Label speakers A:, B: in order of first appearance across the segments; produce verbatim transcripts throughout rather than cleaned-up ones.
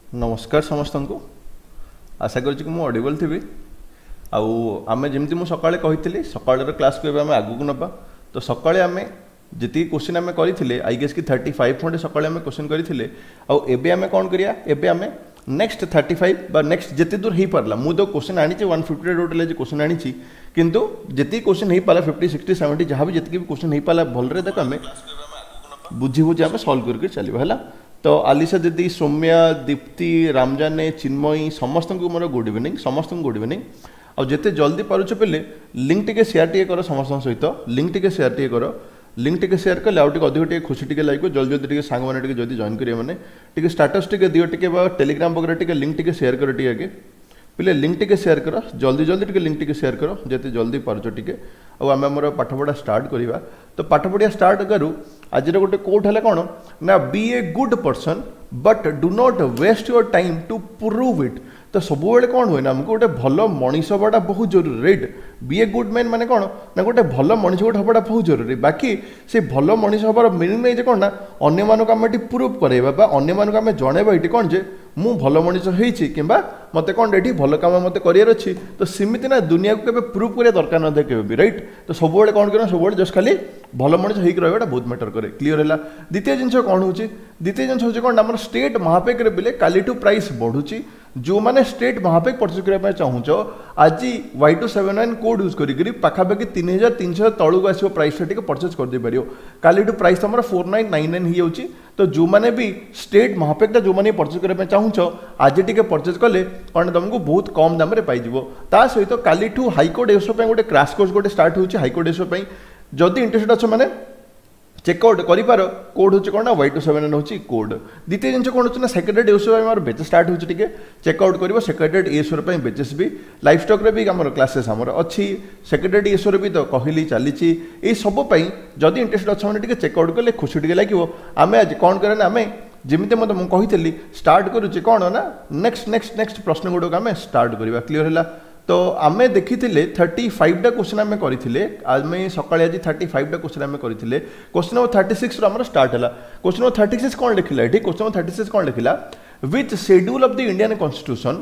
A: ନମସ୍କାର ସମସ୍ତଙ୍କୁ ଆଶା କରୁଛି କି ମୁଁ ଅଡ଼ିବଲ୍ ଥିବି ଆଉ ଆମେ ଯେମିତି ମୁଁ ସକାଳେ କହିଥିଲି ସକାଳର କ୍ଲାସ୍କୁ ଏବେ ଆମେ ଆଗକୁ ନେବା ତ ସକାଳେ ଆମେ ଯେତିକି କୋଶ୍ଚିନ୍ ଆମେ କରିଥିଲେ I guess କି ଥାର୍ଟି ଫାଇଭ୍ ଖଣ୍ଡେ ସକାଳେ ଆମେ କୋଶ୍ଚିନ୍ କରିଥିଲେ ଆଉ ଏବେ ଆମେ କ'ଣ କରିବା ଏବେ ଆମେ ନେକ୍ସଟ ଥାର୍ଟି ଫାଇଭ୍ ବା ନେକ୍ସଟ ଯେତେ ଦୂର ହେଇପାରିଲା ମୁଁ ତ କୋଶ୍ଚିନ୍ ଆଣିଛି ୱାନ୍ ଫିଫ୍ଟି ଟୋଟାଲ୍ ଆଜି କୋଶ୍ଚିନ୍ ଆଣିଛି କିନ୍ତୁ ଯେତିକି କୋଶ୍ଚିନ୍ ହେଇପାରିଲା ଫିଫ୍ଟି ସିକ୍ସଟି ସେଭେଣ୍ଟି ଯାହା ବି ଯେତିକି ବି କୋଶ୍ଚିନ୍ ହେଇପାରିଲା ଭଲରେ ତାକୁ ଆମେ ବୁଝି ବୁଝି ଆମେ ସଲ୍ଭ କରିକି ଚାଲିବା ହେଲା ତ ଆଲିସା ଦିଦି ସୌମ୍ୟା ଦୀପ୍ତି ରାମଜାନେ ଚିନ୍ମୟୀ ସମସ୍ତଙ୍କୁ ମୋର ଗୁଡ୍ ଇଭିନିଂ ସମସ୍ତଙ୍କୁ ଗୁଡ୍ ଇଭିନିଂ ଆଉ ଯେତେ ଜଲ୍ଦି ପାରୁଛ ପିଲେ ଲିଙ୍କ୍ ଟିକେ ସେୟାର ଟିକେ କର ସମସ୍ତଙ୍କ ସହିତ ଲିଙ୍କ୍ ଟିକେ ସେୟାର ଟିକେ କର ଲିଙ୍କ୍ ଟିକେ ସେୟାର କଲେ ଆଉ ଟିକେ ଅଧିକ ଟିକେ ଖୁସି ଟିକେ ଲାଗିବ ଜଲ୍ଦି ଜଲ୍ଦି ଟିକେ ସାଙ୍ଗମାନେ ଟିକେ ଯଦି ଜଏନ୍ କରିବେ ମାନେ ଟିକେ ଷ୍ଟାଟସ୍ ଟିକେ ଦିଅ ଟିକେ ବା ଟେଲିଗ୍ରାମ ବଗେରା ଟିକେ ଲିଙ୍କ୍ ଟିକେ ସେୟାର କର ଟିକେ ଆଗେ ପିଲେ ଲିଙ୍କ୍ ଟିକେ ସେୟାର କର ଜଲ୍ଦି ଜଲ୍ଦି ଟିକେ ଲିଙ୍କ୍ ଟିକେ ସେୟାର କର ଯେତେ ଜଲ୍ଦି ପାରୁଛ ଟିକେ ଆଉ ଆମେ ଆମର ପାଠପଢ଼ା ଷ୍ଟାର୍ଟ କରିବା ତ ପାଠପଢ଼ିବା ଷ୍ଟାର୍ଟ କରୁ ଆଜିର ଗୋଟେ କୋଟ୍ ହେଲା କ'ଣ ନା be a good person but do not waste your time to prove it ତ ସବୁବେଳେ କ'ଣ ହୁଏ ନା ଆମକୁ ଗୋଟେ ଭଲ ମଣିଷ ହେବାଟା ବହୁତ ଜରୁରୀ right be a good man ମାନେ କ'ଣ ନା ଗୋଟେ ଭଲ ମଣିଷ ଗୋଟେ ହେବାଟା ବହୁତ ଜରୁରୀ ବାକି ସେ ଭଲ ମଣିଷ ହେବାର ମିନିଂ ନାହିଁ ଯେ କ'ଣ ନା ଅନ୍ୟମାନଙ୍କୁ ଆମେ ଏଠି ପ୍ରୁଭ୍ କରାଇବା ବା ଅନ୍ୟମାନଙ୍କୁ ଆମେ ଜଣାଇବା ଏଠି କ'ଣ ଯେ ମୁଁ ଭଲ ମଣିଷ ହେଇଛି କିମ୍ବା ମୋତେ କ'ଣ ଏଠି ଭଲ କାମ ମୋତେ କରିବାର ଅଛି ତ ସେମିତି ନା ଦୁନିଆକୁ କେବେ ପ୍ରୁଭ୍ କରିବା ଦରକାର ନଥାଏ କେବେ ବି ରାଇଟ୍ ତ ସବୁବେଳେ କ'ଣ କରିବା ସବୁବେଳେ ଜଷ୍ଟ ଖାଲି ଭଲ ମଣିଷ ହେଇକି ରହିବାଟା ବହୁତ ମ୍ୟାଟର କରେ କ୍ଲିଅର ହେଲା ଦ୍ୱିତୀୟ ଜିନିଷ କ'ଣ ହେଉଛି ଦ୍ୱିତୀୟ ଜିନିଷ ହେଉଛି କ'ଣ ଆମର ଷ୍ଟେଟ୍ ମହାପେକରେ ବିଲେ କାଲିଠୁ ପ୍ରାଇସ୍ ବଢ଼ୁଛି ଯେଉଁମାନେ ଷ୍ଟେଟ୍ ମହାପେକ ପରଚେଜ୍ କରିବା ପାଇଁ ଚାହୁଁଛ ଆଜି Y two seven nine code use କରିକିରି ପାଖାପାଖି ତିନି ହଜାର ତିନିଶହ ତଳକୁ ଆସିବ ପ୍ରାଇସ୍ଟା ଟିକେ ପରଚେଜ୍ କରିଦେଇପାରିବ କାଲିଠୁ ପ୍ରାଇସ୍ ତମର ଫୋର୍ ନାଇନ୍ ନାଇନ୍ ନାଇନ୍ ହେଇଯାଉଛି ତ ଯେଉଁମାନେ ବି ଷ୍ଟେଟ୍ ମହାପେକଟା ଯେଉଁମାନେ ପରଚେଜ୍ କରିବା ପାଇଁ ଚାହୁଁଛ ଆଜି ଟିକେ ପରଚେଜ୍ କଲେ କ'ଣ ତୁମକୁ ବହୁତ କମ୍ ଦାମରେ ପାଇଯିବ ତା ସହିତ କାଲିଠୁ ହାଇକୋର୍ଟ ଏସଓ ପାଇଁ ଗୋଟେ କ୍ରାସ୍ କୋର୍ସ ଗୋଟେ ଷ୍ଟାର୍ଟ ହେଉଛି ହାଇକୋର୍ଟ ଏସଓ ପାଇଁ ଯଦି ଇଣ୍ଟରେଷ୍ଟେଡ୍ ଅଛ ମାନେ ଚେକ୍ଆଉଟ୍ କରିପାର କୋଡ୍ ହେଉଛି କ'ଣ ନା ୱାଇ ଟୁ ସେଭେନ୍ ହେଉଛି କୋଡ୍ ଦ୍ୱିତୀୟ ଜିନିଷ କ'ଣ ହେଉଛି ନା ସେକ୍ରେଟାରିଏଟ୍ ଏସ୍ଓ ପାଇଁ ଆମର ବେଚେସ୍ ଷ୍ଟାର୍ଟ ହେଉଛି ଟିକେ ଚେକ୍ଆଉଟ୍ କରିବ ସେକ୍ରେଟାରିଏଟ୍ ଏସ୍ଓର ପାଇଁ ବେଚେସ୍ ବି ଲାଇଫ୍ ଷ୍ଟକ୍ରେ ବି ଆମର କ୍ଲାସେସ୍ ଆମର ଅଛି ସେକ୍ରେଟାରିଏଟ୍ ଏସ୍ଓର ବି ତ କହିଲି ଚାଲିଛି ଏଇ ସବୁ ପାଇଁ ଯଦି ଇଣ୍ଟରେଷ୍ଟେଡ୍ ଅଛ ମାନେ ଟିକେ ଚେକ୍ଆଉଟ୍ କଲେ ଖୁସି ଟିକେ ଲାଗିବ ଆମେ ଆଜି କ'ଣ କରିବା ନା ଆମେ ଯେମିତି ମୋତେ ମୁଁ କହିଥିଲି ଷ୍ଟାର୍ଟ କରୁଛି କ'ଣ ନା ନେକ୍ସଟ ନେକ୍ସଟ ନେକ୍ସଟ ପ୍ରଶ୍ନ ଗୁଡ଼ିକ ଆମେ ଷ୍ଟାର୍ଟ କରିବା କ୍ଲିଅର ହେଲା ତ ଆମେ ଦେଖିଥିଲେ ଥାର୍ଟି ଫାଇଭଟା କୋଶ୍ଚିନ୍ ଆମେ କରିଥିଲେ ଆମେ ସକାଳେ ଆଜି ଥାର୍ଟି ଫାଇଭଟା କୋଶ୍ଚିନ୍ ଆମେ କରିଥିଲେ କୋଶ୍ଚିନ୍ ନମ୍ବର ଥାର୍ଟି ସିକ୍ସରୁ ଆମର ଷ୍ଟାର୍ଟ ହେଲା କୋଶ୍ଚିନ୍ ନମ୍ବର ଥାର୍ଟି ସିକ୍ସ କ'ଣ ଲେଖିଲା ଏଠି କୋଶ୍ଚିନ୍ ନମ୍ବର ଥାର୍ଟି ସିକ୍ସ କ'ଣ ଲେଖିଲା which schedule of the Indian Constitution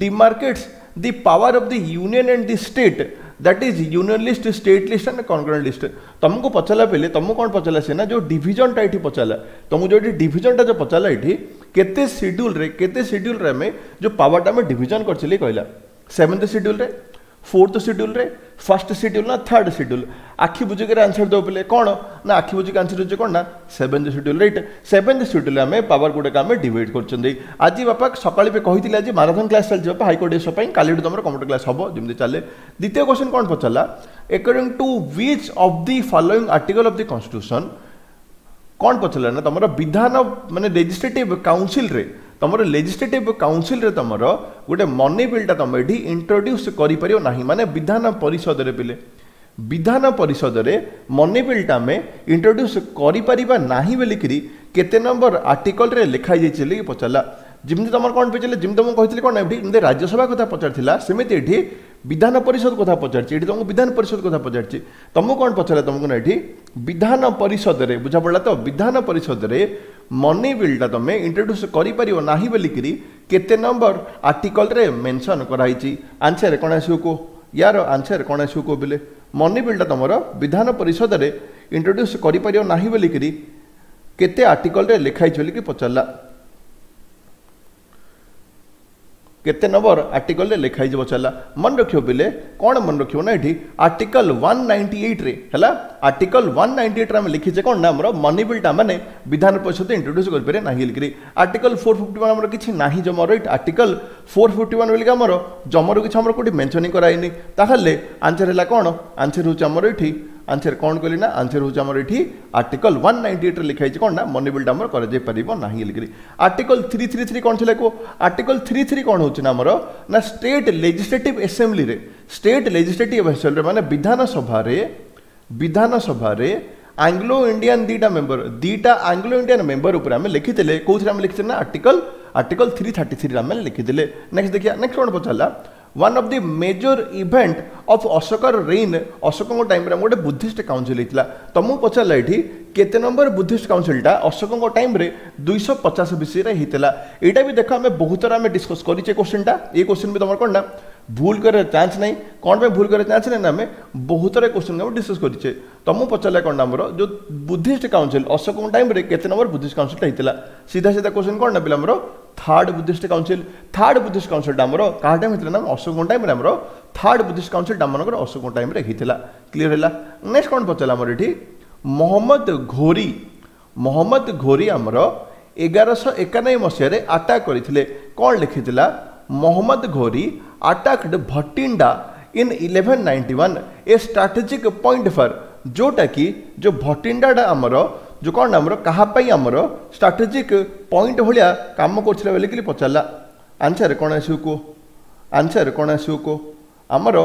A: demarcates the power of the union and the state that is union list state list and concurrent list ତୁମକୁ ପଚାରିଲା ବେଲେ ତୁମକୁ କ'ଣ ପଚାରିଲା ସେ ନା ଯେଉଁ ଡିଭିଜନଟା ଏଠି ପଚାରିଲା ତୁମକୁ ଯେଉଁ ଏଠି ଡିଭିଜନଟା ଯେଉଁ ପଚାରିଲା ଏଠି କେତେ ସିଡ୍ୟୁଲ୍ରେ କେତେ ସିଡ୍ୟୁଲ୍ରେ ଆମେ ଯେଉଁ ପାୱାରଟା ଆମେ ଡିଭିଜନ କରିଥିଲେ କହିଲା ସେଭେନ୍ଥ ସିଡ୍ୟୁଲ୍ରେ ଫୋର୍ଥ ସିଡ୍ୟୁଲ୍ରେ ଫାର୍ଷ୍ଟ ସିଡ୍ୟୁଲ୍ ନା ଥାର୍ଡ ସିଡ୍ୟୁଲ୍ ଆଖି ବୁଜିକିରି ଆନ୍ସର ଦେବ ପିଲେ କ'ଣ ନା ଆଖି ବୁଜିକି ଆନ୍ସର ହେଉଛି କ'ଣ ନା seventh schedule right seventh schedule ଆମେ ପାୱାର ଗୁଡ଼ାକ ଆମେ ଡିଭାଇଡ୍ କରୁଛନ୍ତି ଆଜି ବାପା ସକାଳେ ବି କହିଥିଲେ ଆଜି ମାରାଥନ୍ କ୍ଲାସ୍ ଚାଲିଛି ବାପା ହାଇକୋର୍ଟ ଏସଓ ପାଇଁ କାଲିଠୁ ତୁମର କମ୍ପ୍ୟୁଟର କ୍ଲାସ୍ ହେବ ଯେମିତି ଚାଲେ ଦ୍ୱିତୀୟ କ୍ୱେଶ୍ଚନ୍ କ'ଣ ପଚାରିଲା according to which of the following article of the Constitution କ'ଣ ପଚାରିଲା ନା ତୁମର ବିଧାନ ମାନେ ଲେଜିସ୍ଲେଟିଭ୍ କାଉନସିଲ୍ରେ ତୁମର ଲେଜିସ୍ଲେଟିଭ୍ କାଉନସିଲ୍ରେ ତୁମର ଗୋଟେ ମନି ବିଲ୍ଟା ତୁମେ ଏଠି ଇଣ୍ଟ୍ରୋଡ୍ୟୁସ୍ କରିପାରିବ ନାହିଁ ମାନେ ବିଧାନ ପରିଷଦରେ ପିଲେ ବିଧାନ ପରିଷଦରେ ମନି ବିଲ୍ଟା ଆମେ ଇଣ୍ଟ୍ରୋଡ୍ୟୁସ୍ କରିପାରିବା ନାହିଁ ବୋଲିକିରି କେତେ ନମ୍ବର ଆର୍ଟିକଲରେ ଲେଖା ହେଇଯାଇଛି ବୋଲି ପଚାରିଲା ଯେମିତି ତୁମର କ'ଣ ପଚାରିଲେ ଯେମିତି ମୁଁ କହିଥିଲି କ'ଣ ଏଠି ଯେମିତି ରାଜ୍ୟସଭା କଥା ପଚାରିଥିଲା ସେମିତି ଏଠି ବିଧାନ ପରିଷଦ କଥା ପଚାରିଛି ଏଠି ତୁମକୁ ବିଧାନ ପରିଷଦ କଥା ପଚାରିଛି ତୁମକୁ କ'ଣ ପଚାରିଲା ତୁମକୁ ନା ଏଠି ବିଧାନ ପରିଷଦରେ ବୁଝା ପଡ଼ିଲା ତ ବିଧାନ ପରିଷଦରେ ମନି ବିଲ୍ଟା ତୁମେ ଇଣ୍ଟ୍ରୋଡ୍ୟୁସ୍ କରିପାରିବ ନାହିଁ ବୋଲିକିରି କେତେ ନମ୍ବର ଆର୍ଟିକଲରେ ମେନସନ୍ କରାହେଇଛି ଆନ୍ସର କ'ଣ ଆସିବ କୁହ ୟାର ଆନ୍ସର କ'ଣ ଆସିବ କୁହ ବୋଲେ ମନି ବିଲ୍ଟା ତୁମର ବିଧାନ ପରିଷଦରେ ଇଣ୍ଟ୍ରୋଡ୍ୟୁସ୍ କରିପାରିବ ନାହିଁ ବୋଲିକିରି କେତେ ଆର୍ଟିକଲରେ ଲେଖା ହେଇଛି ବୋଲିକି ପଚାରିଲା କେତେ ନମ୍ବର ଆର୍ଟିକଲରେ ଲେଖା ହେଇଛି ପଚାରିଲା ମନେ ରଖିବ ପିଲେ କ'ଣ ମନେ ରଖିବ ନା ଏଠି ଆର୍ଟିକଲ ୱାନ୍ ନାଇଣ୍ଟି ଏଇଟ୍ରେ ହେଲା ଆର୍ଟିକଲ ୱାନ୍ ନାଇଣ୍ଟି ଏଇଟ୍ରେ ଆମେ ଲେଖିଛେ କ'ଣ ନା ଆମର ମନି ବିଲ୍ଟା ମାନେ ବିଧାନ ପରିଷଦ ଇଣ୍ଟ୍ରୋଡ୍ୟୁସ୍ କରିପାରିବେ ନାହିଁ ବୋଲିକିରି ଆର୍ଟିକଲ ଫୋର୍ ଫିଫ୍ଟି ୱାନ୍ ଆମର କିଛି ନାହିଁ ଜମାର right article four fifty one ବୋଲିକି ଆମର ଜମାରୁ କିଛି ଆମର କେଉଁଠି ମେନସନିଂ କରାହେଇନି ତାହେଲେ ଆନ୍ସର ହେଲା କ'ଣ ଆନ୍ସର ହେଉଛି ଆମର ଏଠି ଆନ୍ସର କ'ଣ କଲି ନା ଆନ୍ସର ହେଉଛି ଆମର ଏଠି ଆର୍ଟିକଲ ୱାନ୍ ନାଇଣ୍ଟି ଏଇଟ୍ରେ ଲେଖା ହେଇଛି କ'ଣ ନା ମନି ବିଲ୍ଟା ଆମର କରାଯାଇପାରିବ ନାହିଁ ବୋଲିକିରି ଆର୍ଟିକଲ ଥ୍ରୀ ଥ୍ରୀ ଥ୍ରୀ କ'ଣ ଥିଲା କୁହ ଆର୍ଟିକଲ ଥ୍ରୀ ଥ୍ରୀ କ'ଣ ହେଉଛି ନା ଆମର ନା ଷ୍ଟେଟ୍ ଲେଜିସ୍ଲେଟିଭ୍ ଆସେମ୍ବଲିରେ ଷ୍ଟେଟ୍ ଲେଜିସ୍ଲେଟିଭ୍ ଆସେମ୍ବଲିରେ ମାନେ ବିଧାନସଭାରେ ବିଧାନସଭାରେ ଆଙ୍ଗ୍ଲୋ ଇଣ୍ଡିଆନ୍ ଦୁଇଟା ମେମ୍ବର ଦୁଇଟା ଆଙ୍ଗ୍ଲୋ ଇଣ୍ଡିଆନ୍ ମେମ୍ବର ଉପରେ ଆମେ ଲେଖିଥିଲେ କେଉଁଥିରେ ଆମେ ଲେଖିଥିଲେ ନା ଆର୍ଟିକଲ ଆର୍ଟିକଲ ଥ୍ରୀ ଥାର୍ଟି ଥ୍ରୀରେ ଆମେ ଲେଖିଥିଲେ ନେକ୍ସଟ ଦେଖିବା ନେକ୍ସଟ କ'ଣ ପଚାରିଲା One of the major event of ଅଶୋକର reign, ଅଶୋକଙ୍କ ଟାଇମ୍ରେ ଆମର ଗୋଟେ ବୁଦ୍ଧିଷ୍ଟ କାଉନସିଲ୍ ହେଇଥିଲା। ତମକୁ ପଚାରିଲା ଏଠି କେତେ ନମ୍ବର ବୁଦ୍ଧିଷ୍ଟ କାଉନସିଲ୍ଟା ଅଶୋକଙ୍କ ଟାଇମ୍ରେ ଦୁଇଶହ ପଚାଶ ବିସିରେ ହେଇଥିଲା। ଏଇଟା ବି ଦେଖ, ଆମେ ବହୁତ ଥର ଆମେ ଡିସ୍କସ୍ କରିଛେ କୋଶ୍ଚିନ୍ଟା। ଏଇ କୋଶ୍ଚିନ୍ ବି ତମର କ'ଣ ନା ଭୁଲ କରିବାର ଚାନ୍ସ ନାହିଁ। କ'ଣ ପାଇଁ ଭୁଲ କରିବାର ଚାନ୍ସ ନାହିଁ ନା ଆମେ ବହୁତ ଥର କୋଶ୍ଚିନ୍ ଆମେ ଡିସ୍କସ୍ କରିଛେ। ତମକୁ ପଚାରିଲା କ'ଣ ନା ଆମର ଯେଉଁ ବୁଦ୍ଧିଷ୍ଟ କାଉନସିଲ୍ ଅଶୋକଙ୍କ ଟାଇମ୍ରେ କେତେ ନମ୍ବର ବୁଦ୍ଧିଷ୍ଟ କାଉନସିଲ୍ଟା ହେଇଥିଲା? ସିଧା ସିଧା କୋଶ୍ଚିନ୍ କ'ଣ ନା ପିଲା, ଆମର third Buddhist council. Third Buddhist କାଉନସିଲ୍ଟା ଆମର କାହା ଟାଇମ୍ ହେଇଥିଲା ନା ଅଶୋକଙ୍କ ଟାଇମ୍ରେ। ଆମର ଥାର୍ଡ ବୁଦ୍ଧିଷ୍ଟ କାଉନସିଲ୍ଟା ଆମମାନଙ୍କର ଅଶୋକଙ୍କ ଟାଇମ୍ରେ ହେଇଥିଲା। କ୍ଲିୟର ହେଲା? ନେକ୍ସଟ କ'ଣ ପଚାରିଲା ଆମର ଏଠି? ମହମ୍ମଦ ଘୋରି, ମହମ୍ମଦ ଘୋରି ଆମର ଏଗାରଶହ ଏକାନବେ ମସିହାରେ ଆଟାକ୍ କରିଥିଲେ। କ'ଣ ଲେଖିଥିଲା? Mohammad Ghori attacked Bhatinda in eleven ninety one, a strategic point for, ଯେଉଁଟାକି ଯେଉଁ ଭଟିଣ୍ଡାଟା ଆମର ଯେଉଁ କ'ଣ ଆମର କାହା ପାଇଁ ଆମର ଷ୍ଟ୍ରାଟେଜିକ୍ ପଏଣ୍ଟ ଭଳିଆ କାମ କରୁଥିଲା ବୋଲିକିରି ପଚାରିଲା। ଆନ୍ସର କ'ଣ ଆସିବ କୁହ? ଆନ୍ସର କ'ଣ ଆସିବ କୁହ? ଆମର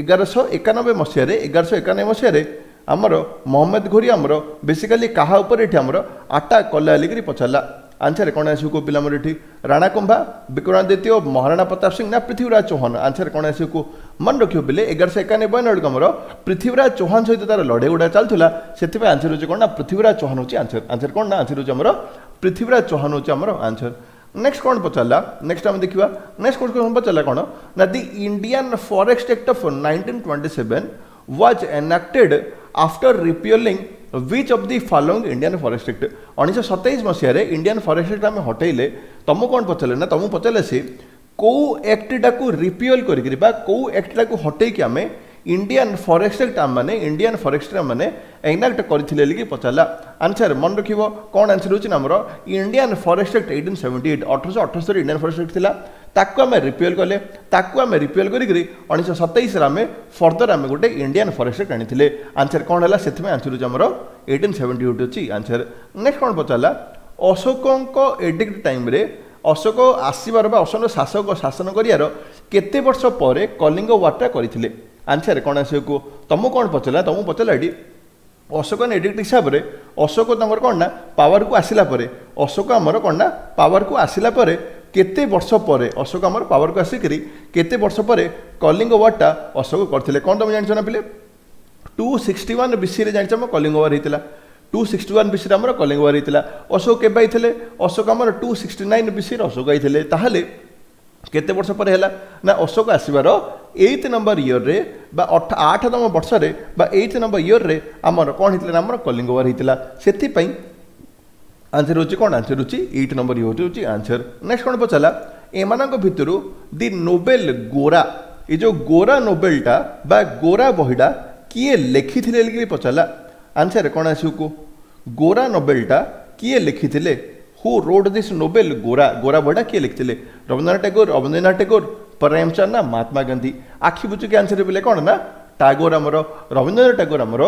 A: ଏଗାରଶହ ଏକାନବେ ମସିହାରେ, ଏଗାରଶହ ଏକାନବେ ମସିହାରେ ଆମର ମହମ୍ମଦ ଘୋରି ଆମର ବେସିକାଲି କାହା ଉପରେ ଏଠି ଆମର ଆଟାକ୍ କଲା ବୋଲିକିରି ପଚାରିଲା। ଆନ୍ସର କ'ଣ ଆସିବ କୁହ ପିଲା? ଆମର ଏଠି ରାଣା କୁମ୍ଭା, ବିକ୍ରମାଦିତ୍ୟ, ମହାରାଣା ପ୍ରତାପ ସିଂ ନା ପୃଥ୍ୱୀରାଜ ଚୌହାନ? ଆନ୍ସର କ'ଣ ଆସିବ କୁହ? ମନେ ରଖିବ ପିଲେ, ଏଗାରଶହ ଏକାନବେ ବେଳକୁ ଆମର ପୃଥ୍ୱୀରାଜ ଚୌହାନ ସହିତ ତାର ଲଢ଼େଇ ଗୁଡ଼ା ଚାଲୁଥିଲା। ସେଥିପାଇଁ ଆନ୍ସର ହେଉଛି କ'ଣ ନା ପୃଥ୍ୱୀରାଜ ଚୌହାନ ହେଉଛି ଆନ୍ସର। ଆନ୍ସର କ'ଣ ନା ଆନ୍ସର ହେଉଛି ଆମର ପୃଥ୍ୱୀରାଜ ଚୌହାନ ହେଉଛି ଆମର ଆନ୍ସର। ନେକ୍ସଟ କ'ଣ ପଚାରିଲା? ନେକ୍ସଟ ଆମେ ଦେଖିବା। ନେକ୍ସଟ କ'ଣ ପଚାରିଲା କ'ଣ ନା the Indian Forest Act of nineteen twenty seven was enacted after repealing which of the following Indian Forest Act? ଉଣେଇଶହ ସତେଇଶ ମସିହାରେ ଇଣ୍ଡିଆନ୍ ଫରେଷ୍ଟ ଆକ୍ଟ ଆମେ ହଟେଇଲେ। ତମକୁ କ'ଣ ପଚାରିଲେ ନା ତମକୁ ପଚାରିଲେ ସେ କେଉଁ ଆକ୍ଟଟାକୁ ରିପିଅଲ୍ କରିକିରି ବା କେଉଁ ଆକ୍ଟଟାକୁ ହଟେଇକି ଆମେ ଇଣ୍ଡିଆନ୍ ଫରେଷ୍ଟ ଆକ୍ଟ ମାନେ ଇଣ୍ଡିଆନ୍ ଫରେଷ୍ଟ ମାନେ ଏନାକ୍ଟ କରିଥିଲେ ବୋଲିକି ପଚାରିଲା। ଆନ୍ସର ମନେ ରଖିବ କ'ଣ ଆନ୍ସର ହେଉଛି ନା ଆମର Indian Forest Act eighteen seventy eight। ଅଠରଶହ ଅଠସ୍ତରୀ ଇଣ୍ଡିଆନ୍ ଫରେଷ୍ଟ ଆକ୍ଟ ଥିଲା, ତାକୁ ଆମେ ରିପିଅଲ୍ କଲେ। ତାକୁ ଆମେ ରିପିଅଲ୍ କରିକିରି ଉଣେଇଶହ ସତେଇଶରେ ଆମେ ଫର୍ଦର ଆମେ ଗୋଟେ ଇଣ୍ଡିଆନ୍ ଫରେଷ୍ଟ ଆକ୍ଟ ଆଣିଥିଲେ। ଆନ୍ସର କ'ଣ ହେଲା? ସେଥିପାଇଁ ଆନ୍ସର ହେଉଛି ଆମର ଏଇଟିନ୍ ସେଭେଣ୍ଟି ଏଇଟ୍ ଅଛି ଆନ୍ସର। ନେକ୍ସଟ କ'ଣ ପଚାରିଲା? ଅଶୋକଙ୍କ ଏଡିକ୍ଟ ଟାଇମ୍ରେ, ଅଶୋକ ଆସିବାର ବା ଅଶୋକ ଶାସକ ଶାସନ କରିବାର କେତେ ବର୍ଷ ପରେ କଳିଙ୍ଗ ୱାରଟା କରିଥିଲେ? ଆନ୍ସର କ'ଣ ଆସିବ କୁହ? ତମକୁ କ'ଣ ପଚାରିଲା? ତମକୁ ପଚାରିଲା ଏଠି ଅଶୋକନ ଏଡିକ୍ଟ ହିସାବରେ ଅଶୋକ ତାଙ୍କର କ'ଣ ନା ପାୱାରକୁ ଆସିଲା ପରେ, ଅଶୋକ ଆମର କ'ଣ ନା ପାୱାରକୁ ଆସିଲା ପରେ କେତେ ବର୍ଷ ପରେ, ଅଶୋକ ଆମର ପାୱାରକୁ ଆସିକରି କେତେ ବର୍ଷ ପରେ କଳିଙ୍ଗ ୱାରଟା ଅଶୋକ କରିଥିଲେ? କ'ଣ ତମେ ଜାଣିଛ ନା ପିଲେ, ଟୁ ସିକ୍ସଟି ୱାନ୍ ବିସିରେ ଜାଣିଛ ଆମ କଳିଙ୍ଗ ୱାର ହେଇଥିଲା। ଟୁ ସିକ୍ସଟି ୱାନ୍ ବିସିରେ ଆମର କଳିଙ୍ଗ ୱାର ହେଇଥିଲା। ଅଶୋକ କେବେ ଆଇଥିଲେ? ଅଶୋକ ଆମର ଟୁ ସିକ୍ସଟି ନାଇନ୍ ବିସିରେ ଅଶୋକ ଆଇଥିଲେ। ତାହେଲେ କେତେ ବର୍ଷ ପରେ ହେଲା ନା ଅଶୋକ ଆସିବାର ଏଇଟ୍ ନମ୍ବର ଇୟର୍ରେ ବା ଅଠ ଆଠତମ ବର୍ଷରେ ବା ଏଇଟ୍ ନମ୍ବର ଇୟର୍ରେ ଆମର କ'ଣ ହେଇଥିଲା ନା ଆମର କଳିଙ୍ଗ ୱାର ହେଇଥିଲା। ସେଥିପାଇଁ ଆନ୍ସର ହେଉଛି କ'ଣ? ଆନ୍ସର ହେଉଛି ଏଇଟ୍ ନମ୍ବର ଇୟର୍ ହେଉଛି ଆନ୍ସର। ନେକ୍ସଟ କ'ଣ ପଚାରିଲା? ଏମାନଙ୍କ ଭିତରୁ ଦି ନୋବେଲ ଗୋରା, ଏ ଯେଉଁ ଗୋରା ନୋବେଲଟା ବା ଗୋରା ବହିଟା କିଏ ଲେଖିଥିଲେ ବୋଲିକିରି ପଚାରିଲା। ଆନ୍ସର କ'ଣ ଆସିବ କୁହ? ଗୋରା ନୋବେଲଟା କିଏ ଲେଖିଥିଲେ? Who wrote this novel Gora? ଗୋରା ବହିଟା କିଏ ଲେଖିଥିଲେ? ରବୀନ୍ଦ୍ରନାଥ ଟେଗୋର, ରବୀନ୍ଦ୍ରନାଥ ଟେଗୋର, ପ୍ରେମଚନ୍ଦ ନା ମହାତ୍ମା ଗାନ୍ଧୀ? ଆଖି ବୁଜିକି ଆନ୍ସର ପିଲେ, କ'ଣ ନା ଟାଗୋର, ଆମର ରବୀନ୍ଦ୍ରନାଥ ଟାଗୋର ଆମର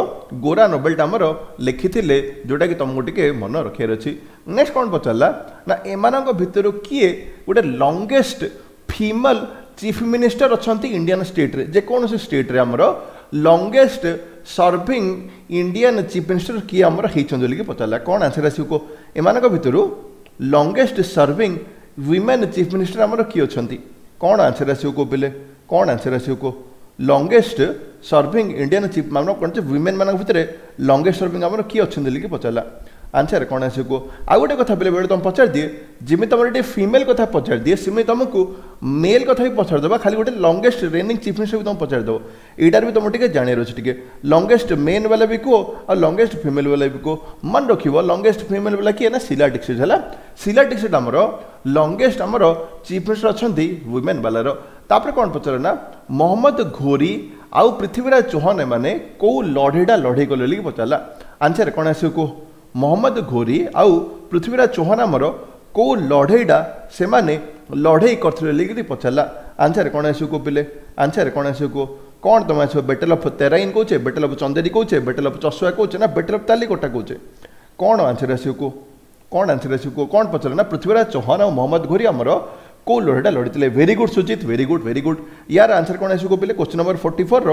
A: ଗୋରା ନୋବେଲଟା ଆମର ଲେଖିଥିଲେ, ଯେଉଁଟାକି ତୁମକୁ ଟିକେ ମନେ ରଖିବାର ଅଛି। ନେକ୍ସଟ କ'ଣ ପଚାରିଲା ନା ଏମାନଙ୍କ ଭିତରୁ କିଏ ଗୋଟେ ଲଙ୍ଗେଷ୍ଟ ଫିମେଲ ଚିଫ୍ ମିନିଷ୍ଟର ଅଛନ୍ତି ଇଣ୍ଡିଆନ୍ ଷ୍ଟେଟ୍ରେ? ଯେକୌଣସି ଷ୍ଟେଟ୍ରେ ଆମର longest serving Indian chief minister କିଏ ଆମର ହେଇଛନ୍ତି ବୋଲିକି ପଚାରିଲା। କ'ଣ ଆନ୍ସର ଆସିବ କୁହ? ଏମାନଙ୍କ ଭିତରୁ longest serving women chief minister ଆମର କିଏ ଅଛନ୍ତି? କ'ଣ ଆନ୍ସର ଆସିବ କୁହ ପିଲେ? କ'ଣ ଆନ୍ସର ଆସିବ କୁହ? ଲଙ୍ଗେଷ୍ଟ ସର୍ଭିଂ ଇଣ୍ଡିଆନ୍ ଚିଫ୍ ଆମର କ'ଣ ୱିମେନ୍ ମାନଙ୍କ ଭିତରେ ଲଙ୍ଗେଷ୍ଟ ସର୍ଭିଂ ଆମର କିଏ ଅଛନ୍ତି ବୋଲିକି ପଚାରିଲା। ଆନ୍ସର କ'ଣ ଆସିବ କୁହ? ଆଉ ଗୋଟେ କଥା ପିଲେ, ବେଳେ ତୁମେ ପଚାରିଦିଏ, ଯେମିତି ତୁମର ଏଠି ଫିମେଲ୍ କଥା ପଚାରିଦିଏ, ସେମିତି ତୁମକୁ ମେଲ୍ କଥା ବି ପଚାରିଦେବା। ଖାଲି ଗୋଟେ ଲଙ୍ଗେଷ୍ଟ ରେନିଂ ଚିଫ୍ ମିନିଷ୍ଟର ବି ତୁମକୁ ପଚାରିଦେବ। ଏଇଟାରେ ବି ତୁମକୁ ଟିକେ ଜାଣିବାର ଅଛି ଟିକେ। ଲଙ୍ଗେଷ୍ଟ ମେନ୍ ବାଲା ବି କୁହ ଆଉ ଲଙ୍ଗେଷ୍ଟ ଫିମେଲ୍ ବାଲା ବି କୁହ। ମନେ ରଖିବ, ଲଙ୍ଗେଷ୍ଟ ଫିମେଲ୍ ବାଲା କିଏ ନା ଶିଲା ଦୀକ୍ଷିତ ହେଲା। ଶିଲା ଦୀକ୍ଷିତ ଆମର ଲଙ୍ଗେଷ୍ଟ ଆମର ଚିଫ୍ ମିନିଷ୍ଟର ଅଛନ୍ତି ୱିମେନ୍ ବାଲାର। ତାପରେ କ'ଣ ପଚାରେ ନା ମହମ୍ମଦ ଘୋରି ଆଉ ପୃଥ୍ୱୀରାଜ ଚୌହାନ ଏମାନେ କେଉଁ ଲଢ଼େଇଟା ଲଢ଼େଇ କଲେ ବୋଲିକି ପଚାରିଲା। ଆନ୍ସର କ'ଣ ଆସିବ କୁହ? ମହମ୍ମଦ ଘୋରି ଆଉ ପୃଥ୍ୱୀରାଜ ଚୌହାନ ଆମର କେଉଁ ଲଢ଼େଇଟା ସେମାନେ ଲଢ଼େଇ କରିଥିଲେ ବୋଲିକିରି ପଚାରିଲା। ଆନ୍ସର କ'ଣ ଆସିବ କୁହ ପିଲେ? ଆନ୍ସର କ'ଣ ଆସିବ କୁହ? କ'ଣ ତୁମେ ଆସିବ? ବେଟେଲ୍ ଅଫ୍ ତେରାଇନ୍ କହୁଛେ, ବେଟେଲ୍ ଅଫ୍ ଚନ୍ଦେରୀ କହୁଛେ, ବେଟେଲ୍ ଅଫ୍ ଚସୁଆ କହୁଛେ ନା ବେଟେଲ୍ ଅଫ୍ ତାଲିକୋଟା କହୁଛେ? କ'ଣ ଆନ୍ସର ଆସିବ କୁହ? କ'ଣ ଆନ୍ସର ଆସିବ କୁହ? କ'ଣ ପଚାରିଲା ନା ପୃଥ୍ୱୀରାଜ ଚୌହାନ ଆଉ ମହମ୍ମଦ ଘୋରି ଆମର କେଉଁ ଲଢ଼େଇଟା ଲଢ଼ିଥିଲେ? Very good Sujit, very good, very good. ୟାର ଆନ୍ସର କ'ଣ ଆସିବ ପିଲେ? କ୍ୱେଶ୍ଚନ୍ ନମ୍ବର ଫୋର୍ଟି ଫୋର୍ର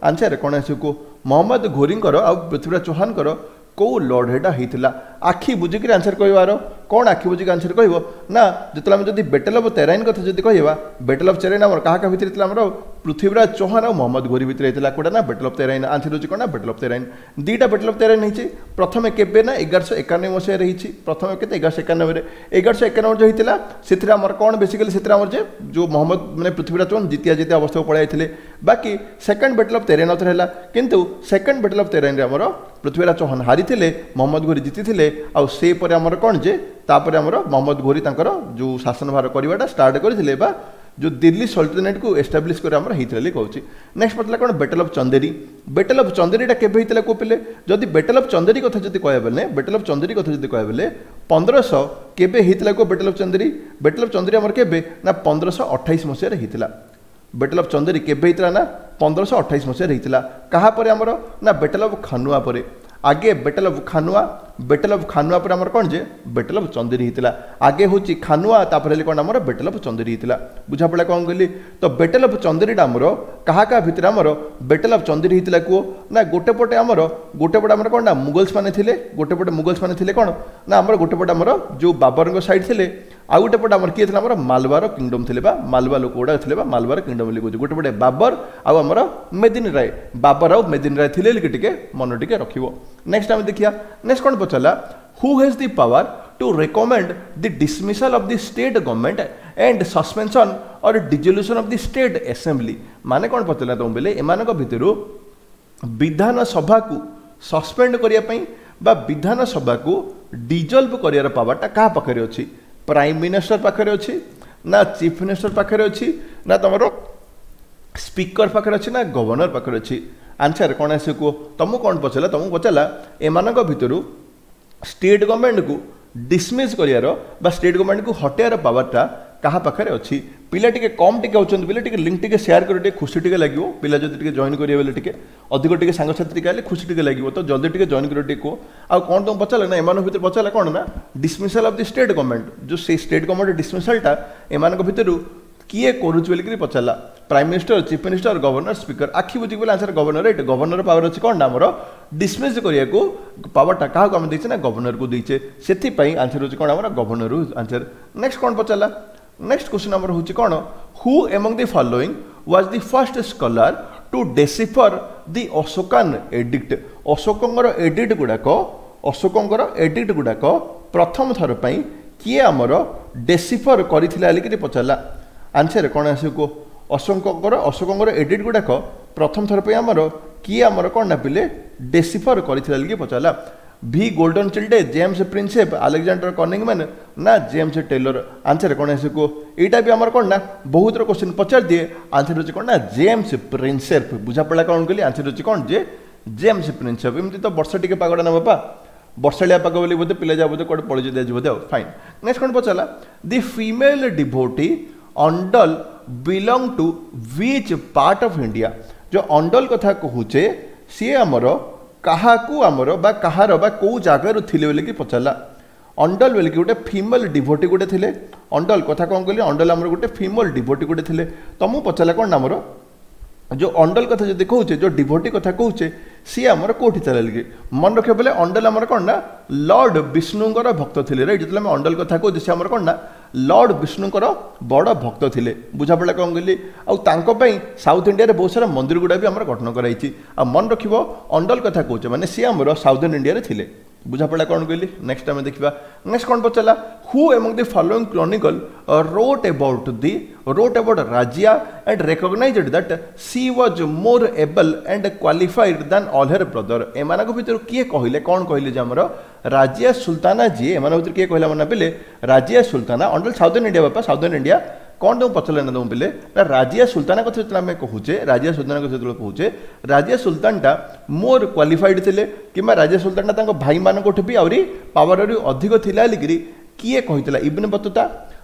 A: ଆନ୍ସର କ'ଣ ଆସିବ କୁହ? ମହମ୍ମଦ ଘୋରିଙ୍କର ଆଉ ପୃଥ୍ୱୀରାଜ ଚୌହାନଙ୍କର କେଉଁ ଲଢ଼େଇଟା ହେଇଥିଲା? ଆଖି ବୁଜିକିରି ଆନ୍ସର କହିବାର। କ'ଣ ଆଖି ବୁଜିକି ଆନ୍ସର କହିବ ନା ଯେତେବେଳେ ଆମେ ଯଦି ବେଟେଲ୍ ଅଫ୍ ତେରାଇନ୍ କଥା ଯଦି କହିବା ବେଟେଲ୍ ଅଫ୍ ତେରାଇନ୍ ଆମର କାହା କାହା ଭିତରେ ହେଇଥିଲା ଆମର ପୃଥ୍ୱୀରାଜ ଚୌହାନ ଆଉ ମହମ୍ମଦ ଘୋରି ଭିତରେ ହେଇଥିଲା କୋଉଟା ନା ବେଟେଲ୍ ଅଫ୍ ତେରାଇନ୍ ଆନ୍ସର ହେଉଛି କ'ଣ ନା ବେଟେଲ୍ ଅଫ୍ ତେରାଇନ୍ ଦୁଇଟା ବେଟେଲ୍ ଅଫ୍ ତେରାଇନ୍ ହେଇଛି ପ୍ରଥମେ କେବେ ନା ଏଗାରଶହ ଏକାନବେ ମସିହାରେ ହେଇଛି ପ୍ରଥମେ କେତେ ଏଗାରଶହ ଏକାନବେରେ ଏଗାରଶହ ଏକାନବେ ଯେଉଁ ହେଇଥିଲା ସେଥିରେ ଆମର କ'ଣ ବେସିକାଲି ସେଥିରେ ଆମର ଯେ ଯେଉଁ ମହମ୍ମଦ ମାନେ ପୃଥ୍ୱୀରାଜ ଚୌହାନ ଜିତିଆ ଜିତିଆ ଅବସ୍ଥାକୁ ପଳାଇ ଯାଇଥିଲେ ବାକି ସେକେଣ୍ଡ ବେଟେଲ୍ ଅଫ୍ ତେରାଇନ୍ ଆଉଥରେ ହେଲା କିନ୍ତୁ ସେକେଣ୍ଡ ବେଟେଲ୍ ଅଫ୍ ତେରାଇନ୍ରେ ଆମର ପୃଥ୍ୱୀରାଜ ଚୌହାନ ହାରିଥିଲେ ମହମ୍ମଦ ଘୋରି ଜିତିଥିଲେ ଆଉ ସେ ପରେ ଆମର କ'ଣ ଯେ ତାପରେ ଆମର ମହମ୍ମଦ ଘୋରି ତାଙ୍କର ଯେଉଁ ଶାସନ ଭାର କରିବାଟା ଷ୍ଟାର୍ଟ କରିଥିଲେ ବା ଯେଉଁ ଦିଲ୍ଲୀ ସଲ୍ଟନେଟ୍କୁ ଏଷ୍ଟାବ୍ଲିଶ୍ କରି ଆମର ହେଇଥିଲା ବୋଲି କହୁଛି ନେକ୍ସଟ ପଚାରିଲା କ'ଣ battle of Chanderi battle of ଚନ୍ଦେରୀଟା କେବେ ହେଇଥିଲା କେଉଁ ପିଲେ ଯଦି ବେଟେଲ୍ ଅଫ୍ ଚନ୍ଦେରୀ କଥା ଯଦି କହିବା ବେଲେ ବେଟେଲ୍ ଅଫ୍ ଚନ୍ଦେରୀ କଥା ଯଦି କହିବା ବେଲେ ପନ୍ଦରଶହ କେବେ ହେଇଥିଲା କେଉଁ battle of Chanderi battle of Chanderi ଆମର କେବେ ନା ପନ୍ଦରଶହ ଅଠାଇଶ ମସିହାରେ ହେଇଥିଲା ବେଟେଲ୍ ଅଫ୍ ଚନ୍ଦେରୀ କେବେ ହେଇଥିଲା ନା ପନ୍ଦରଶହ ଅଠାଇଶ ମସିହାରେ ହେଇଥିଲା କାହା ପରେ ଆମର ନା ବେଟେଲ୍ ଅଫ୍ ଖାନୁଆ ପରେ ଆଗେ ବେଟେଲ୍ ଅଫ୍ ଖାନୁଆ ବେଟେଲ୍ ଅଫ୍ ଖାନୁଆ ପରେ ଆମର କ'ଣ ଯେ ବେଟେଲ୍ ଅଫ୍ ଚନ୍ଦେରୀ ହେଇଥିଲା ଆଗେ ହେଉଛି ଖାନୁଆ ତାପରେ ହେଲେ କ'ଣ ଆମର ବେଟେଲ୍ ଅଫ୍ ଚନ୍ଦେରୀ ହେଇଥିଲା ବୁଝାପଡ଼ିଲା କ'ଣ କହିଲି ତ ବେଟେଲ୍ ଅଫ୍ ଚନ୍ଦେରୀଟା ଆମର କାହା କାହା ଭିତରେ ଆମର ବେଟେଲ୍ ଅଫ୍ ଚନ୍ଦେରୀ ହେଇଥିଲା କୁହ ନା ଗୋଟେ ପଟେ ଆମର ଗୋଟେ ପଟେ ଆମର କ'ଣ ନା ମୁଗଲ୍ସ ମାନେ ଥିଲେ ଗୋଟେ ପଟେ ମୁଗଲ୍ସ ମାନେ ଥିଲେ କ'ଣ ନା ଆମର ଗୋଟେ ପଟେ ଆମର ଯେଉଁ ବାବରଙ୍କ ସାଇଡ୍ ଥିଲେ ଆଉ ଗୋଟେ ପଟେ ଆମର କିଏ ଥିଲା ଆମର ମାଲବାର କିଙ୍ଗଡମ୍ ଥିଲେ ବା ମାଲବା ଲୋକ ଗୁଡ଼ା ଥିଲେ ବା ମାଲବାର କିଙ୍ଗଡମ୍ ବୋଲି କହୁଛି ଗୋଟେ ପଟେ ବାବର ଆଉ ଆମର ମେଦିନ ରାୟ ବାବର ଆଉ ମେଦିନ ରାୟ ଥିଲେ ବୋଲି ଟିକେ ମନ ଟିକେ ରଖିବ ନେକ୍ସଟ ଆମେ ଦେଖିବା ନେକ୍ସଟ କ'ଣ ପଚାରିଲା who has the power to recommend the dismissal of the state government and suspension or dissolution of the state assembly ମାନେ କ'ଣ ପଚାରିଲା ତୁମ ବେଲେ ଏମାନଙ୍କ ଭିତରୁ ବିଧାନସଭାକୁ ସସ୍ପେଣ୍ଡ କରିବା ପାଇଁ ବା ବିଧାନସଭାକୁ ଡିଜଲ୍ଭ କରିବାର ପାୱାରଟା କାହା ପାଖରେ ଅଛି ପ୍ରାଇମ୍ ମିନିଷ୍ଟର ପାଖରେ ଅଛି ନା ଚିଫ୍ ମିନିଷ୍ଟର ପାଖରେ ଅଛି ନା ତୁମର ସ୍ପିକର ପାଖରେ ଅଛି ନା ଗଭର୍ଣ୍ଣର ପାଖରେ ଅଛି ଆନ୍ସର କ'ଣ ଆସିବ କୁହ ତୁମକୁ କ'ଣ ପଚାରିଲା ତୁମକୁ ପଚାରିଲା ଏମାନଙ୍କ ଭିତରୁ ଷ୍ଟେଟ୍ ଗଭର୍ଣ୍ଣମେଣ୍ଟକୁ ଡିସମିସ୍ କରିବାର ବା ଷ୍ଟେଟ୍ ଗଭର୍ଣ୍ଣମେଣ୍ଟକୁ ହଟେଇବାର ପାୱାରଟା କାହା ପାଖରେ ଅଛି ପିଲା ଟିକେ କମ୍ ଟିକେ ଅଛନ୍ତି ପିଲା ଟିକେ ଲିଙ୍କ୍ ଟିକେ ସେୟାର କରି ଟିକେ ଖୁସି ଟିକେ ଲାଗିବ ପିଲା ଯଦି ଟିକେ ଜଏନ୍ କରିବେ ବୋଲେ ଟିକେ ଅଧିକ ଟିକେ ସାଙ୍ଗସାଥି ଟିକେ ହେଲେ ଖୁସି ଟିକେ ଲାଗିବ ତ ଜଲ୍ଦି ଟିକେ ଜଏନ୍ କରିବ ଟିକେ କୁହ ଆଉ କ'ଣ ତୁମକୁ ପଚାରିଲା ନା ଏମାନଙ୍କ ଭିତରେ ପଚାରିଲା କ'ଣ ନା dismissal of the state government ଯେଉଁ ସେଇ ଷ୍ଟେଟ୍ ଗଭର୍ଣ୍ଣମେଣ୍ଟ ଡିସମିସାଲଟା ଏମାନଙ୍କ ଭିତରୁ କିଏ କରୁଛି ବୋଲିକିରି ପଚାରିଲା prime minister chief minister governor speaker ଆଖି ବୁଜିକି ବୋଲେ ଆନ୍ସର ଗଭର୍ଣ୍ଣର ଏଇଠି ଗଭର୍ଣ୍ଣର ପାୱାର ଅଛି କ'ଣ ନା ଆମର ଡିସମିସ୍ କରିବାକୁ ପାୱାରଟା କାହାକୁ ଆମେ ଦେଇଛେ ନା ଗଭର୍ଣ୍ଣରକୁ ଦେଇଛେ ସେଥିପାଇଁ ଆନ୍ସର ହେଉଛି କ'ଣ ଆମର ଗଭର୍ଣ୍ଣର ଆନ୍ସର ନେକ୍ସଟ କ'ଣ ପଚାରିଲା ନେକ୍ସଟ କ୍ୱେଶ୍ଚନ୍ ଆମର ହେଉଛି କ'ଣ who among the following was the first scholar to decipher the Ashokan edict ଅଶୋକଙ୍କର ଏଡିକ୍ଟ ଗୁଡ଼ାକ ଅଶୋକଙ୍କର ଏଡିକ୍ଟ ଗୁଡ଼ାକ ପ୍ରଥମ ଥର ପାଇଁ କିଏ ଆମର ଡେସିଫର କରିଥିଲା ବୋଲିକିରି ପଚାରିଲା ଆନ୍ସର କ'ଣ ଆସିବ କୁହ ଅଶୋକଙ୍କର ଅଶୋକଙ୍କର ଏଡିକ୍ଟ ଗୁଡ଼ାକ ପ୍ରଥମ ଥର ପାଇଁ ଆମର କିଏ ଆମର କ'ଣ ନା ପିଲେ ଡେସିଫର କରିଥିଲା ବୋଲିକି ପଚାରିଲା ଭି ଗୋଲ୍ଡନ ଚିଲ୍ଡେ ଜେମ୍ସ ପ୍ରିନ୍ସେପ୍ ଆଲେକ୍ଜାଣ୍ଡର କନିଂମ୍ୟାନ୍ ନା ଜେମ୍ସ ଟେଲର ଆନ୍ସର କ'ଣ ଆସିବ କୁହ ଏଇଟା ବି ଆମର କ'ଣ ନା ବହୁତର କ୍ୱେଶ୍ଚିନ୍ ପଚାରି ଦିଏ ଆନ୍ସର ହେଉଛି କ'ଣ ନା ଜେମ୍ସ ପ୍ରିନ୍ସେପ୍ ବୁଝାପଡ଼ିଲା କ'ଣ କହିଲି ଆନ୍ସର ହେଉଛି କ'ଣ ଯେ ଜେମ୍ସ ପ୍ରିନ୍ସେପ୍ ଏମିତି ତ ବର୍ଷା ଟିକେ ପାଗଟା ନା ବାପା ବର୍ଷାଳିଆ ପାଗ ବୋଲି ବୋଧେ ପିଲା ଯା ବୋଧେ କୁଆଡ଼େ ପଳେଇ ଯଦି ବୋଧେ ଆଉ ଫାଇନ୍ ନେକ୍ସଟ କ'ଣ ପଚାରିଲା the female devotee Andal belong to which part of India ଯେଉଁ ଅଣ୍ଡଲ କଥା କହୁଛେ ସିଏ ଆମର କାହାକୁ ଆମର ବା କାହାର ବା କେଉଁ ଜାଗାରୁ ଥିଲେ ବୋଲିକି ପଚାରିଲା ଅଣ୍ଡଲ ବୋଲିକି ଗୋଟେ ଫିମେଲ୍ ଡିଭୋଟି ଗୋଟେ ଥିଲେ ଅଣ୍ଡଲ କଥା କ'ଣ କହିଲି ଅଣ୍ଡଲ ଆମର ଗୋଟେ ଫିମେଲ୍ ଡିଭୋଟି ଗୋଟେ ଥିଲେ ତମକୁ ପଚାରିଲା କ'ଣ ନା ଆମର ଯେଉଁ ଅଣ୍ଡଲ କଥା ଯଦି କହୁଛେ ଯେଉଁ ଡିଭୋଟି କଥା କହୁଛେ ସିଏ ଆମର କେଉଁଠି ଥିଲା କି ମନେ ରଖିବ ବୋଲେ ଅଣ୍ଡଲ ଆମର କ'ଣ ନା ଲର୍ଡ଼ ବିଷ୍ଣୁଙ୍କର ଭକ୍ତ ଥିଲେ ରାଇଟ୍ ଯେତେବେଳେ ଆମେ ଅଣ୍ଡଲ କଥା କହୁଛେ ସେ ଆମର କ'ଣ ନା ଲର୍ଡ଼ ବିଷ୍ଣୁଙ୍କର ବଡ଼ ଭକ୍ତ ଥିଲେ ବୁଝାପଡ଼ିଲା କ'ଣ କହିଲି ଆଉ ତାଙ୍କ ପାଇଁ ସାଉଥ୍ ଇଣ୍ଡିଆରେ ବହୁତ ସାରା ମନ୍ଦିର ଗୁଡ଼ା ବି ଆମର ଗଠନ କରାଯାଇଛି ଆଉ ମନେ ରଖିବ ଅଣ୍ଡଲ କଥା କହୁଛେ ମାନେ ସିଏ ଆମର ସାଉଥର୍ନ ଇଣ୍ଡିଆରେ ଥିଲେ ବୁଝାପଡ଼ିଲା କ'ଣ କହିଲି ନେକ୍ସଟ ଆମେ ଦେଖିବା ନେକ୍ସଟ କ'ଣ ପଚାରିଲା who among the following chronicle wrote about the wrote about Razia and recognized that she was more able and qualified than all her brother ଏମାନଙ୍କ ଭିତରୁ କିଏ କହିଲେ କ'ଣ କହିଲେ ଯେ ଆମର ରାଜିଆ ସୁଲତାନା ଯିଏ ଏମାନଙ୍କ ଭିତରୁ କିଏ କହିଲା ମନେ ପିଲେ ରାଜିଆ ସୁଲତାନା ଅଣ୍ଡଲ ସାଉଥର୍ନ ଇଣ୍ଡିଆ ବାପା ସାଉଥର୍ନ ଇଣ୍ଡିଆ କ'ଣ ତୁମକୁ ପଚାରିଲେ ନା ତୁମ ପିଲେ ନା ରାଜିଆ ସୁଲତାନା କଥା ଯେତେବେଳେ ଆମେ କହୁଛେ ରାଜିଆ ସୁଲତାନା କଥା ଯେତେବେଳେ କହୁଛେ ରାଜିଆ ସୁଲତାନଟା ମୋର୍ କ୍ୱାଲିଫାଇଡ୍ ଥିଲେ କିମ୍ବା ରାଜିଆ ସୁଲତାନଟା ତାଙ୍କ ଭାଇମାନଙ୍କଠୁ ବି ଆହୁରି ପାୱାର ଆହୁରି ଅଧିକ ଥିଲା ବୋଲିକିରି କିଏ କହିଥିଲା ଇବନ ବତୁତା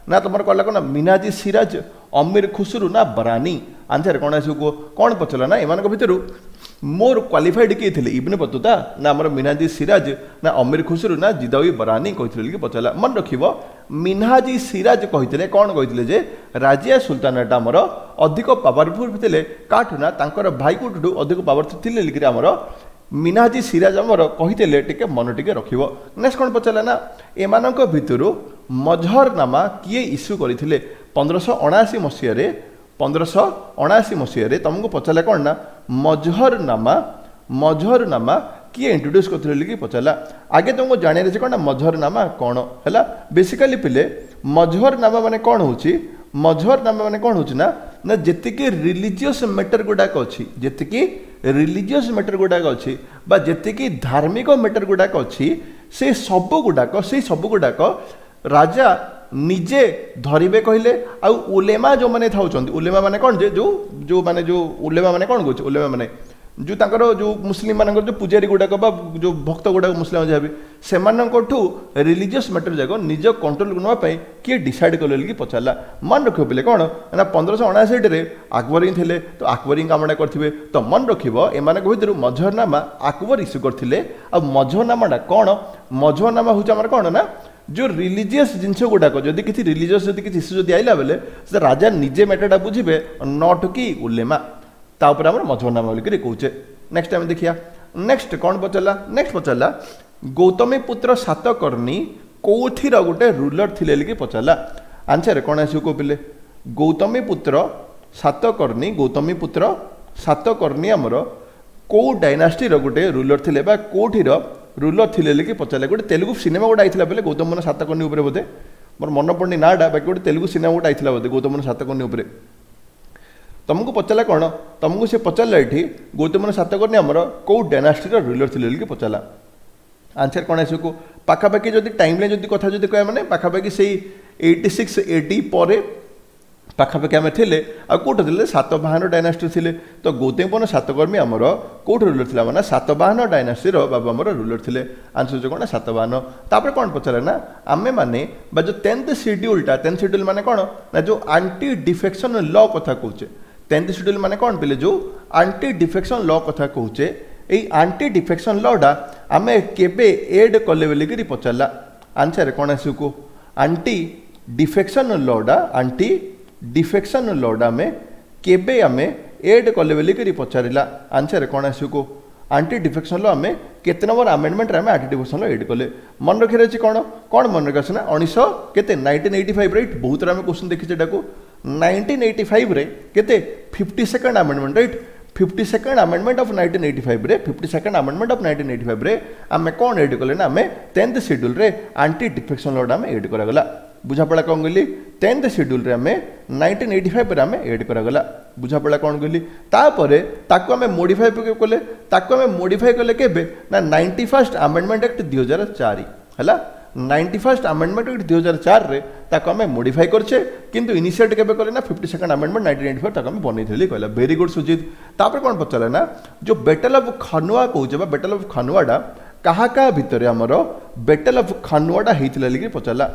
A: ନା ତୁମର କହିଲା କ'ଣ ନା ମିନାଜି ସିରାଜ ଅମୀର ଖୁସରୁ ନା ବରାନୀ ଆନ୍ସର କ'ଣ ଆସିବ କୁହ କ'ଣ ପଚାରିଲା ନା ଏମାନଙ୍କ ଭିତରୁ ମୋର୍ କ୍ୱାଲିଫାଇଡ୍ କିଏ ଥିଲେ ଇବନ ବତୁତା ନା ଆମର ମିନାଜି ସିରାଜ ନା ଅମୀର ଖୁସରୁ ନା ଜିଦାଉଇ ବରାନୀ କହିଥିଲେ କି ପଚାରିଲା ମନେ ରଖିବ ମିନହାଜି ସିରାଜ କହିଥିଲେ କ'ଣ କହିଥିଲେ ଯେ ରାଜିଆ ସୁଲତାନାଟା ଆମର ଅଧିକ ପାୱାରଫୁଲ୍ ଥିଲେ କାଠୁ ନା ତାଙ୍କର ଭାଇକୁଠୁ ଅଧିକ ପାୱାରଫୁଲ୍ ଥିଲେ ଲିକିରି ଆମର ମିନାଜି ସିରାଜ ଆମର କହିଥିଲେ, ଟିକେ ମନ ଟିକେ ରଖିବ। ନେକ୍ସଟ କ'ଣ ପଚାରିଲା ନା, ଏମାନଙ୍କ ଭିତରୁ ମଜହରନାମା କିଏ ଇସ୍ୟୁ କରିଥିଲେ ପନ୍ଦରଶହ ଅଣାଅଶୀ ମସିହାରେ? ପନ୍ଦରଶହ ଅଣାଅଶୀ ମସିହାରେ ତମକୁ ପଚାରିଲା କ'ଣ ନା, ମଜହରନାମା ମଜହରନାମା କିଏ ଇଣ୍ଟ୍ରୋଡ୍ୟୁସ୍ କରିଥିଲେ କି ପଚାରିଲା। ଆଗେ ତୁମକୁ ଜାଣିବାର ଅଛି କ'ଣ ନା ମଜହରନାମା କ'ଣ ହେଲା। ବେସିକାଲି ପିଲେ, ମଜହରନାମା ମାନେ କ'ଣ ହେଉଛି? ମଜହରନାମା ମାନେ କ'ଣ ହେଉଛି ନା ନା ଯେତିକି ରିଲିଜିୟସ୍ ମ୍ୟାଟର ଗୁଡ଼ାକ ଅଛି, ଯେତିକି ରିଲିଜିୟସ୍ ମ୍ୟାଟର ଗୁଡ଼ାକ ଅଛି ବା ଯେତିକି ଧାର୍ମିକ ମ୍ୟାଟର ଗୁଡ଼ାକ ଅଛି, ସେ ସବୁ ଗୁଡ଼ାକ ସେଇ ସବୁ ଗୁଡ଼ାକ ରାଜା ନିଜେ ଧରିବେ କହିଲେ, ଆଉ ଉଲେମା ଯେଉଁମାନେ ଥାଉଛନ୍ତି। ଉଲେମା ମାନେ କ'ଣ ଯେ ଯେଉଁ ଯେଉଁମାନେ ଯେଉଁ ଉଲେମା ମାନେ କ'ଣ କହୁଛି, ଉଲେମା ମାନେ ଯେଉଁ ତାଙ୍କର ଯେଉଁ ମୁସଲିମ ମାନଙ୍କର ଯେଉଁ ପୂଜାରୀ ଗୁଡ଼ାକ ବା ଯେଉଁ ଭକ୍ତ ଗୁଡ଼ାକ, ମୁସଲିମ ଯାହା ବି, ସେମାନଙ୍କଠୁ ରିଲିଜିୟସ୍ ମ୍ୟାଟର ଯାକ ନିଜ କଣ୍ଟ୍ରୋଲକୁ ନେବା ପାଇଁ କିଏ ଡିସାଇଡ୍ କଲେ କି ପଚାରିଲା। ମନେ ରଖିବ ପିଲେ, କ'ଣ ନା ପନ୍ଦରଶହ ଅଣାଅଶୀରେ ଆକବର ହିଁ ଥିଲେ, ତ ଆକବର ହିଁ କାମଟା କରିଥିବେ। ତ ମନେ ରଖିବ, ଏମାନଙ୍କ ଭିତରୁ ମଜହରନାମା ଆକବର ଇସ୍ୟୁ କରିଥିଲେ। ଆଉ ମଜହରନାମାଟା କ'ଣ? ମଜହରନାମା ହେଉଛି ଆମର କ'ଣ ନା ଯେଉଁ ରିଲିଜିୟସ୍ ଜିନିଷ ଗୁଡ଼ାକ, ଯଦି କିଛି ରିଲିଜିୟସ୍ ଯଦି କିଛି ଇସ୍ୟୁ ଯଦି ଆଇଲା ବେଲେ ସେ ରାଜା ନିଜେ ମ୍ୟାଟରଟା ବୁଝିବେ, not କି ଉଲେମା। ତା ଉପରେ ଆମର ମଜହରନାମା ବୋଲିକିରି କହୁଛେ। ନେକ୍ସଟ ଆମେ ଦେଖିବା, ନେକ୍ସଟ କ'ଣ ପଚାରିଲା? ନେକ୍ସଟ ପଚାରିଲା, ଗୌତମୀ ପୁତ୍ର ସାତକର୍ଣ୍ଣୀ କୋଉଥିର ଗୋଟେ ରୁଲର ଥିଲେ କି ପଚାରିଲା। ଆନ୍ସର କ'ଣ ଆସିବ କୋଉ ପିଲେ? ଗୌତମୀ ପୁତ୍ର ସାତକର୍ଣ୍ଣୀ, ଗୌତମୀ ପୁତ୍ର ସାତକର୍ଣ୍ଣୀ ଆମର କୋଉ ଡାଇନାଷ୍ଟିର ଗୋଟେ ରୁଲର ଥିଲେ ବା କୋଉଠିର ରୁଲର ଥିଲେ କି ପଚାରିଲେ। ଗୋଟେ ତେଲୁଗୁ ସିନେମା ଗୋଟେ ଆଇଥିଲା ବୋଲେ ଗୌତମ ସାତକର୍ଣ୍ଣୀ ଉପରେ ବୋଧେ, ମୋର ମନେ ପଡ଼ୁନି ନାଁଟା, ବାକି ଗୋଟେ ତେଲୁଗୁ ସିନେମା ଗୋଟେ ଆଇଥିଲା ବୋଧେ ଗୌତମ ସାତକର୍ଣ୍ଣୀ ଉପରେ। ତମକୁ ପଚାରିଲା କ'ଣ? ତମକୁ ସେ ପଚାରିଲା ଏଠି ଗୌତମ ସାତକର୍ଣ୍ଣୀ ଆମର କେଉଁ ଡାଇନାଷ୍ଟିର ରୁଲର ଥିଲେ ବୋଲି ପଚାରିଲା। ଆନ୍ସର କ'ଣ ଆସିବ? ପାଖାପାଖି ଯଦି ଟାଇମ୍ ଲାଇନ୍ ଯଦି କଥା ଯଦି କହିବା, ମାନେ ପାଖାପାଖି ସେଇ ଏଇଟି ସିକ୍ସ ଏଡି ପରେ ପାଖାପାଖି ଆମେ ଥିଲେ। ଆଉ କେଉଁଠି ଥିଲେ? ସାତବାହନ ଡାଇନାଷ୍ଟି ଥିଲେ। ତ ଗୌତମୀ ସାତକର୍ଣ୍ଣୀ ଆମର କେଉଁଠି ରୁଲର ଥିଲା? ମାନେ ସାତବାହନ ଡାଇନାଷ୍ଟିର ବାବୁ ଆମର ରୁଲର ଥିଲେ। ଆନ୍ସର ହେଉଛି କ'ଣ? ସାତବାହନ। ତାପରେ କ'ଣ ପଚାରିଲା ନା, ଆମେ ମାନେ ବା ଯେଉଁ ଟେନ୍ଥ ସିଡ୍ୟୁଲଟା, ଟେନ୍ଥ ସିଡ୍ୟୁଲ ମାନେ କ'ଣ ନା ଯେଉଁ ଆଣ୍ଟି ଡିଫେକ୍ସନ୍ ଲ କଥା କହୁଛେ। ଟେନ୍ଥ ସିଡ୍ୟୁଲ ମାନେ କ'ଣ ପିଲେ? ଯେଉଁ ଆଣ୍ଟି ଡିଫେକ୍ସନ୍ ଲ କଥା କହୁଛେ, ଏଇ ଆଣ୍ଟି ଡିଫେକ୍ସନ୍ ଲଟା ଆମେ କେବେ ଏଡ୍ କଲେ ବୋଲିକିରି ପଚାରିଲା। ଆନ୍ସର କ'ଣ ଆସିବ କୁହ? ଆଣ୍ଟି ଡିଫେକ୍ସନ୍ ଲଟା, ଆଣ୍ଟି ଡିଫେକ୍ସନ୍ ଲଟା ଆମେ କେବେ ଆମେ ଏଡ୍ କଲେ ବୋଲିକିରି ପଚାରିଲା। ଆନ୍ସର କ'ଣ ଆସିବ କୁହ? ଆଣ୍ଟି ଡିଫେକ୍ସନ୍ ଲ ଆମେ କେତେ ନମ୍ବର ଆମେଣ୍ଡମେଣ୍ଟରେ ଆମେ ଆଣ୍ଟି ଡିଫେକ୍ସନ୍ ଲ ଏଡ୍ କଲେ? ମନେ ରଖିବାର ଅଛି କ'ଣ? କ'ଣ ମନେ ରଖିବାର ଅଛି ନା ଉଣେଇଶହ କେତେ ନାଇନଟିନ୍ ଏଇଟି ଫାଇଭ୍, ରାଇଟ୍? ବହୁତ ଆମେ କ୍ୱେଶ୍ଚନ୍ ଦେଖିଛେ ଏଟାକୁ। ନାଇନଟିନ୍ ଏଇଟି ଫାଇଭରେ କେତେ? Fifty second amendment, right? Fifty second amendment of nineteen eighty ଫାଇଭରେ, fifty second amendment of nineteen eighty ଫାଇଭରେ ଆମେ କ'ଣ ଏଡ୍ କଲେ ନା ଆମେ ଟେନ୍ଥ ସିଡ୍ୟୁଲରେ ଆଣ୍ଟି ଡିଫେକ୍ସନ୍ ଲଟା ଆମେ ଏଡ୍ କରାଗଲା। ବୁଝାପଡ଼ା କ'ଣ କହିଲି? ଟେନ୍ଥ ସିଡ୍ୟୁଲରେ ଆମେ ନାଇନଟିନ୍ ଏଇଟି ଫାଇଭରେ ଆମେ ଏଡ୍ କରାଗଲା। ବୁଝାପଡ଼ା କ'ଣ କହିଲି? ତାପରେ ତାକୁ ଆମେ ମୋଡ଼ିଫାଏ କଲେ। ତାକୁ ଆମେ ମୋଡ଼ିଫାଏ କଲେ କେବେ ନା ନାଇଣ୍ଟି ଫାର୍ଷ୍ଟ ଆମେଣ୍ଡମେଣ୍ଟ ଆକ୍ଟ ଦୁଇ ହଜାର ଚାରି, ହେଲା? ନାଇଣ୍ଟି ଫାର୍ଷ୍ଟ ଆମେଣ୍ଡମେଣ୍ଟ ଆକ୍ଟ ଦୁଇ ହଜାର ଚାରିରେ ତାକୁ ଆମେ ମୋଡ଼ିଫାଏ କରିଛେ। କିନ୍ତୁ ଇନିସିଏଟ୍ କେବେ କଲେ ନା fifty second amendment nineteen eighty five ତାକୁ ଆମେ ବନେଇଥିଲି କହିଲା। Very good Sujit. ତାପରେ କ'ଣ ପଚାରିଲା ନା, ଯେଉଁ ବେଟଲ୍ ଅଫ୍ ଖନୁଆ କହୁଛେ ବା ବେଟଲ୍ ଅଫ୍ ଖନୁଆଟା କାହା କାହା ଭିତରେ ଆମର ବେଟଲ୍ ଅଫ୍ ଖନୁଆଟା ହେଇଥିଲା ବୋଲି ପଚାରିଲା।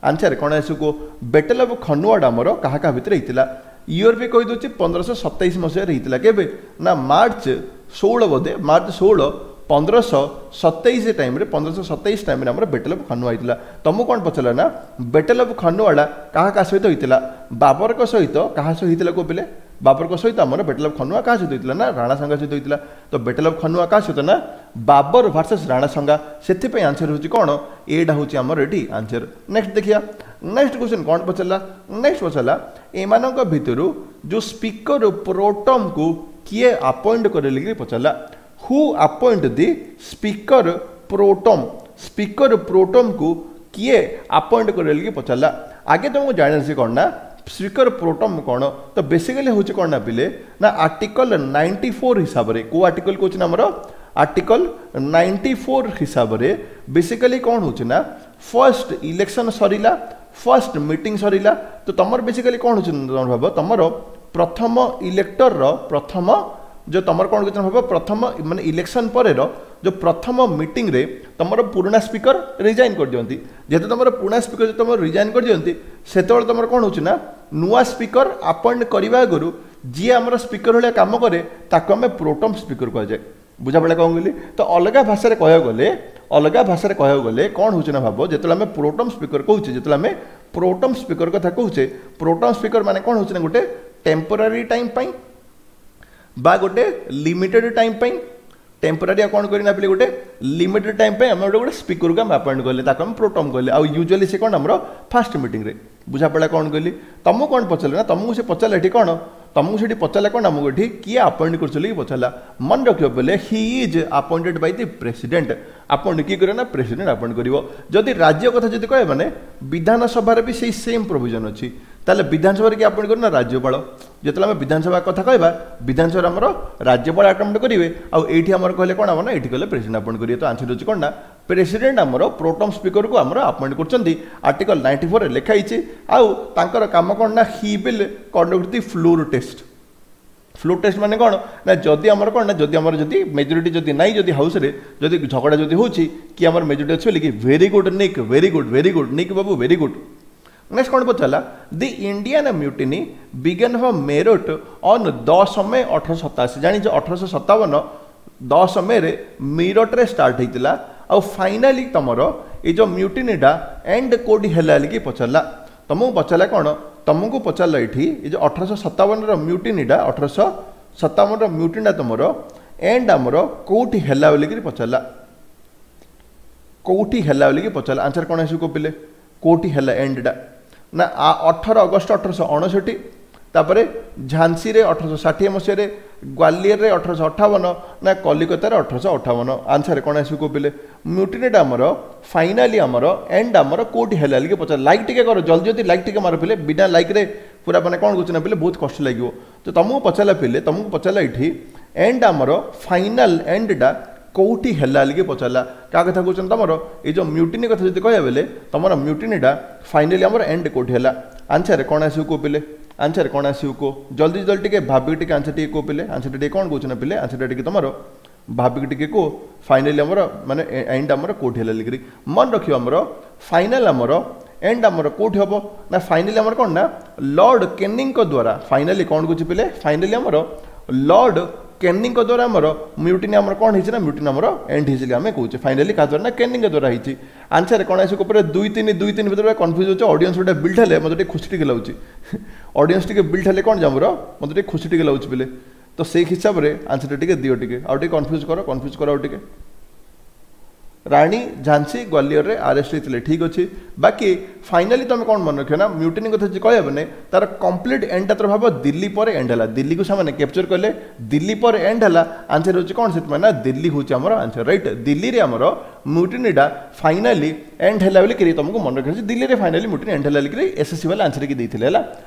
A: ଆନ୍ସର କ'ଣ ଆସିବ କୁହ? ବେଟଲ୍ ଅଫ୍ ଖନୁଆଟା ଆମର କାହା କାହା ଭିତରେ ହେଇଥିଲା? ଇୟର ବି କହିଦେଉଛି, ପନ୍ଦରଶହ ସତେଇଶ ମସିହାରେ ହେଇଥିଲା। କେବେ ନା ମାର୍ଚ୍ଚ ଷୋହଳ ବୋଧେ, ମାର୍ଚ୍ଚ ଷୋହଳ ପନ୍ଦରଶହ ସତେଇଶ ଟାଇମ୍ରେ, ପନ୍ଦରଶହ ସତେଇଶ ଟାଇମ୍ରେ ଆମର ବେଟଲ୍ ଅଫ୍ ଖନୁଆ ହେଇଥିଲା। ତମକୁ କ'ଣ ପଚାରିଲା ନା ବେଟଲ୍ ଅଫ୍ ଖନୁଆଟା କାହା କାହା ସହିତ ହେଇଥିଲା? ବାବରଙ୍କ ସହିତ। କାହା ସହିତ ହେଇଥିଲା କୋଉ ପିଲେ? ବାବରଙ୍କ ସହିତ ଆମର ବେଟଲ୍ ଅଫ୍ ଖନୁଆ କାହା ସହିତ ହେଇଥିଲା ନା ରାଣା ସାଙ୍ଗା ସହିତ ହେଇଥିଲା। ତ ବେଟଲ୍ ଅଫ୍ ଖନୁଆ କାହା ସହିତ ନା ବାବର ଭାର୍ସେସ୍ ରାଣା ସାଙ୍ଗା। ସେଥିପାଇଁ ଆନ୍ସର ହେଉଛି କ'ଣ? ଏଇଟା ହେଉଛି ଆମର ଏଠି ଆନ୍ସର। ନେକ୍ସଟ ଦେଖିବା, ନେକ୍ସଟ କ୍ୱେଶ୍ଚନ୍ କ'ଣ ପଚାରିଲା? ନେକ୍ସଟ ପଚାରିଲା, ଏମାନଙ୍କ ଭିତରୁ ଯେଉଁ ସ୍ପିକର ପ୍ରୋଟମ୍କୁ କିଏ ଆପଏଣ୍ଟ କରେ କି ପଚାରିଲା। Who appoint the speaker pro tem? Speaker ପ୍ରୋଟମ୍କୁ କିଏ ଆପଏଣ୍ଟ କରେ କି ପଚାରିଲା। ଆଗେ ତୁମକୁ ଜାଣିଛି କ'ଣ ନା ସ୍ପିକର ପ୍ରୋଟମ୍ କ'ଣ। ତ ବେସିକାଲି ହେଉଛି କ'ଣ ନା ପିଲେ ନା ଆର୍ଟିକଲ ନାଇଣ୍ଟି ଫୋର୍ ହିସାବରେ, କେଉଁ ଆର୍ଟିକଲ କହୁଛି ନା ଆମର ଆର୍ଟିକଲ ନାଇଣ୍ଟି ଫୋର୍ ହିସାବରେ ବେସିକାଲି କ'ଣ ହେଉଛି ନା ଫର୍ଷ୍ଟ ଇଲେକ୍ସନ୍ ସରିଲା, ଫର୍ଷ୍ଟ ମିଟିଂ ସରିଲା, ତ ତୁମର ବେସିକାଲି କ'ଣ ହେଉଛି ତମର ଭାବ, ତୁମର ପ୍ରଥମ ଇଲେକ୍ଟରର ପ୍ରଥମ ଯେଉଁ ତୁମର କ'ଣ କିଛି ଭାବ, ପ୍ରଥମ ମାନେ ଇଲେକ୍ସନ୍ ପରେର ଯେଉଁ ପ୍ରଥମ ମିଟିଂରେ ତୁମର ପୁରୁଣା ସ୍ପିକର ରିଜାଇନ୍ କରିଦିଅନ୍ତି। ଯେହେତୁ ତୁମର ପୁରୁଣା ସ୍ପିକର ଯଦି ତୁମର ରିଜାଇନ୍ କରିଦିଅନ୍ତି, ସେତେବେଳେ ତୁମର କ'ଣ ହେଉଛି ନା ନୂଆ ସ୍ପିକର ଆପଏଣ୍ଟ କରିବା ଆଗରୁ ଯିଏ ଆମର ସ୍ପିକର ଭଳିଆ କାମ କରେ ତାକୁ ଆମେ ପ୍ରୋଟମ୍ ସ୍ପିକର କୁହାଯାଏ। ବୁଝାପଡ଼ିଲା କ'ଣ କହିଲି? ତ ଅଲଗା ଭାଷାରେ କହିବାକୁ ଗଲେ, ଅଲଗା ଭାଷାରେ କହିବାକୁ ଗଲେ କ'ଣ ହେଉଛି ନା ଭାବ, ଯେତେବେଳେ ଆମେ ପ୍ରୋଟମ୍ ସ୍ପିକର କହୁଛେ, ଯେତେବେଳେ ଆମେ ପ୍ରୋଟମ୍ ସ୍ପିକର କଥା କହୁଛେ, ପ୍ରୋଟମ୍ ସ୍ପିକର ମାନେ କ'ଣ ହେଉଛି ନା ଗୋଟେ ଟେମ୍ପୋରାରୀ ଟାଇମ୍ ପାଇଁ ବା ଗୋଟେ ଲିମିଟେଡ୍ ଟାଇମ୍ ପାଇଁ, ଟେମ୍ପୋରାରୀ ଆଉ କ'ଣ କରିନା ପିଲେ ଗୋଟେ ଲିମିଟେଡ୍ ଟାଇମ୍ ପାଇଁ ଆମେ ଗୋଟେ ଗୋଟେ ସ୍ପିକରକୁ ଆମେ ଆପଏଣ୍ଟ କଲେ ତାକୁ ଆମେ ପ୍ରୋଟମ୍ କହିଲେ ଆଉ ୟୁଜୁଆଲି ସେ କ'ଣ ଆମର ଫାଷ୍ଟ ମିଟିଂରେ ବୁଝାପଡ଼ିଲା କ'ଣ କହିଲି ତମକୁ କ'ଣ ପଚାରିଲେ ନା ତମକୁ ସେ ପଚାରିଲା ଏଠି କ'ଣ ତମକୁ ସେଠି ପଚାରିଲା କ'ଣ ଆମକୁ ଏଠି କିଏ ଆପଏଣ୍ଟ କରୁଛନ୍ତି କି ପଚାରିଲା ମନେ ରଖିବ ବୋଲେ he is appointed by the president appoint କିଏ କରିବ ନା ପ୍ରେସିଡେଣ୍ଟ ଆପଏଣ୍ଟ କରିବ ଯଦି ରାଜ୍ୟ କଥା ଯଦି କହିବେ ମାନେ ବିଧାନସଭାରେ ବି ସେଇ ସେମ୍ ପ୍ରୋଭିଜନ୍ ଅଛି ତାହେଲେ ବିଧାନସଭାରେ କିଏ ଆପଏଣ୍ଟ କରିବ ନା ରାଜ୍ୟପାଳ ଯେତେବେଳେ ଆମେ ବିଧାନସଭା କଥା କହିବା ବିଧାନସଭାରେ ଆମର ରାଜ୍ୟପାଳ ଆପଏଣ୍ଟ କରିବେ ଆଉ ଏଇଠି ଆମର କହିଲେ କ'ଣ ହେବ ନା ଏଇଠି କହିଲେ ପ୍ରେସିଡେଣ୍ଟ ଆପଏଣ୍ଟ କରିବେ ତ ଆନ୍ସର ହେଉଛି କ'ଣ ନା ପ୍ରେସିଡେଣ୍ଟ ଆମର ପ୍ରୋଟମ୍ ସ୍ପିକରକୁ ଆମର ଆପଏଣ୍ଟ କରୁଛନ୍ତି ଆର୍ଟିକଲ ନାଇଣ୍ଟି ଫୋରରେ ଲେଖା ହେଇଛି ଆଉ ତାଙ୍କର କାମ କ'ଣ ନା he will conduct the floor test floor test ମାନେ କ'ଣ ନା ଯଦି ଆମର କ'ଣ ନା ଯଦି ଆମର ଯଦି ମେଜରିଟି ଯଦି ନାହିଁ ଯଦି ହାଉସ୍ରେ ଯଦି ଝଗଡ଼ା ଯଦି ହେଉଛି କି ଆମର ମେଜରିଟି ଅଛି ବୋଲିକି very good Nick very good very good Nick babu very good next କ'ଣ ପଚାରିଲା the Indian mutiny began from Meerut on ଦଶ ମେ ଅଠରଶହ ସତାଅଶୀ ଜାଣିଛ ଅଠରଶହ ସତାବନ ଦଶ ମେରେ ମିରଟରେ ଷ୍ଟାର୍ଟ ହେଇଥିଲା ଆଉ ଫାଇନାଲି ତମର ଏଇ ଯେଉଁ ମ୍ୟୁଟିନିଟା ଏଣ୍ଡ କେଉଁଠି ହେଲା ବୋଲିକି ପଚାରିଲା ତମକୁ ପଚାରିଲା କ'ଣ ତମକୁ ପଚାରିଲା ଏଠି ଏ ଯେଉଁ ଅଠରଶହ ସତାବନର ମ୍ୟୁଟିନିଟା ଅଠରଶହ ସତାବନର ମ୍ୟୁଟିନିଟା ତମର ଏଣ୍ଡ ଆମର କେଉଁଠି ହେଲା ବୋଲିକିରି ପଚାରିଲା କେଉଁଠି ହେଲା ବୋଲିକି ପଚାରିଲା ଆନ୍ସର କ'ଣ ଆସିବ ପିଲେ କେଉଁଠି ହେଲା ଏଣ୍ଡଟା ନା ଅଠର ଅଗଷ୍ଟ ଅଠରଶହ ଅଣଷଠି ତାପରେ ଝାନ୍ସିରେ ଅଠରଶହ ଷାଠିଏ ମସିହାରେ ଗ୍ୱାଲିୟରରେ ଅଠରଶହ ଅଠାବନ ନା କଲିକତାରେ ଅଠରଶହ ଅଠାବନ ଆନ୍ସର କ'ଣ ଆସିବ ପିଲେ ମ୍ୟୁଟିନିଟା ଆମର ଫାଇନାଲି ଆମର ଏଣ୍ଡ ଆମର କେଉଁଠି ହେଲା ବୋଲିକି ପଚାରିଲା ଲାଇକ୍ ଟିକେ କର ଜଲ୍ଦି ଜଲ୍ଦି ଲାଇକ୍ ଟିକେ ମାର ପିଲେ ବିନା ଲାଇକ୍ରେ ପୁରା ମାନେ କ'ଣ କହୁଛି ନା ପିଲେ ବହୁତ କଷ୍ଟ ଲାଗିବ ତ ତମକୁ ପଚାରିଲା ପିଲେ ତମକୁ ପଚାରିଲା ଏଇଠି ଏଣ୍ଡ ଆମର ଫାଇନାଲ ଏଣ୍ଡଟା କେଉଁଠି ହେଲା ବୋଲିକି ପଚାରିଲା କାହା କଥା କହୁଛନ୍ତି ତମର ଏଇ ଯେଉଁ ମ୍ୟୁଟିନି କଥା ଯଦି କହିବା ବେଲେ ତମର ମ୍ୟୁଟିନିଟା ଫାଇନାଲି ଆମର ଏଣ୍ଡ କେଉଁଠି ହେଲା ଆନ୍ସର କ'ଣ ଆସିବ କୁହ ପିଲେ ଆନ୍ସର କ'ଣ ଆସିବ କୁହ ଜଲ୍ଦି ଜଲ୍ଦି ଟିକେ ଭାବିକି ଟିକେ ଆନ୍ସର ଟିକେ କୁହ ପିଲେ ଆନ୍ସରଟା ଟିକେ କ'ଣ କହୁଛ ନା ପିଲେ ଆନ୍ସରଟା ଟିକେ ତମର ଭାବିକି ଟିକେ କୁହ ଫାଇନାଲି ଆମର ମାନେ ଏଣ୍ଡ ଆମର କେଉଁଠି ହେଲା ଲିକିରି ମନେ ରଖିବ ଆମର ଫାଇନାଲ ଆମର ଏଣ୍ଡ ଆମର କେଉଁଠି ହେବ ନା ଫାଇନାଲି ଆମର କ'ଣ ନା ଲର୍ଡ଼ କେନିଂଙ୍କ ଦ୍ୱାରା ଫାଇନାଲି କ'ଣ କହୁଛି ପିଲେ ଫାଇନାଲି ଆମର ଲର୍ଡ଼ କେନିଂଙ୍କ ଦ୍ୱାରା ଆମର ମ୍ୟୁଟିନି ଆମର କ'ଣ ହେଇଛି ନା ମ୍ୟୁଟିନି ଆମର ଏଣ୍ଡ ହେଇଛି ଆମେ କହୁଛେ ଫାଇନାଲି କାହା ଦ୍ୱାରା ନା କେନିଂଙ୍କ ଦ୍ୱାରା ହେଇଛି ଆନ୍ସର କ'ଣ ଆସିବ ଉପରେ ଦୁଇ ତିନି ଦୁଇ ତିନି ଭିତରେ କନଫ୍ୟୁଜ୍ ହେଉଛି ଅଡ଼ିଏନ୍ସ ଗୋଟେ ବିଲ୍ଡ ହେଲେ ମୋତେ ଟିକେ ଖୁସି ଟିକେ ଲାଗୁଛି ଅଡ଼ିଏନ୍ସ ଟିକେ ବିଲ୍ଡ ହେଲେ କ'ଣ ଆମର ମୋତେ ଟିକେ ଖୁସି ଟିକେ ଲାଗୁଛି ପିଲେ ତ ସେଇ ହିସାବରେ ଆନ୍ସରଟା ଟିକେ ଦିଅ ଟିକେ ଆଉ ଟିକେ କନଫ୍ୟୁଜ୍ କର କନଫ୍ୟୁଜ୍ କର ଆଉ ଟିକେ ରାଣୀ ଝାନ୍ସୀ ଗ୍ୱାଲିୟରରେ ଆରେଷ୍ଟ ହେଇଥିଲେ ଠିକ୍ ଅଛି ବାକି ଫାଇନାଲି ତୁମେ କ'ଣ ମନେ ରଖିବ ନା ମ୍ୟୁଟିନି କଥା ଯଦି କହିବା ମାନେ ତାର କମ୍ପ୍ଲିଟ୍ ଏଣ୍ଡଟା ତୋର ଭାବ ଦିଲ୍ଲୀ ପରେ ଏଣ୍ଡ ହେଲା ଦିଲ୍ଲୀକୁ ସେମାନେ କ୍ୟାପଚର କଲେ ଦିଲ୍ଲୀ ପରେ ଏଣ୍ଡ ହେଲା ଆନ୍ସର ହେଉଛି କ'ଣ ସେଥିପାଇଁ ନା ଦିଲ୍ଲୀ ହେଉଛି ଆମର ଆନ୍ସର ରାଇଟ୍ ଦିଲ୍ଲୀରେ ଆମର ମ୍ୟୁଟିନିଟା ଫାଇନାଲି ଏଣ୍ଡ ହେଲା ବୋଲି ତୁମକୁ ମନେ ରଖିବାର ଅଛି ଦିଲ୍ଲୀରେ ଫାଇନାଲି ମ୍ୟୁଟିନି ଏଣ୍ଡ ହେଲା ବୋଲି ଏସ୍ଏସ୍ସି ବାଲା ଆନ୍ସର କି ଦେଇଥିଲେ ହେଲା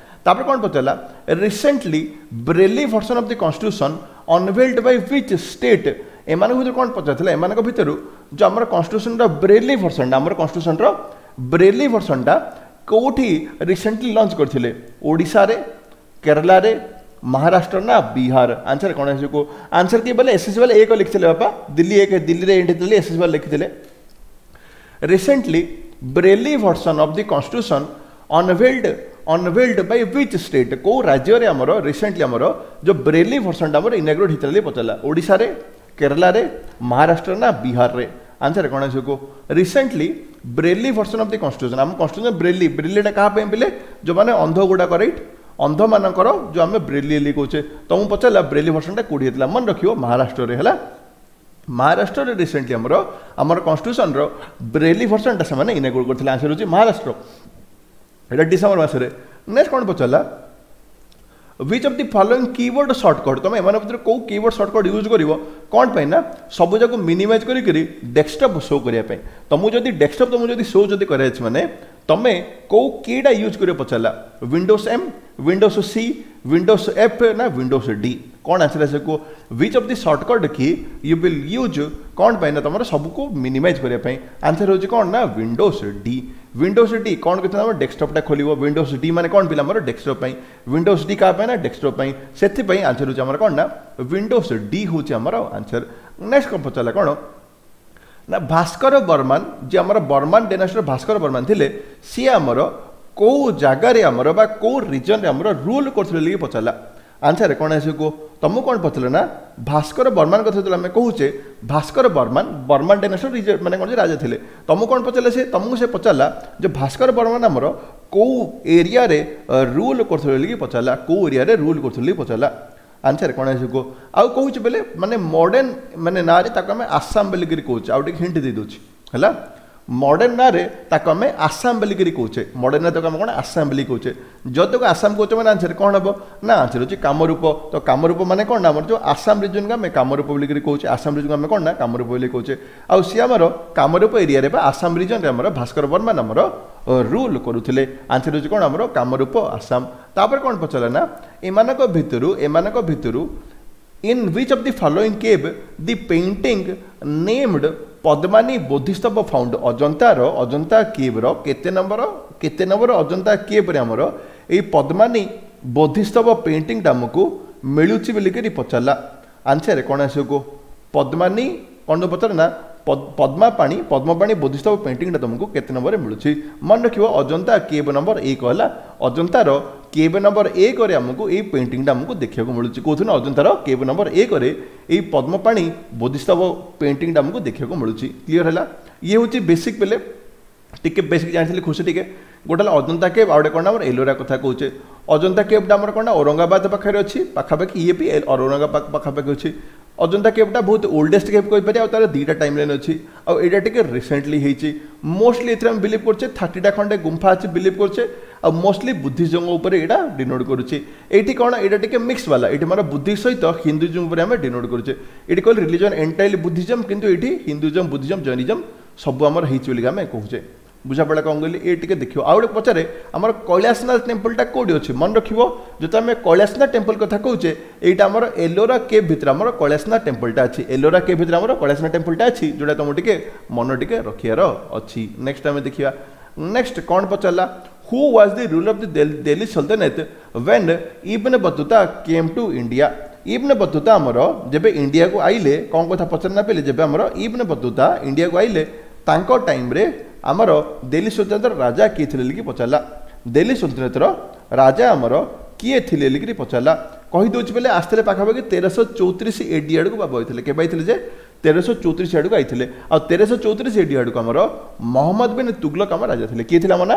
A: ତାପରେ କ'ଣ ପଚାରିଲା recently Braille version of the constitution unveiled by which state ଏମାନଙ୍କ ଭିତରୁ କ'ଣ ପଚାରିଥିଲା ଏମାନଙ୍କ ଭିତରୁ ଯେଉଁ ଆମର କନଷ୍ଟିଟ୍ୟୁସନର ବ୍ରେଲି ଭର୍ସନଟା ଆମର କନଷ୍ଟିଟ୍ୟୁସନର ବ୍ରେଲି ଭର୍ସନଟା କେଉଁଠି ରିସେଣ୍ଟଲି ଲଞ୍ଚ କରିଥିଲେ ଓଡ଼ିଶାରେ କେରଳାରେ ମହାରାଷ୍ଟ୍ର ନା ବିହାର ଆନ୍ସର କ'ଣ ଆସିବ ଆନ୍ସର କିଏ ବୋଲେ ଏସ୍ଏସ୍ସି ବାଲା ଏକ ଲେଖିଥିଲେ ବାପା ଦିଲ୍ଲୀ ଏକ ଦିଲ୍ଲୀରେ ଏଣ୍ଡ ହେଇଥିଲେ ଏସ୍ଏସ୍ସି ବାଲା ଲେଖିଥିଲେ recently Braille version of the constitution unveiled unveiled by which state କେଉଁ ରାଜ୍ୟରେ ଆମର ରିସେଣ୍ଟଲି ଆମର ଯେଉଁ ବ୍ରେଲି ଭର୍ସନଟା ଆମର ଇନାଗ୍ରେଟ୍ ହେଇଥିଲା ପଚାରିଲା ଓଡ଼ିଶାରେ କେରଳାରେ ମହାରାଷ୍ଟ୍ର ନା ବିହାରରେ ଆନ୍ସର କ'ଣ ଆସିବ କୁହ recently Braille version of the constitution ଆମ କନଷ୍ଟିଟ୍ୟୁସନ ବ୍ରେଲି ବ୍ରେଲିଟା କାହା ପାଇଁ ପିଲେ ଯେଉଁମାନେ ଅନ୍ଧ ଗୁଡ଼ାକ ରାଇଟ୍ ଅନ୍ଧମାନଙ୍କର ଯେଉଁ ଆମେ ବ୍ରେଲି ବୋଲି କହୁଛେ ତମକୁ ପଚାରିଲା ବ୍ରେଲି ଭର୍ସନଟା କେଉଁଠି ହେଇଥିଲା ମନେ ରଖିବ ମହାରାଷ୍ଟ୍ରରେ ହେଲା ମହାରାଷ୍ଟ୍ରରେ ରିସେଣ୍ଟଲି ଆମର ଆମର କନଷ୍ଟିଟ୍ୟୁସନର ବ୍ରେଲି ଭର୍ସନଟା ସେମାନେ ଇନାଗ୍ରେଟ୍ କରିଥିଲେ ଆନ୍ସର ହେଉଛି ମହାରାଷ୍ଟ୍ର ଏଇଟା ଡିସେମ୍ବର ମାସରେ ନେକ୍ସଟ କ'ଣ ପଚାରିଲା which of the following keyboard shortcut ତୁମେ ଏମାନଙ୍କ ଭିତରେ କେଉଁ କିବୋର୍ଡ଼ ସର୍ଟକଟ୍ ୟୁଜ୍ କରିବ କ'ଣ ପାଇଁ ନା ସବୁ ଯାକ ମିନିମାଇଜ୍ କରିକିରି ଡେସ୍କଟପ୍ ଶୋ କରିବା ପାଇଁ ତୁମକୁ ଯଦି ଡେସ୍କଟପ୍ ତୁମକୁ ଯଦି ଶୋ ଯଦି କରାଯାଇଛି ମାନେ ତୁମେ କେଉଁ କିଟା ୟୁଜ୍ କରିବ ପଚାରିଲା Windows M Windows C Windows F ନା ୱିଣ୍ଡୋଜ୍ ଡି କ'ଣ ଆନ୍ସର ଆସିବ କୁହ which of the shortcut key you will use କ'ଣ ପାଇଁ ନା ତୁମର ସବୁକୁ ମିନିମାଇଜ୍ କରିବା ପାଇଁ ଆନ୍ସର ହେଉଛି କ'ଣ ନା ୱିଣ୍ଡୋଜ୍ ଡି ୱିଣ୍ଡୋଜ୍ ଡି କ'ଣ କରିଥିଲା ଆମର ଡେସ୍କଟପ୍ଟା ଖୋଲିବ ୱିଣ୍ଡୋଜ୍ ଡି ମାନେ କ'ଣ ପିଲା ଆମର ଡେସ୍କଟପ୍ ପାଇଁ ୱିଣ୍ଡୋଜ୍ ଡି କାହା ପାଇଁ ନା ଡେସ୍କଟପ୍ ପାଇଁ ସେଥିପାଇଁ ଆନ୍ସର ହେଉଛି ଆମର କ'ଣ ନା ୱିଣ୍ଡୋଜ୍ ଡି ହେଉଛି ଆମର ଆନ୍ସର ନେକ୍ସଟ କ'ଣ ପଚାରିଲା କ'ଣ ନା ଭାସ୍କର ବର୍ମାନ ଯିଏ ଆମର ବର୍ମାନ ଡାଇନାଷ୍ଟିର ଭାସ୍କର ବର୍ମାନ ଥିଲେ ସିଏ ଆମର କେଉଁ ଜାଗାରେ ଆମର ବା କେଉଁ ରିଜନରେ ଆମର ରୁଲ୍ କରୁଥିଲେ ବୋଲି ପଚାରିଲା ଆନ୍ସର କ'ଣ ଆସିବ କୁହ ତମକୁ କ'ଣ ପଚାରିଲେ ନା ଭାସ୍କର ବର୍ମାନ କଥା ଯେତେବେଳେ ଆମେ କହୁଛେ ଭାସ୍କର ବର୍ମାନ ବର୍ମାନ ଡାଇନାଷ୍ଟିର ମାନେ କ'ଣ ଯେ ରାଜା ଥିଲେ ତମକୁ କ'ଣ ପଚାରିଲେ ସେ ତମକୁ ସେ ପଚାରିଲା ଯେ ଭାସ୍କର ବର୍ମାନ ଆମର କେଉଁ ଏରିଆରେ ରୁଲ୍ କରୁଥିଲେ ବୋଲିକି ପଚାରିଲା କେଉଁ ଏରିଆରେ ରୁଲ୍ କରୁଥିଲେ ବୋଲି ପଚାରିଲା ଆନ୍ସର କ'ଣ ଆସିବ କୁହ ଆଉ କହୁଛି ବେଲେ ମାନେ ମଡ଼ର୍ଣ୍ଣ ମାନେ ନାଁରେ ତାକୁ ଆମେ ଆସାମ ବୋଲିକିରି କହୁଛେ ଆଉ ଟିକେ ହିଣ୍ଟ ଦେଇଦେଉଛି ହେଲା ମଡ଼ର୍ଣ୍ଣ ନାଁରେ ତାକୁ ଆମେ ଆସାମ ବୋଲିକିରି କହୁଛେ ମଡ଼ର୍ଣ୍ଣ ନାଁ ତାକୁ ଆମେ କ'ଣ ଆସାମ ବୋଲି କହୁଛେ ଯଦି ତାକୁ ଆସାମ କହୁଛେ ମାନେ ଆନ୍ସର କ'ଣ ହେବ ନା ଆନ୍ସର ହେଉଛି କାମରୂପ ତ କାମରୂପ ମାନେ କ'ଣ ନା ଆମର ଯେଉଁ ଆସାମ ରିଜନକୁ ଆମେ କାମରୂପ ବୋଲିକିରି କହୁଛେ ଆସାମ ରିଜନକୁ ଆମେ କ'ଣ ନା କାମରୂପ ବୋଲି କହୁଛେ ଆଉ ସିଏ ଆମର କାମରୂପ ଏରିଆରେ ବା ଆସାମ ରିଜନରେ ଆମର ଭାସ୍କର ବର୍ମନ ଆମର ରୁଲ୍ କରୁଥିଲେ ଆନ୍ସର ହେଉଛି କ'ଣ ଆମର କାମରୂପ ଆସାମ ତାପରେ କ'ଣ ପଚାରିଲା ନା ଏମାନଙ୍କ ଭିତରୁ ଏମାନଙ୍କ ଭିତରୁ in which of the following cave the painting named Padmani Bodhisattva found ଅଜନ୍ତାର Ajanta କେଭ୍ର କେତେ ନମ୍ବର କେତେ ନମ୍ବର ଅଜନ୍ତା କେଭ୍ରେ ଆମର ଏଇ ପଦ୍ମାନି ବୋଧିସ୍ତବ ପେଣ୍ଟିଂଟା ଆମକୁ ମିଳୁଛି ବୋଲିକିରି ପଚାରିଲା ଆନ୍ସର କ'ଣ ଆସିବ କୁହ ପଦ୍ମାନି କ'ଣ ପଚାରିଲା ନା ପଦ୍ମାପାଣି ପଦ୍ମପାଣି ବୋଧିସ୍ତବ ପେଣ୍ଟିଂଟା ତୁମକୁ କେତେ ନମ୍ବରରେ ମିଳୁଛି ମନେ ରଖିବ ଅଜନ୍ତା କେଭ୍ ନମ୍ବର ଏକ ହେଲା ଅଜନ୍ତାର କେଭ୍ ନମ୍ବର ଏକରେ ଆମକୁ ଏଇ ପେଣ୍ଟିଂଟା ଆମକୁ ଦେଖିବାକୁ ମିଳୁଛି କେଉଁଥିରେ ନା ଅଜନ୍ତାର କେଭ୍ ନମ୍ବର ଏକରେ ଏଇ ପଦ୍ମପାଣି ବୋଧିସ୍ତବ ପେଣ୍ଟିଂଟା ଆମକୁ ଦେଖିବାକୁ ମିଳୁଛି କ୍ଲିଅର ହେଲା ଇଏ ହେଉଛି ବେସିକ୍ ବେଲେ ଟିକେ ବେସିକ୍ ଜାଣିଥିଲି ଖୁସି ଟିକେ ଗୋଟେ ହେଲା ଅଜନ୍ତା କେଭ୍ ଆଉ ଗୋଟେ କ'ଣ ଆମର ଏଲୋରା କଥା କହୁଛେ ଅଜନ୍ତା କେଭ୍ଟା ଆମର କ'ଣ ନା ଔରଙ୍ଗାବାଦ ପାଖରେ ଅଛି ପାଖାପାଖି ଇଏ ବି ଔରଙ୍ଗାବାଦ ପାଖାପାଖି ଅଛି ଅଜନ୍ତା କେଭ୍ଟା ବହୁତ ଓଲ୍ଡେଷ୍ଟ କେଭ୍ କହିପାରିବା ଆଉ ତାର ଦୁଇଟା ଟାଇମ୍ ଲାଇନ୍ ଅଛି ଆଉ ଏଇଟା ଟିକେ ରିସେଣ୍ଟଲି ହେଇଛି ମୋଷ୍ଟଲି ଏଥିରେ ଆମେ ବିଲିଭ୍ କରୁଛେ ଥାର୍ଟିଟା ଖଣ୍ଡେ ଗୁମ୍ଫା ଅଛି ବିଲିଭ୍ କରୁଛେ ଆଉ ମୋଷ୍ଟଲି ବୁଦ୍ଧିଜମ ଉପରେ ଏଇଟା ଡିନୋଟ୍ କରୁଛି ଏଇଠି କ'ଣ ଏଇଟା ଟିକେ ମିକ୍ସ ବାଲା ଏଇଠି ଆମର ବୁଦ୍ଧିଷ୍ଟ ସହିତ ହିନ୍ଦୁଜମ ଉପରେ ଆମେ ଡିନୋଟ୍ କରୁଛେ ଏଇଠି କହିଲେ ରିଲିଜନ୍ ଏଣ୍ଟାୟାରଲି ବୁଦ୍ଧିଜମ କିନ୍ତୁ ଏଇଠି ହିନ୍ଦୁଜମ ବୁଦ୍ଧିଜମ ଜୈନିଜମ ସବୁ ଆମର ହେଇଛି ବୋଲିକି ଆମେ କହୁଛେ ବୁଝାପଡ଼ା କ'ଣ କହିଲି ଏ ଟିକେ ଦେଖିବ ଆଉ ଗୋଟେ ପଚାରେ ଆମର କୈଳାସନାଥ ଟେମ୍ପଲଟା କେଉଁଠି ଅଛି ମନେ ରଖିବ ଯେତେବେଳେ ଆମେ କୈଳାସନାଥ ଟେମ୍ପଲ କଥା କହୁଛେ ଏଇଟା ଆମର ଏଲୋରା କେଭ୍ ଭିତରେ ଆମର କୈଳାସନାଥ ଟେମ୍ପଲଟା ଅଛି ଏଲୋରା କେଭ୍ ଭିତରେ ଆମର କୈଳାସନାଥ ଟେମ୍ପଲଟା ଅଛି ଯେଉଁଟା ତୁମକୁ ଟିକେ ମନ ଟିକେ ରଖିବାର ଅଛି ନେକ୍ସଟ ଆମେ ଦେଖିବା ନେକ୍ସଟ କ'ଣ ପଚାରିଲା who was the ruler of the Delhi Sultanate when Ibn Battuta came to India Ibn Battuta ଆମର ଯେବେ ଇଣ୍ଡିଆକୁ ଆଇଲେ କ'ଣ କଥା ପଚାରି ନା ପିଲେ ଯେବେ ଆମର ଇବନ ବତୁତା ଇଣ୍ଡିଆକୁ ଆଇଲେ ତାଙ୍କ ଟାଇମ୍ରେ ଆମର ଦିଲ୍ଲୀ ସୁଲତାନତର ରାଜା କିଏ ଥିଲେ ବୋଲିକି ପଚାରିଲା ଦିଲ୍ଲୀ ସୁଲତାନତର ରାଜା ଆମର କିଏ ଥିଲେ ବୋଲିକିରି ପଚାରିଲା କହିଦେଉଛି ବେଲେ ଆସିଥିଲେ ପାଖାପାଖି ତେରଶହ ଚଉତିରିଶ ଏଡି ଆଡ଼କୁ ବାବା ହୋଇଥିଲେ କେବେ ଆଇଥିଲେ ଯେ ତେରଶହ ଚଉତିରିଶ ଆଡ଼କୁ ଆଇଥିଲେ ଆଉ ତେରଶହ ଚଉତିରିଶ ଏଡି ଆଡ଼କୁ ଆମର ମହମ୍ମଦ ବିନ୍ ତୁଗଲକ ଆମ ରାଜା ଥିଲେ କିଏ ଥିଲେ ଆମ ନା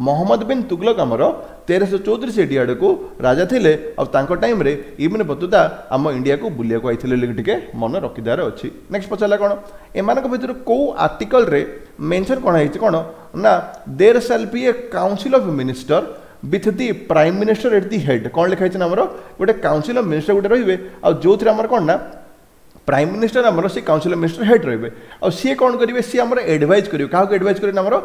A: ମହମ୍ମଦ ବିନ୍ ତୁଗଲକ ଆମର ତେରଶହ ଚଉତିରିଶ ଏଡି ଆଡ଼କୁ ରାଜା ଥିଲେ ଆଉ ତାଙ୍କ ଟାଇମ୍ରେ ଇବନ ବତୁତା ଆମ ଇଣ୍ଡିଆକୁ ବୁଲିବାକୁ ଆଇଥିଲେ ବୋଲି ଟିକେ ମନେ ରଖିଦେବାର ଅଛି ନେକ୍ସଟ ପଚାରିଲା କ'ଣ ଏମାନଙ୍କ ଭିତରୁ କେଉଁ ଆର୍ଟିକଲରେ ମେନସନ୍ କ'ଣ ହେଇଛି କ'ଣ ନା there shall be a council of minister with the prime minister at the head କ'ଣ ଲେଖା ହେଇଛି ନା ଆମର ଗୋଟେ କାଉନସିଲ୍ ଅଫ୍ ମିନିଷ୍ଟର ଗୋଟେ ରହିବେ ଆଉ ଯେଉଁଥିରେ ଆମର କ'ଣ ନା ପ୍ରାଇମ୍ ମିନିଷ୍ଟର ଆମର ସେ କାଉନସିଲ୍ ଅଫ୍ ମିନିଷ୍ଟର ହେଡ୍ ରହିବେ ଆଉ ସିଏ କ'ଣ କରିବେ ସିଏ ଆମର ଆଡ଼ଭାଇଜ୍ କରିବେ କାହାକୁ ଆଡ଼ଭାଇଜ୍ କରିବେ ନା ଆମର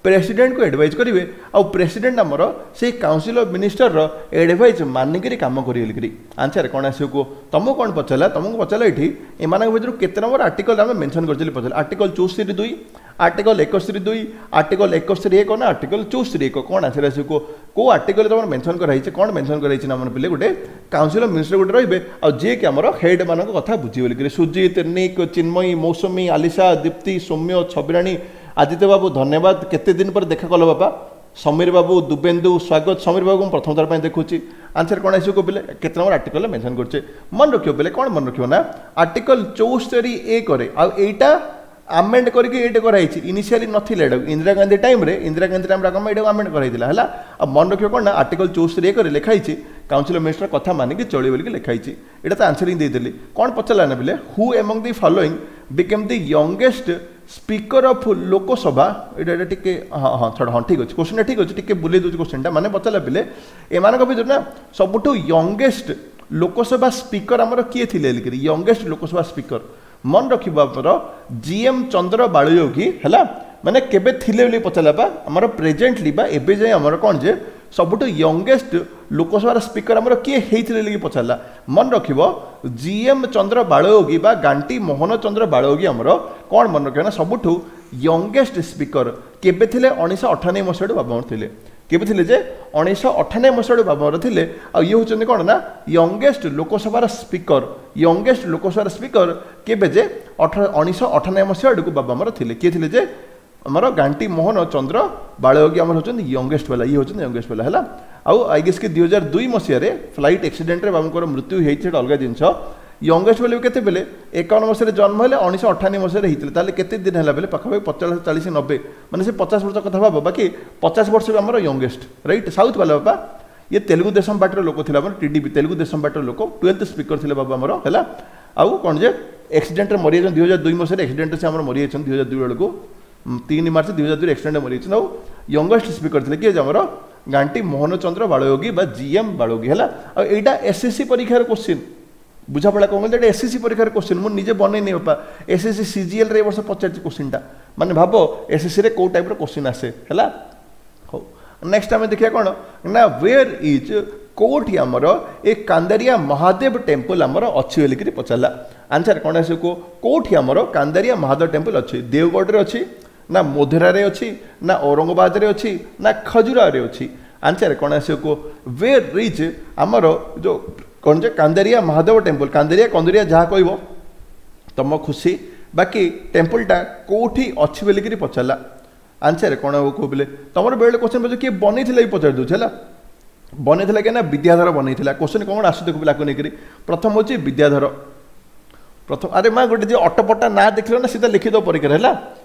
A: ପ୍ରେସିଡେଣ୍ଟକୁ ଆଡ଼ଭାଇଜ୍ କରିବେ ଆଉ ପ୍ରେସିଡେଣ୍ଟ ଆମର ସେଇ କାଉନସିଲ୍ ଅଫ୍ ମିନିଷ୍ଟରର ଆଡ଼ଭାଇଜ୍ ମାନିକିରି କାମ କରିବେ ବୋଲିକିରି ଆନ୍ସର କ'ଣ ଆସିବ କୁହ ତମକୁ କ'ଣ ପଚାରିଲା ତମକୁ ପଚାରିଲା ଏଇଠି ଏମାନଙ୍କ ଭିତରୁ କେତେ ନମ୍ବର ଆର୍ଟିକଲ ଆମେ ମେନସନ୍ କରିଥିଲି ପଚାରିଲା ଆର୍ଟିକଲ ଚଉସ୍ତରୀ ଦୁଇ ଆର୍ଟିକଲ ଏକସ୍ତରୀ ଦୁଇ ଆର୍ଟିକଲ ଏକସ୍ତରୀ ଏକ ନା ଆର୍ଟିକଲ ଚଉସ୍ତରୀ ଏକ କ'ଣ ଆନ୍ସର ଆସିବ କୁହ କେଉଁ ଆର୍ଟିକଲ ତମର ମେନସନ୍ କରାହେଇଛି କ'ଣ ମେନସନ୍ କରାହେଇଛି ନା ଆମର ପିଲେ ଗୋଟେ କାଉନସିଲ୍ ଅଫ୍ ମିନିଷ୍ଟର ଗୋଟେ ରହିବେ ଆଉ ଯିଏକି ଆମର ହେଡ୍ ମାନଙ୍କ କଥା ବୁଝିବେ ବୋଲିକିରି ସୁଜିତ ନିକ୍ ଚିନ୍ମୟୀ ମୌସୁମୀ ଆଲିସା ଦୀପ୍ତି ସୌମ୍ୟ ଛବିରାଣୀ ଆଦିତ୍ୟ ବାବୁ ଧନ୍ୟବାଦ କେତେ ଦିନ ପରେ ଦେଖା କଲ ବାପା ସମୀର ବାବୁ ଦୁବେନ୍ଦୁ ସ୍ୱାଗତ ସମୀର ବାବୁ ମୁଁ ପ୍ରଥମ ଥର ପାଇଁ ଦେଖୁଛି ଆନ୍ସର କ'ଣ ଆସିବ ପିଲେ କେତେ ନମ୍ବର ଆର୍ଟିକଲ ମେନସନ୍ କରୁଛେ ମନେ ରଖିବ ପିଲେ କ'ଣ ମନେ ରଖିବ ନା ଆର୍ଟିକଲ ଚଉସ୍ତରୀ ଏକରେ ଆଉ ଏଇଟା ଆମେଣ୍ଡ କରିକି ଏଇଟା କରାହେଇଛି ଇନିସିଆଲି ନଥିଲା ଏଇଟାକୁ ଇନ୍ଦିରା ଗାନ୍ଧୀ ଟାଇମ୍ରେ ଇନ୍ଦିରା ଗାନ୍ଧୀ ଟାଇମ୍ରେ ଆମେ ଏଇଟାକୁ ଆମେଣ୍ଡ କରାହେଇଥିଲା ହେଲା ଆଉ ମନେ ରଖିବ କ'ଣ ନା ଆର୍ଟିକଲ ଚଉସ୍ତରୀ ଏକରେ ଲେଖା ହେଇଛି କାଉନସିଲ୍ ଅଫ୍ ମିନିଷ୍ଟର କଥା ମାନିକି ଚଳିବ ବୋଲିକି ଲେଖା ହେଇଛି ଏଇଟା ତ ଆନ୍ସରିଂ ଦେଇଦେଲି କ'ଣ ପଚାରିଲା ନା ପିଲେ who among the following became the youngest speaker of Lok Sabha ଏଇଟା ଏଇଟା ଟିକେ ହଁ ହଁ ଛାଡ଼ ହଁ ଠିକ୍ ଅଛି କୋଶ୍ଚିନ୍ଟା ଠିକ୍ ଅଛି ଟିକେ ବୁଲେଇ ଦେଉଛି କୋଶ୍ଚିନ୍ଟା ମାନେ ପଚାରିଲା ପିଲେ ଏମାନଙ୍କ ଭିତରୁ ନା ସବୁଠୁ ୟଙ୍ଗେଷ୍ଟ ଲୋକସଭା ସ୍ପିକର ଆମର କିଏ ଥିଲେ ବୋଲିକିରି ୟଙ୍ଗେଷ୍ଟ ଲୋକସଭା ସ୍ପିକର ମନେ ରଖିବ ଆମର ଜି ଏମ୍ ଚନ୍ଦ୍ର ବାଳୟୋଗୀ ହେଲା ମାନେ କେବେ ଥିଲେ ବୋଲି ପଚାରିଲା ବା ଆମର ପ୍ରେଜେଣ୍ଟଲି ବା ଏବେ ଯାଏଁ ଆମର କ'ଣ ଯେ ସବୁଠୁ ୟଙ୍ଗେଷ୍ଟ ଲୋକସଭାର ସ୍ପିକର ଆମର କିଏ ହେଇଥିଲେ ବୋଲି ପଚାରିଲା ମନେ ରଖିବ ଜି ଏମ୍ ଚନ୍ଦ୍ର ବାଳୟୋଗୀ ବା ଗାଣ୍ଟି ମୋହନ ଚନ୍ଦ୍ର ବାଳୟୋଗୀ ଆମର କ'ଣ ମନେ ରଖିବ ନା ସବୁଠୁ ୟଙ୍ଗେଷ୍ଟ ସ୍ପିକର କେବେ ଥିଲେ ଉଣେଇଶହ ଅଠାନବେ ମସିହାଠୁ ବାବା ଆମର ଥିଲେ କେବେ ଥିଲେ ଯେ ଉଣେଇଶହ ଅଠାନବେ ମସିହାଠୁ ବାବା ଆମର ଥିଲେ ଆଉ ଇଏ ହେଉଛନ୍ତି କ'ଣ ନା ୟଙ୍ଗେଷ୍ଟ ଲୋକସଭାର ସ୍ପିକର ୟଙ୍ଗେଷ୍ଟ ଲୋକସଭାର ସ୍ପିକର କେବେ ଯେ ଅଠର ଉଣେଇଶହ ଅଠାନବେ ମସିହା ଆଡ଼କୁ ବାବା ଆମର ଥିଲେ କିଏ ଥିଲେ ଯେ ଆମର ଗାଣ୍ଟି ମୋହନ ଚନ୍ଦ୍ର ବାଳୟୋଗୀ ଆମର ହେଉଛନ୍ତି ୟଙ୍ଗେଷ୍ଟ ବାଲା ଇଏ ହେଉଛନ୍ତି ୟଙ୍ଗେଷ୍ଟ ବାଲା ହେଲା ଆଉ I guess କି ଦୁଇ ହଜାର ଦୁଇ ମସିହାରେ ଫ୍ଲାଇଟ୍ ଆକ୍ସିଡେଣ୍ଟରେ ବାବୁଙ୍କର ମୃତ୍ୟୁ ହେଇଛି ସେଇଟା ଅଲଗା ଜିନିଷ ୟଙ୍ଗେଷ୍ଟ ବୋଲି କେତେ ବେଲେ ଏକାବନ ମସିହାରେ ଜନ୍ମ ହେଲେ ଉଣେଇଶହ ଅଠାନବେ ମସିହାରେ ହେଇଥିଲେ ତାହେଲେ କେତେ ଦିନ ହେଲା ବେଲେ ପାଖାପାଖି ପଚାଶ ଚାଳିଶ ନବେ ମାନେ ସେ ପଚାଶ ବର୍ଷ କଥା ଭାବ ବାକି ପଚାଶ ବର୍ଷ ବି ଆମର ୟଙ୍ଗେଷ୍ଟ ରାଇଟ୍ ସାଉଥ୍ ବାଲା ବାପା ଇଏ ତେଲୁଗୁ ଦେଶମ ପାର୍ଟିର ଲୋକ ଥିଲା ଆମର ଟିଡିପି ତେଲୁଗୁ ଦେଶମ ପାର୍ଟିର ଲୋକ ଟୁଏଲ୍ଥ ସ୍ପିକର ଥିଲେ ବାବୁ ଆମର ହେଲା ଆଉ କ'ଣ ଯେ ଆକ୍ସିଡେଣ୍ଟରେ ମରିଯାଇଛନ୍ତି ଦୁଇ ହଜାର ଦୁଇ ମସିହାରେ ଆକ୍ସିଡେଣ୍ଟରେ ସେ ଆମର ମରିଯାଇଛନ୍ତି ଦୁଇ ହଜାର ଦୁଇ ବେଳକୁ ତିନି ମାର୍ଚ୍ଚ ଦୁଇ ହଜାର ଦୁଇରେ ଆକ୍ସିଡେଣ୍ଟ ମରିଯାଇଛନ୍ତି ଆଉ ୟଙ୍ଗେଷ୍ଟ ସ୍ପିକର ଥିଲେ କିଏ ଯେ ଆମର ଗାଣ୍ଟି ମୋହନଚନ୍ଦ୍ର ବାଳୟୋଗୀ ବା ଜି ଏମ୍ ବାଳୟୋଗୀ ହେଲା ଆଉ ଏଇଟା ଏସ୍ଏସ୍ସି ପରୀକ୍ଷାର କୋଶ୍ଚିନ୍ ବୁଝାପଡ଼ା କ'ଣ କହିଲେ ଏଇଟା ଏସ୍ଏସ୍ସି ପରୀକ୍ଷାର କୋଶ୍ଚିନ୍ ମୁଁ ନିଜେ ବନେଇନି ବାପା ଏସ୍ଏସ୍ସି ସିଜିଏଲ୍ରେ ଏ ବର୍ଷ ପଚାରିଛି କୋଶ୍ଚିନ୍ଟା ମାନେ ଭାବ ଏସ୍ଏସ୍ସିରେ କେଉଁ ଟାଇପ୍ର କୋଶ୍ଚିନ୍ ଆସେ ହେଲା ହଉ ନେକ୍ସଟ ଆମେ ଦେଖିବା କ'ଣ ନା ୱେର୍ is କେଉଁଠି ଆମର ଏ କାନ୍ଦାରିଆ ମହାଦେବ ଟେମ୍ପଲ ଆମର ଅଛି ବୋଲିକିରି ପଚାରିଲା ଆନ୍ସର କ'ଣ ଆସିବ କୁହ କେଉଁଠି ଆମର କାନ୍ଦାରିଆ ମହାଦେବ ଟେମ୍ପଲ ଅଛି ଦେଓଗଡ଼ରେ ଅଛି ନା ମୋଧେରାରେ ଅଛି ନା ଔରଙ୍ଗାବାଦରେ ଅଛି ନା ଖଜୁରାରେ ଅଛି ଆନ୍ସର କ'ଣ ଆସିବ କୁହ ୱେର୍ is ଆମର ଯେଉଁ କ'ଣ ଯେ କାନ୍ଦାରିଆ ମହାଦେବ ଟେମ୍ପଲ କାନ୍ଦାରିଆ କନ୍ଦରିଆ ଯାହା କହିବ ତମ ଖୁସି ବାକି ଟେମ୍ପଲଟା କେଉଁଠି ଅଛି ବୋଲିକିରି ପଚାରିଲା ଆନ୍ସର କ'ଣ ହେବ କୁହ ବୋଲେ ତମର ବେଳେ କ୍ୱେଶ୍ଚନ୍ ପଚାର କିଏ ବନେଇଥିଲା ବି ପଚାରି ଦେଉଛି ହେଲା ବନେଇଥିଲା କିଏ ନା ବିଦ୍ୟାଧର ବନେଇଥିଲା କ୍ୱେଶ୍ଚନ୍ କ'ଣ ଆସୁ ଦେଖୁ ପିଲାକୁ ନେଇକରି ପ୍ରଥମ ହେଉଛି ବିଦ୍ୟାଧର ପ୍ରଥମ ଆରେ ମା ଗୋଟେ ଯେ ଅଟପଟା ନାଁ ଦେଖିଲ ନା ସିଧା ଲେଖିଦେବ ପରୀକ୍ଷାରେ ହେଲା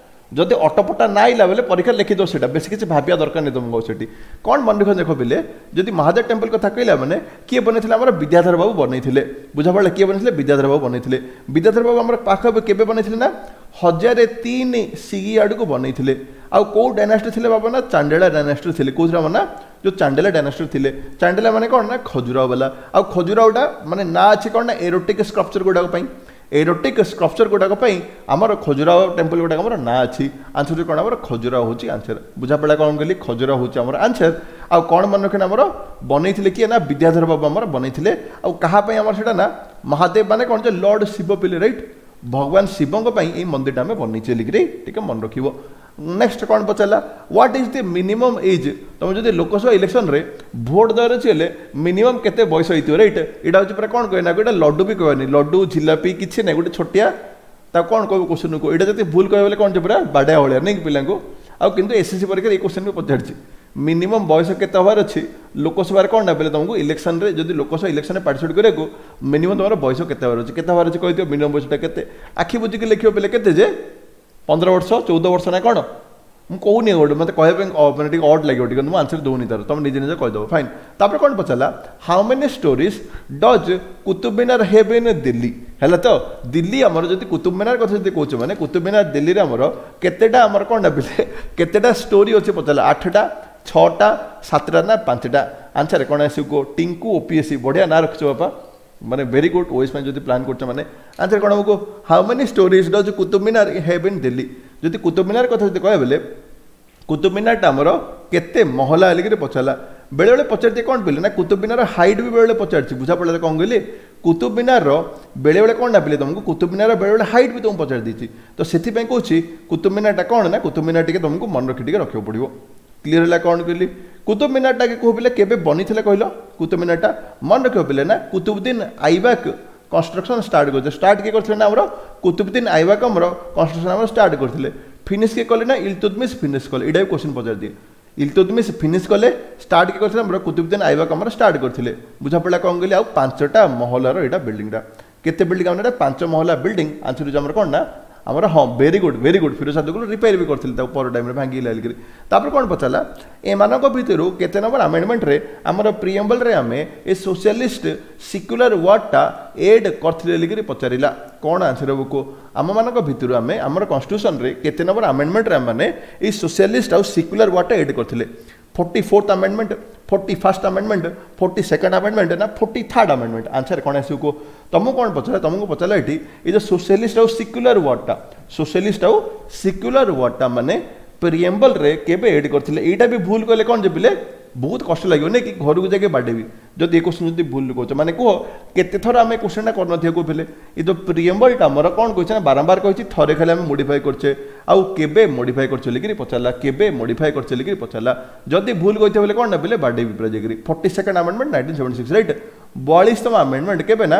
A: ଯଦି ଅଟପଟା ନା ଆଇଲା ବେଲେ ପରୀକ୍ଷାରେ ଲେଖିଦେବ ସେଇଟା ବେଶୀ କିଛି ଭାବିବା ଦରକାର ନାହିଁ ତୁମକୁ ସେଠି କ'ଣ ମନେ ରଖ ଦେଖ ପିଲେ ଯଦି ମହାଦେବ ଟେମ୍ପଲ କଥା କହିଲା ମାନେ କିଏ ବନେଇଥିଲେ ଆମର ବିଦ୍ୟାଧର ବାବୁ ବନେଇଥିଲେ ବୁଝାପଡ଼ିଲା କିଏ ବନେଇଥିଲେ ବିଦ୍ୟାଧର ବାବୁ ବନେଇଥିଲେ ବିଦ୍ୟାଧର ବାବୁ ଆମର ପାଖ କେବେ ବନେଇଥିଲେ ନା ହଜାରେ ତିନି ସିଇ ଆଡ଼କୁ ବନେଇଥିଲେ ଆଉ କେଉଁ ଡାଇନାଷ୍ଟି ଥିଲେ ବାବା ନା ଚାଣ୍ଡେଲା ଡାଇନାଷ୍ଟି ଥିଲେ କେଉଁଥିରେ ନା ଯେଉଁ ଚାଣ୍ଡେଲା ଡାଇନାଷ୍ଟି ଥିଲେ ଚାଣ୍ଡେଲା ମାନେ କ'ଣ ନା ଖଜୁରାଓ ବାଲା ଆଉ ଖଜୁରାଓଟା ମାନେ ନାଁ ଅଛି କ'ଣ ନା ଏରୋଟିକ୍ ସ୍କଲ୍ପଚର ଗୁଡ଼ାକ ପାଇଁ ଏରୋଟିକ୍ ସ୍କଲ୍ପଚର ଗୁଡ଼ାକ ପାଇଁ ଆମର ଖଜୁରାଓ ଟେମ୍ପଲ ଗୁଡ଼ାକ ଆମର ନାଁ ଅଛି ଆନ୍ସର କ'ଣ ଆମର ଖଜୁରାଓ ହେଉଛି ଆନ୍ସର ବୁଝାପଡ଼ିଲା କ'ଣ କହିଲି ଖଜୁରାଓ ହେଉଛି ଆମର ଆନ୍ସର ଆଉ କ'ଣ ମନେ ରଖିନା ଆମର ବନେଇଥିଲେ କିଏ ନା ବିଦ୍ୟାଧର ବାବୁ ଆମର ବନେଇଥିଲେ ଆଉ କାହା ପାଇଁ ଆମର ସେଇଟା ନା ମହାଦେବ ମାନେ କ'ଣ ଯେ ଲର୍ଡ଼ ଶିବ ପିଲେ ରାଇଟ୍ ଭଗବାନ ଶିବଙ୍କ ପାଇଁ ଏଇ ମନ୍ଦିରଟା ଆମେ ବନେଇଛେ ବୋଲିକିରି ଟିକେ ମନେ ରଖିବ ନେକ୍ସଟ କ'ଣ ପଚାରିଲା What is the minimum age ତୁମେ ଯଦି ଲୋକସଭା ଇଲେକ୍ସନରେ ଭୋଟ ଦେବାର ଅଛି ହେଲେ ମିନିମମ୍ କେତେ ବୟସ ହେଇଥିବ ରାଇଟ୍ ଏଇଟା ହେଉଛି ପୁରା କ'ଣ କହିବେ ନା ଏଇଟା ଲଡୁ ବି କହିବାନି ଲଡୁ ଝିଲାପି କିଛି ନାହିଁ ଗୋଟେ ଛୋଟିଆ ତାକୁ କ'ଣ କହିବ କ୍ୱେଶ୍ଚନକୁ ଏଇଟା ଯଦି ଭୁଲ କହିବ ବୋଲେ କ'ଣ ପୁରା ବାଡ଼ିଆ ଭଳିଆ ନାଇଁ କି ପିଲାଙ୍କୁ ଆଉ କିନ୍ତୁ ଏସ୍ଏସ୍ସି ପରୀକ୍ଷାରେ ଏଇ କ୍ୱେଶ୍ଚନ ବି ପଚାରିଛି ମିନିମମ୍ ବୟସ କେତେ ହେବାର ଅଛି ଲୋକସଭାରେ କ'ଣ ନା ବେଲେ ତୁମକୁ ଇଲେକ୍ସନରେ ଯଦି ଲୋକସଭା ଇଲେକ୍ସନରେ ପାର୍ଟିସିପେଟ୍ କରିବାକୁ ମିନିମମ୍ ତୁମର ବୟସ କେତେ ହେବାର ଅଛି କେତେ ହେବାର ଅଛି କହିଦିଅ ମିନିମମ୍ ବୟସଟା କେତେ ଆଖି ବୁଜିକି ଲେଖିବ ବେଲେ କେତେ ଯେ ପନ୍ଦର ବର୍ଷ ଚଉଦ ବର୍ଷ ନା କ'ଣ ମୁଁ କହୁନି ଗୋଟେ ମୋତେ କହିବା ପାଇଁ ମାନେ ଟିକେ ଅଡ୍ ଲାଗିବ ଟିକେ ମୁଁ ଆନ୍ସର ଦେଉନି ତାର ତୁମେ ନିଜେ ନିଜେ କହିଦେବ ଫାଇନ୍ ତାପରେ କ'ଣ ପଚାରିଲା How many storeys does Qutub Minar have in Delhi ହେଲା ତ ଦିଲ୍ଲୀ ଆମର ଯଦି କୁତୁବ ମିନାର କଥା ଯଦି କହୁଛ ମାନେ କୁତୁବ ମିନାର ଦିଲ୍ଲୀରେ ଆମର କେତେଟା ଆମର କ'ଣ ନା ପିଲେ କେତେଟା ଷ୍ଟୋରି ଅଛି ପଚାରିଲା ଆଠଟା ଛଅଟା ସାତଟା ନା ପାଞ୍ଚଟା ଆନ୍ସର କ'ଣ ଆସିବ କୁହ ଟିଙ୍କୁ ଓପିଏସ୍ସି ବଢ଼ିଆ ନାଁ ରଖିଛ ବାପା ମାନେ ଭେରି ଗୁଡ୍ ଓଏସ୍ ପାଇଁ ଯଦି ପ୍ଲାନ୍ କରୁଛ ମାନେ ଆନ୍ସର କ'ଣ ହେବ How many storeys does Qutub Minar have in Delhi ଯଦି କୁତୁବ ମିନାର କଥା ଯଦି କହିବା ବେଲେ କୁତୁବ ମିନାରଟା ଆମର କେତେ ମହଲା ବୋଲିକିରି ପଚାରିଲା ବେଳେବେଳେ ପଚାରିଦିଏ କ'ଣ ପିଲେ ନା କୁତୁବ ମିନାର ହାଇଟ୍ ବି ବେଳେବେଳେ ପଚାରିଛି ବୁଝା ପଡ଼ିଲା କ'ଣ କହିଲି କୁତୁବ ମିନାରର ବେଳେବେଳେ କ'ଣ ନା ପିଲେ ତୁମକୁ କୁତୁବ ମିନାର ବେଳେବେଳେ ହାଇଟ୍ ବି ତୁମକୁ ପଚାରି ଦେଇଛି ତ ସେଥିପାଇଁ କହୁଛି କୁତୁବ ମିନାରଟା କ'ଣ ନା କୁତୁବ ମିନାର ଟିକେ ତୁମକୁ ମନେ ରଖି ଟିକେ ରଖିବାକୁ ପଡ଼ିବ କ୍ଲିୟର ହେଲା କ'ଣ କହିଲି କୁତୁବ ମିନାରଟା କୁହ ପିଲେ କେବେ ବନିଥିଲା କହିଲ କୁତୁବ ମିନାରଟା ମନେ ରଖିବ ପିଲେ ନା କୁତୁବୁଦ୍ଦିନ ଆଇବାକ କନଷ୍ଟ୍ରକ୍ସନ୍ ଷ୍ଟାର୍ଟ କରିଥିଲେ ଷ୍ଟାର୍ଟ କିଏ କରିଥିଲେ ନା ଆମର କୁତୁବୁଦ୍ଦିନ ଆଇବାକ ଆମର କନଷ୍ଟ୍ରକ୍ସନ୍ ଆମର ଷ୍ଟାର୍ଟ କରିଥିଲେ ଫିନିଶ୍ କିଏ କଲେ ନା ଇଲତୁତମିଶ ଫିନିଶ୍ କଲେ ଏଇଟା ବି କ୍ୱେଶ୍ଚନ୍ ପଚାରିଦିଏ ଇଲତୁତମିଶ ଫିନିଶ୍ କଲେ ଷ୍ଟାର୍ଟ କିଏ କରିଥିଲେ ଆମର କୁତୁବୁଦ୍ଦିନ ଆଇବାକ ଆମର ଷ୍ଟାର୍ଟ କରିଥିଲେ ବୁଝାପଡ଼ିଲା କ'ଣ କହିଲି ଆଉ ପାଞ୍ଚଟା ମହଲାର ଏଇଟା ବିଲ୍ଡିଂଟା କେତେ ବିଲ୍ଡିଂ ଆମର ଏଇଟା ପାଞ୍ଚ ମହଲା ବିଲ୍ଡିଂ ଆନ୍ସର ହେଉଛି ଆମର କ'ଣ ନା ଆମର ହଁ very good very good Firoz ସାଦୁକୁଲ ରିପେୟାର ବି କରିଥିଲେ ତାକୁ ପର ଟାଇମ୍ରେ ଭାଙ୍ଗିଲା ବୋଲିକିରି ତାପରେ କ'ଣ ପଚାରିଲା ଏମାନଙ୍କ ଭିତରୁ କେତେ ନମ୍ବର ଆମେଣ୍ଡମେଣ୍ଟରେ ଆମର ପ୍ରିଏମ୍ବଲରେ ଆମେ ଏ ସୋସିଆଲିଷ୍ଟ ସିକ୍ୟୁଲାର ୱାର୍ଡ଼ଟା ଏଡ୍ କରିଥିଲେ ବୋଲିକିରି ପଚାରିଲା କ'ଣ ଆନ୍ସର ହେବ କୁହ ଆମମାନଙ୍କ ଭିତରୁ ଆମେ ଆମର କନଷ୍ଟିଟ୍ୟୁସନରେ କେତେ ନମ୍ବର ଆମେଣ୍ଡମେଣ୍ଟରେ ଆମେମାନେ ଏଇ ସୋସିଆଲିଷ୍ଟ ଆଉ ସିକ୍ୟୁଲାର ୱାର୍ଡ଼ଟା ଏଡ୍ କରିଥିଲେ forty fourth amendment forty first amendment forty second amendment ନା ଫୋର୍ଟି ଥାର୍ଡ଼ ଆମେଣ୍ଡମେଣ୍ଟ ଆନ୍ସର କ'ଣ ଆସିବ କୁହ ତୁମକୁ କ'ଣ ପଚାରିଲା ତୁମକୁ ପଚାରିଲା ଏଠି ଏଇ ଯେଉଁ ସୋସିଆଲିଷ୍ଟ ଆଉ ସିକ୍ୟୁଲାର ୱାର୍ଡ଼ଟା ସୋସିଆଲିଷ୍ଟ ଆଉ ସିକ୍ୟୁଲାର ୱାର୍ଡ଼ଟା ମାନେ ପ୍ରିଏମ୍ବଲରେ କେବେ ଏଡ୍ କରିଥିଲେ ଏଇଟା ବି ଭୁଲ କଲେ କ'ଣ ଯେ ପିଲେ ବହୁତ କଷ୍ଟ ଲାଗିବ ନାଇଁ କି ଘରକୁ ଯାଇକି ବାଡ଼େଇବି ଯଦି ଏ କ୍ୱେଶ୍ଚନ୍ ଯଦି ଭୁଲ କହୁଛ ମାନେ କୁହ କେତେ ଥର ଆମେ କ୍ୱେଶ୍ଚନଟା କରିନଥିବା କହୁଥିଲେ ଏ ଯେଉଁ ପ୍ରିଏମ୍ବଲଟା ଆମର କ'ଣ କହିছে ନା ବାରମ୍ବାର କହିଛି ଥରେ ଖାଲି ଆମେ ମୋଡ଼ିଫାଏ କରୁଛେ ଆଉ କେବେ ମୋଡ଼ିଫାଏ କରୁଛେ ବୋଲିକିରି ପଚାରିଲା କେବେ ମୋଡ଼ିଫାଏ କରୁଛେ ବୋଲିକିରି ପଚାରିଲା ଯଦି ଭୁଲ କହିଥିବ ବୋଲେ କ'ଣ ନା ପିଲେ ବାଡ଼େଇବି ପୁରା ଯାଇକିରି forty second amendment nineteen seventy six right ବୟାଳିଶତମ amendment କେବେ ନା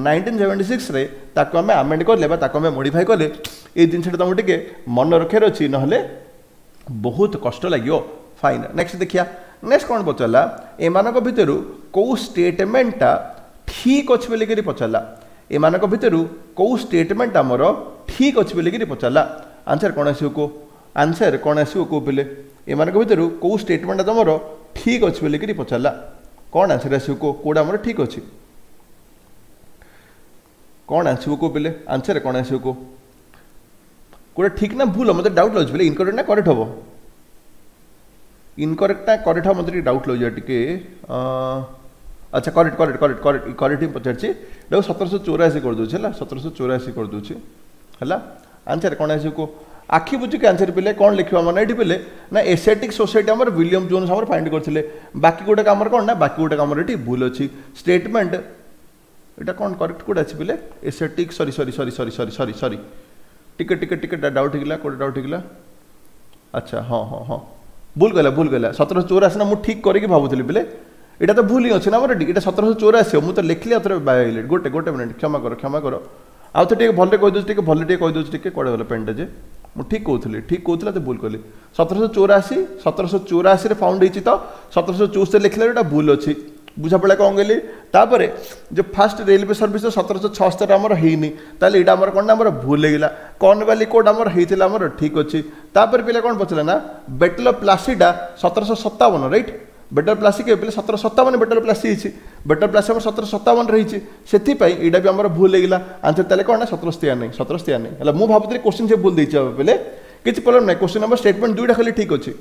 A: ନାଇନଟିନ୍ ସେଭେଣ୍ଟି ସିକ୍ସରେ ତାକୁ ଆମେ ଆମେଣ୍ଡ କଲେ ବା ତାକୁ ଆମେ ମୋଡ଼ିଫାଏ କଲେ ଏଇ ଜିନିଷଟା ତୁମକୁ ଟିକେ ମନେ ରଖିବାର ଅଛି ନହେଲେ ବହୁତ କଷ୍ଟ ଲାଗିବ ଫାଇନ୍ ନେକ୍ସଟ ଦେଖିବା ନେକ୍ସଟ କ'ଣ ପଚାରିଲା ଏମାନଙ୍କ ଭିତରୁ କେଉଁ ଷ୍ଟେଟମେଣ୍ଟଟା ଠିକ୍ ଅଛି ବୋଲିକିରି ପଚାରିଲା ଏମାନଙ୍କ ଭିତରୁ କେଉଁ ଷ୍ଟେଟମେଣ୍ଟ ଆମର ଠିକ୍ ଅଛି ବୋଲିକିରି ପଚାରିଲା ଆନ୍ସର କ'ଣ ଆସିବ କୁହ ଆନ୍ସର କ'ଣ ଆସିବ କୁହ ପିଲେ ଏମାନଙ୍କ ଭିତରୁ କେଉଁ ଷ୍ଟେଟମେଣ୍ଟଟା ତୁମର ଠିକ୍ ଅଛି ବୋଲିକିରି ପଚାରିଲା କ'ଣ ଆନ୍ସର ଆସିବ କୁହ କେଉଁଟା ଆମର ଠିକ୍ ଅଛି କ'ଣ ଆସିବ କୁହ ପିଲେ ଆନ୍ସର କ'ଣ ଆସିବ କୁହ କେଉଁଟା ଠିକ୍ ନା ଭୁଲ ମୋତେ ଡାଉଟ୍ ଲାଗୁଛି ପିଲେ ଇନକରେକ୍ଟ ନା କରେକ୍ଟ ହେବ ଇନକରେକ୍ଟ ନା କରେକ୍ଟ ହେବ ମୋତେ ଟିକେ ଡାଉଟ୍ ଲାଗୁଛି ଟିକେ ଆଚ୍ଛା correct correct correct correct correct ହିଁ ପଚାରିଛି ଏଟାକୁ ସତରଶହ ଚଉରାଅଶୀ କରିଦେଉଛି ହେଲା ସତରଶହ ଚଉରାଅଶୀ କରିଦେଉଛି ହେଲା ଆନ୍ସର କ'ଣ ଆସିବ କୁହ ଆଖି ବୁଜିକି ଆନ୍ସର ପିଲେ କ'ଣ ଲେଖିବ ଆମର ଏଇଠି ପିଲେ ନା ଏସିଆଟିକ୍ ସୋସାଇଟି ଆମର ୱିଲିୟମ ଜୋନ୍ସ ଆମର ଫାଇଣ୍ଡ କରିଥିଲେ ବାକି ଗୋଟେ ଆମର କ'ଣ ନା ବାକି ଗୋଟେ ଆମର ଏଠି ଭୁଲ ଅଛି ଷ୍ଟେଟମେଣ୍ଟ ଏଇଟା କ'ଣ କରେକ୍ଟ କୋଉଟା ଅଛି ପିଲେ ଏସିଆଟିକ୍ ସରି ସରି ସରି ସରି ସରି ସରି ସରି ଟିକେ ଟିକେ ଟିକେ ଡାଉଟ୍ ହେଇଗଲା କୋଉଟା ଡାଉଟ୍ ହେଇଗଲା ଆଚ୍ଛା ହଁ ହଁ ହଁ ଭୁଲ କହିଲା ଭୁଲ କହିଲା ସତରଶହ ଚଉରାଅଶୀ ନା ମୁଁ ଠିକ୍ କରିକି ଭାବୁଥିଲି ପିଲେ ଏଇଟା ତ ଭୁଲ ହିଁ ଅଛି ନା ଆମର ଏଠି ଏଇଟା ସତରଶହ ଚଉରାଅଶୀ ମୁଁ ତ ଲେଖିଲି ଆଉ ଥରେ ବାଇଲେ ଗୋଟେ ଗୋଟେ ମିନିଟ୍ କ୍ଷମା କର କ୍ଷମା କର ଆଉ ତ ଟିକେ ଭଲରେ କହିଦେଉଛି ଟିକେ ଭଲରେ ଟିକେ କହିଦେଉଛି ଟିକେ କୁଆଡ଼େ ଗଲା ପେନ୍ଟା ଯେ ମୁଁ ଠିକ୍ କହୁଥିଲି ଠିକ୍ କହୁଥିଲା ତ ଭୁଲ କଲି ସତରଶହ ଚଉରାଅଶୀ ସତରଶହ ଚଉରାଅଶୀରେ ଫାଉଣ୍ଡ ହେଇଛି ତ ସତରଶହ ଚଉସ୍ତରୀ ଲେଖିଲା ଏଇଟା ଭୁଲ ଅଛି ବୁଝା ପଡ଼ିଲା କ'ଣ କହିଲି ତାପରେ ଯେଉଁ ଫାଷ୍ଟ ରେଲୱେ ସର୍ଭିସ୍ ସତରଶହ ଛଅସ୍ତରୀ ଆମର ହେଇନି ତାହେଲେ ଏଇଟା ଆମର କ'ଣ ନା ଆମର ଭୁଲ ହେଇଗଲା କର୍ଣ୍ଣବାଲି କୋଡ୍ ଆମର ହେଇଥିଲା ଆମର ଠିକ୍ ଅଛି ତାପରେ ପିଲା କ'ଣ ପଚାରିଲା ନା ବେଟଲ୍ ଅଫ୍ ପ୍ଲାସିଟା ସତରଶହ ସତାବନ ରାଇଟ୍ ବେଟଲ୍ ପ୍ଲାସି କେବେ ପିଲେ ସତର ସତାବନ ବେଟଲ୍ ପ୍ଲାସି ହେଇଛି ବେଟଲ୍ ପ୍ଲାସି ଆମର ସତର ସତାବନରେ ହେଇଛି ସେଥିପାଇଁ ଏଇଟା ବି ଆମର ଭୁଲ ହେଇଗଲା ଆନ୍ସର ତାହେଲେ କ'ଣ ନା ସତରଶହ ତେୟାନବେ ସତରଶହ ତେୟାନବେ ହେଲା ମୁଁ ଭାବୁଥିଲି କୋଶ୍ଚିନ୍ ସେ ଭୁଲ ଦେଇଛି ପିଲେ କିଛି ପ୍ରୋବ୍ଲେମ୍ ନାହିଁ କୋଶ୍ଚିନ୍ ନମ୍ବର ଷ୍ଟେଟମେଣ୍ଟ ଦୁଇଟା ଖାଲି ଠିକ୍ ଅଛି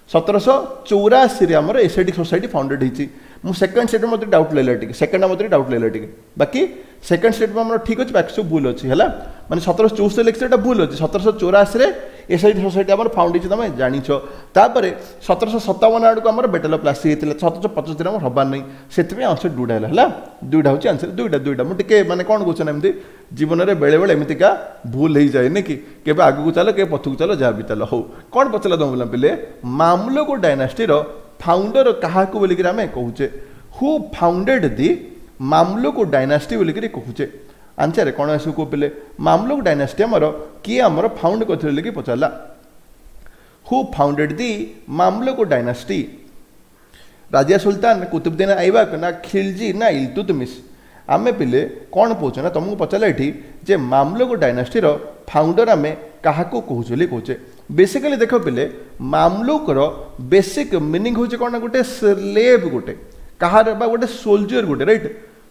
A: ସତରଶହ ଚଉରାଅଶୀରେ ଆମର ଏସିଆଟିକ୍ ସୋସାଇଟି ଫାଉଣ୍ଡେଡ୍ ହେଇଛି ମୁଁ ସେକେଣ୍ଡ ଷ୍ଟେଟମେଣ୍ଟ ମୋତେ ଡାଉଟ୍ ଲାଗିଲା ଟିକେ ସେକେଣ୍ଡ ମୋତେ ଡାଉଟ୍ ଲାଗିଲା ଟିକେ ବାକି ସେକେଣ୍ଡ ଷ୍ଟେଟମେଣ୍ଟ ଆମର ଠିକ୍ ଅଛି ବାକି ସବୁ ଭୁଲ ଅଛି ହେଲା ମାନେ ସତରଶହ ଚଉସ୍ତରୀ ଲେଖିଛି ଏଇଟା ଭୁଲ ଅଛି ସତରଶହ ଚଉରାଅଶୀରେ ଏସିଆଟିକ୍ ସୋସାଇଟି ଆମର ଫାଉଣ୍ଡ ହେଇଛି ତମେ ଜାଣିଛ ତାପରେ ସତରଶହ ସତାବନ ଆଡ଼କୁ ଆମର ବେଟଲ୍ ଅଫ୍ ପ୍ଲାସି ହେଇଥିଲା ସତରଶହ ପଞ୍ଚସ୍ତରୀ ଆମର ହବାର ନାହିଁ ସେଥିପାଇଁ ଆନ୍ସର ଦୁଇଟା ହେଲା ହେଲା ଦୁଇଟା ହେଉଛି ଆନ୍ସର ଦୁଇଟା ଦୁଇଟା ମୁଁ ଟିକେ ମାନେ କ'ଣ କହୁଛ ନା ଏମିତି ଜୀବନରେ ବେଳେବେଳେ ଏମିତିକା ଭୁଲ ହେଇଯାଏ ନି କି କେବେ ଆଗକୁ ଚାଲ କେବେ ପଛକୁ ଚାଲ ଯାହା ବି ଚାଲ ହଉ କ'ଣ ପଚାରିଲା ତମ ପିଲା ପିଲେ ମାମଲୁକ ଡାଇନାଷ୍ଟିର ଫାଉଣ୍ଡର କାହାକୁ ବୋଲିକିରି ଆମେ କହୁଛେ Who founded the Mamluk dynasty ବୋଲିକିରି କହୁଛେ ଆନ୍ସର କ'ଣ ଆସିବ କୁହ ପିଲେ ମାମଲୁକ ଡାଇନାଷ୍ଟି ଆମର କିଏ ଆମର ଫାଉଣ୍ଡ କରିଥିଲେ ବୋଲିକି ପଚାରିଲା Who founded the Mamluk dynasty Razia Sultan Qutbuddin Aibak ନା ଖିଲଜି ନା ଇଲତୁତମିଶ ଆମେ ପିଲେ କ'ଣ କହୁଛେ ନା ତୁମକୁ ପଚାରିଲା ଏଠି ଯେ ମାମଲୁକ ଡାଇନାଷ୍ଟିର ଫାଉଣ୍ଡର ଆମେ କାହାକୁ କହୁଛୁ ବୋଲି କହୁଛେ ବେସିକାଲି ଦେଖ ପିଲେ ମାମଲୁକର ବେସିକ୍ ମିନିଂ ହେଉଛି କ'ଣ ନା ଗୋଟେ ସ୍ଲେଭ୍ ଗୋଟେ କାହାର ବା ଗୋଟେ ସୋଲଜର ଗୋଟେ ରାଇଟ୍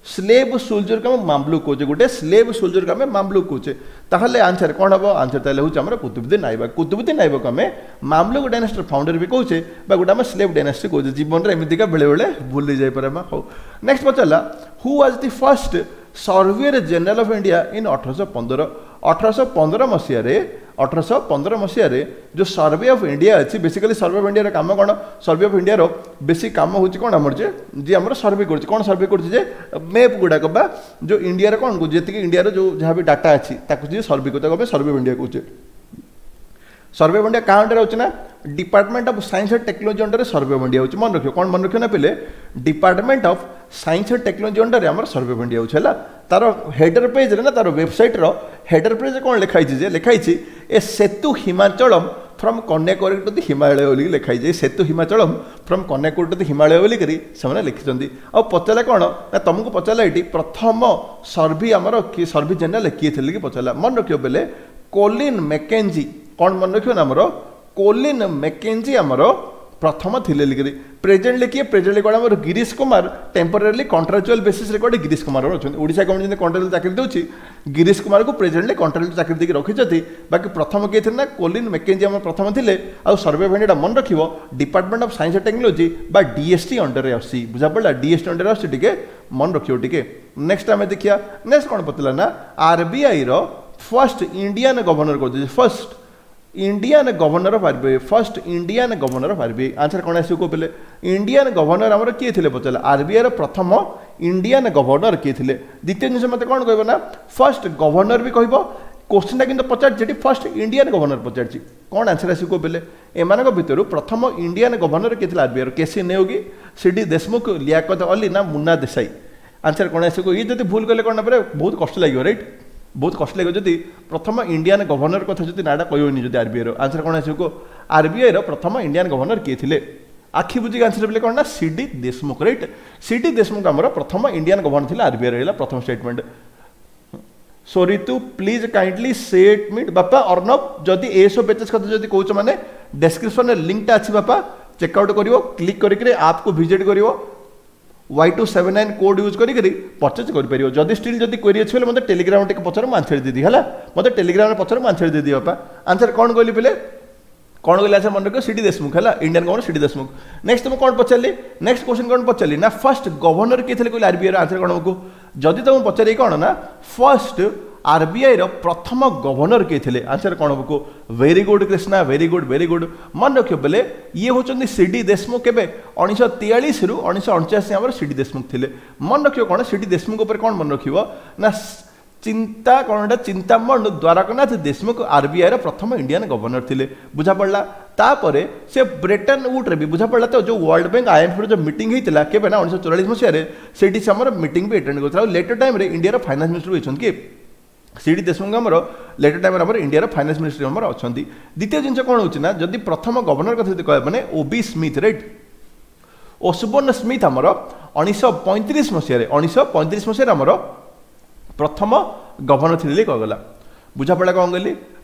A: ସ୍ଲେଭ୍ ସୋଲଜରକୁ ଆମେ ମାମଲୁକ କହୁଛେ ଗୋଟେ ସ୍ଲେଭ୍ ସୋଲଜରକୁ ଆମେ ମାମଲୁକ କହୁଛେ ତାହେଲେ ଆନ୍ସର କ'ଣ ହେବ ଆନ୍ସର ତାହେଲେ ହେଉଛି ଆମର କୁତୁବୁଦ୍ଦିନ ଆଇବାକ କୁତୁବୁଦ୍ଦିନ ଆଇବାକ ଆମେ ମାମଲୁକ ଡାଇନାଷ୍ଟିର ଫାଉଣ୍ଡର ବି କହୁଛେ ବା ଗୋଟେ ଆମେ ସ୍ଲେଭ୍ ଡାଇନାଷ୍ଟି କହୁଛେ ଜୀବନରେ ଏମିତିକା ବେଳେବେଳେ ଭୁଲି ଯାଇପାରେ ଆମେ ହଉ ନେକ୍ସଟ ପଚାରିଲା Who was the first Surveyor General of India in ଅଠରଶହ ପନ୍ଦର ଅଠରଶହ ପନ୍ଦର ମସିହାରେ ଅଠରଶହ ପନ୍ଦର ମସିହାରେ ଯେଉଁ ସର୍ଭେ ଅଫ୍ ଇଣ୍ଡିଆ ଅଛି ବେସିକାଲି ସର୍ଭେ ଅଫ୍ ଇଣ୍ଡିଆର କାମ କ'ଣ ସର୍ଭେ ଅଫ୍ ଇଣ୍ଡିଆର ବେଶୀ କାମ ହେଉଛି କ'ଣ ଆମର ଯେ ଯିଏ ଆମର ସର୍ଭେ କରୁଛି କ'ଣ ସର୍ଭେ କରୁଛି ଯେ ମ୍ୟାପ୍ ଗୁଡ଼ାକ ବା ଯେଉଁ ଇଣ୍ଡିଆର କ'ଣ ଯେତିକି ଇଣ୍ଡିଆର ଯେଉଁ ଯାହା ବି ଡାଟା ଅଛି ତାକୁ ଯିଏ ସର୍ଭେ କରୁଛି ତାକୁ ଆମେ ସର୍ଭେ ଅଫ୍ ଇଣ୍ଡିଆ କହୁଛେ ସର୍ଭେ ଅଫ୍ ଇଣ୍ଡିଆ କାହା ଅଣ୍ଡରରେ ଅଛି ନା Department of Science and Technology ଅଣ୍ଡରରେ survey of India ହେଉଛି ମନେ ରଖିବ କ'ଣ ମନେ ରଖିବ ନା ପିଲେ Department of Science and Technology ଅଣ୍ଡରରେ ଆମର ସର୍ଭେ ଅଫ୍ ଇଣ୍ଡିଆ ହେଉଛି ହେଲା ତାର ହେଡର ପେଜ୍ରେ ନା ତାର ୱେବସାଇଟ୍ର ହେଡର ପେଜ୍ରେ କ'ଣ ଲେଖା ହେଇଛି ଯେ ଲେଖା ହେଇଛି A Setu Himachalam from Kanyakumari to the Himalaya ବୋଲିକି ଲେଖା ହେଇଛି Setu Himachalam from Kanyakumari to the Himalaya ବୋଲିକରି ସେମାନେ ଲେଖିଛନ୍ତି ଆଉ ପଚାରିଲା କ'ଣ ନା ତୁମକୁ ପଚାରିଲା ଏଇଠି ପ୍ରଥମ ସର୍ଭେ ଆମର କିଏ ସର୍ଭେ ଜେନେରାଲ କିଏ ଥିଲେ କି ପଚାରିଲା ମନେ ରଖିବ ବେଲେ କୋଲିନ୍ ମେକେଞ୍ଜି କ'ଣ ମନେ ରଖିବ ନା ଆମର କୋଲିନ୍ ମେକେଞ୍ଜି ଆମର ପ୍ରଥମ ଥିଲେ ଲିକିରି ପ୍ରେଜେଣ୍ଟଲି କିଏ ପ୍ରେଜେଣ୍ଟଲି କ'ଣ ଆମର ଗିରୀଶ କୁମାର ଟେମ୍ପୋରାରିଲି କଣ୍ଟ୍ରାଚୁଆଲ ବେସିସ୍ରେ କୁଆଡ଼େ ଗିରୀଶ କୁମାର ଅଛନ୍ତି ଓଡ଼ିଶା ଗଭର୍ଣ୍ଣମେଣ୍ଟ ଯେମିତି କଣ୍ଟ୍ରାଚୁଆଲ ଚାକିରି ଦେଉଛି ଗିରୀଶ କୁମାରକୁ ପ୍ରେଜେଣ୍ଟଲି କଣ୍ଟ୍ରାଚୁଆଲ ଚାକିରି ଦେଇକି ରଖିଛନ୍ତି ବାକି ପ୍ରଥମ କିଏ ଥିଲେ ନା କୋଲିନ୍ ମେକେଞ୍ଜି ଆମର ପ୍ରଥମ ଥିଲେ ଆଉ ସର୍ଭେ ଅଫ୍ ଇଣ୍ଡିଆଟା ମନେ ରଖିବ Department of Science and Technology ବା ଡିଏସଟି ଅଣ୍ଡରରେ ଆସୁଛି ବୁଝା ପଡ଼ିଲା ଡିଏସଟି ଅଣ୍ଡରରେ ଆସୁଛି ଟିକେ ମନେ ରଖିବ ଟିକେ ନେକ୍ସଟ ଆମେ ଦେଖିବା ନେକ୍ସଟ କ'ଣ ପଚାରିଲା ନା ଆରବିଆଇର ଫର୍ଷ୍ଟ ଇଣ୍ଡିଆନ ଗଭର୍ଣ୍ଣର କହୁଛି First Indian Governor of RBI first Indian Governor of RBI answer କ'ଣ ଆସିବ କୁହ ପିଲେ ଇଣ୍ଡିଆନ୍ ଗଭର୍ଣ୍ଣର ଆମର କିଏ ଥିଲେ ପଚାରିଲା ଆରବିଆଇର ପ୍ରଥମ ଇଣ୍ଡିଆନ୍ ଗଭର୍ଣ୍ଣର କିଏ ଥିଲେ ଦ୍ୱିତୀୟ ଜିନିଷ ମୋତେ କ'ଣ କହିବ ନା ଫର୍ଷ୍ଟ ଗଭର୍ଣ୍ଣର ବି କହିବ କୋଶ୍ଚିନ୍ଟା କିନ୍ତୁ ପଚାରିଛି ଏଠି ଫର୍ଷ୍ଟ ଇଣ୍ଡିଆନ୍ ଗଭର୍ଣ୍ଣର ପଚାରିଛି କ'ଣ ଆନ୍ସର ଆସିବ କୁହ ପିଲେ ଏମାନଙ୍କ ଭିତରୁ ପ୍ରଥମ ଇଣ୍ଡିଆନ୍ ଗଭର୍ଣ୍ଣର କିଏ ଥିଲା ଆରବିଆଇର କେସି ନେଓଗି ସିଡି ଦେଶମୁଖ ଲିଆକତ ଅଲି ନା ମୁନ୍ନା ଦେଶାଇ ଆନ୍ସର କ'ଣ ଆସିବ ଇଏ ଯଦି ଭୁଲ କଲେ କ'ଣ ନା ବହୁତ କଷ୍ଟ ଲାଗିବ ରାଇଟ୍ ବହୁତ କଷ୍ଟ ଲାଗିବ ଯଦି ପ୍ରଥମ ଇଣ୍ଡିଆନ୍ ଗଭର୍ଣ୍ଣର କଥା ଯଦି ନାଁଟା କହିବନି ଯଦି ଆରବିଆଇର ଆନ୍ସର କ'ଣ ଆସିବ କୁହ ଆରବିଆଇର ପ୍ରଥମ ଇଣ୍ଡିଆନ୍ ଗଭର୍ଣ୍ଣର କିଏ ଥିଲେ ଆଖି ବୁଜିକି ଆନ୍ସର ବୋଲେ କ'ଣ ନା ସିଡି ଦେଶମୁଖ ରାଇଟ୍ ସିଡି ଦେଶମୁଖ ଆମର ପ୍ରଥମ ଇଣ୍ଡିଆନ୍ ଗଭର୍ଣ୍ଣର ଥିଲେ ଆରବିଆଇ ରହିଲା ପ୍ରଥମ ଷ୍ଟେଟମେଣ୍ଟ ସରି ତୁ ପ୍ଲିଜ୍ କାଇଣ୍ଡଲି ସେଟ୍ ମିଟ୍ ବାପା ଅର୍ଣ୍ଣବ ଯଦି ଏସବୁ ବେଚେସ୍ କଥା ଯଦି କହୁଛ ମାନେ ଡେସ୍କ୍ରିପସନ୍ରେ ଲିଙ୍କଟା ଅଛି ବାପା ଚେକ୍ଆଉଟ୍ କରିବ କ୍ଲିକ୍ କରିକିରି ଆପ୍କୁ ଭିଜିଟ୍ କରିବ Y two seven nine code use କରିକି ପରଚେଜ୍ କରିପାରିବ। ଯଦି ଷ୍ଟିଲ୍ ଯଦି କ୍ୱେରି ଅଛି ବୋଲେ ମୋତେ ଟେଲିଗ୍ରାମ ଟିକେ ପଚାର, ମୁଁ ଆନ୍ସର ଦେଇଦେବି। ହେଲା, ମୋତେ ଟେଲିଗ୍ରାମରେ ପଚାର, ମୁଁ ଆନ୍ସର ଦେଇଦେବି ବାପା। ଆନ୍ସର କ'ଣ କହିଲି ପିଲେ? କ'ଣ କହିଲି ଆନ୍ସର ମନେ ରଖିବ, ସିଡି ଦେଶମୁଖ। ହେଲା, ଇଣ୍ଡିଆନ୍ ଗଭର୍ଣ୍ଣର ସିଡି ଦେଶମୁଖ। ନେକ୍ସଟ ମୁଁ କ'ଣ ପଚାରିଲି? ନେକ୍ସଟ କ୍ୱେଶ୍ଚନ୍ କ'ଣ ପଚାରିଲି ନା, ଫାର୍ଷ୍ଟ ଗଭର୍ଣ୍ଣର କିଏ ଥିଲେ କହିଲେ ଆରବିଆଇର? ଆନ୍ସର କ'ଣ ହବ? ଯଦି ତମକୁ ପଚାରି କ'ଣ ନା ଫାର୍ଷ୍ଟ ଆରବିଆଇର ପ୍ରଥମ ଗଭର୍ଣ୍ଣର କିଏ ଥିଲେ, ଆନ୍ସର କ'ଣ ହବ? Very good Krishna, very good, very good. ମନେ ରଖିବ ବେଲେ ଇଏ ହେଉଛନ୍ତି ସିଡି ଦେଶମୁଖ। କେବେ? ଉଣେଇଶହ ତେୟାଳିଶରୁ ଉଣେଇଶହ ଅଣଚାଶ ଆମର ସିଡି ଦେଶମୁଖ ଥିଲେ। ମନେ ରଖିବ କ'ଣ, ସିଡି ଦେଶମୁଖ ଉପରେ କ'ଣ ମନେ ରଖିବ ନା ଚିନ୍ତା କ'ଣ ଏଇଟା, ଚିନ୍ତାମଣି ଦ୍ୱାରକନାଥ ଦେଶମୁଖ ଆରବିଆଇର ପ୍ରଥମ ଇଣ୍ଡିଆନ୍ ଗଭର୍ଣ୍ଣର ଥିଲେ। ବୁଝା ପଡ଼ିଲା? ତାପରେ ସେ ବ୍ରେଟନ୍ ଉଡ୍ରେ ବି, ବୁଝା ପଡ଼ିଲା ତ, ଯେଉଁ ୱାର୍ଲଡ ବ୍ୟାଙ୍କ ଆଇଏମ୍ଏଫ୍ର ଯେଉଁ ମିଟିଂ ହେଇଥିଲା କେବେ ନା ଉଣେଇଶହ ଚଉରାଳିଶ ମସିହାରେ, ସେଇଠି ସେ ଆମର ମିଟିଂ ବି ଆଟେଣ୍ଡ କରିଥିଲା। ଆଉ ଲେଟର ଟାଇମ୍ରେ ଇଣ୍ଡିଆର ଫାଇନାନ୍ସ ମିନିଷ୍ଟର ବି ଅଛନ୍ତି କି ସିଡି ଦେଶମୁଖ, ଆମର ଲେଟର ଟାଇମ୍ରେ ଆମର ଇଣ୍ଡିଆର ଫାଇନାନ୍ସ ମିନିଷ୍ଟର ଆମର ଅଛନ୍ତି। ଦ୍ୱିତୀୟ ଜିନିଷ କ'ଣ ହେଉଛି ନା, ଯଦି ପ୍ରଥମ ଗଭର୍ଣ୍ଣର କଥା ଯଦି କହିବା ମାନେ ଓବି ସ୍ମିଥ୍, ରାଇଟ୍? ଓସବର୍ନ ସ୍ମିଥ୍ ଆମର ଉଣେଇଶହ ପଇଁତିରିଶ ମସିହାରେ, ଉଣେଇଶହ ପଇଁତିରିଶ ମସିହାରେ ଆମର ପ୍ରଥମ ଗଭର୍ଣ୍ଣର ଥିଲେ କୁହାଗଲା। ବୁଝାପଡ଼ିଲା କ'ଣ କହିଲି?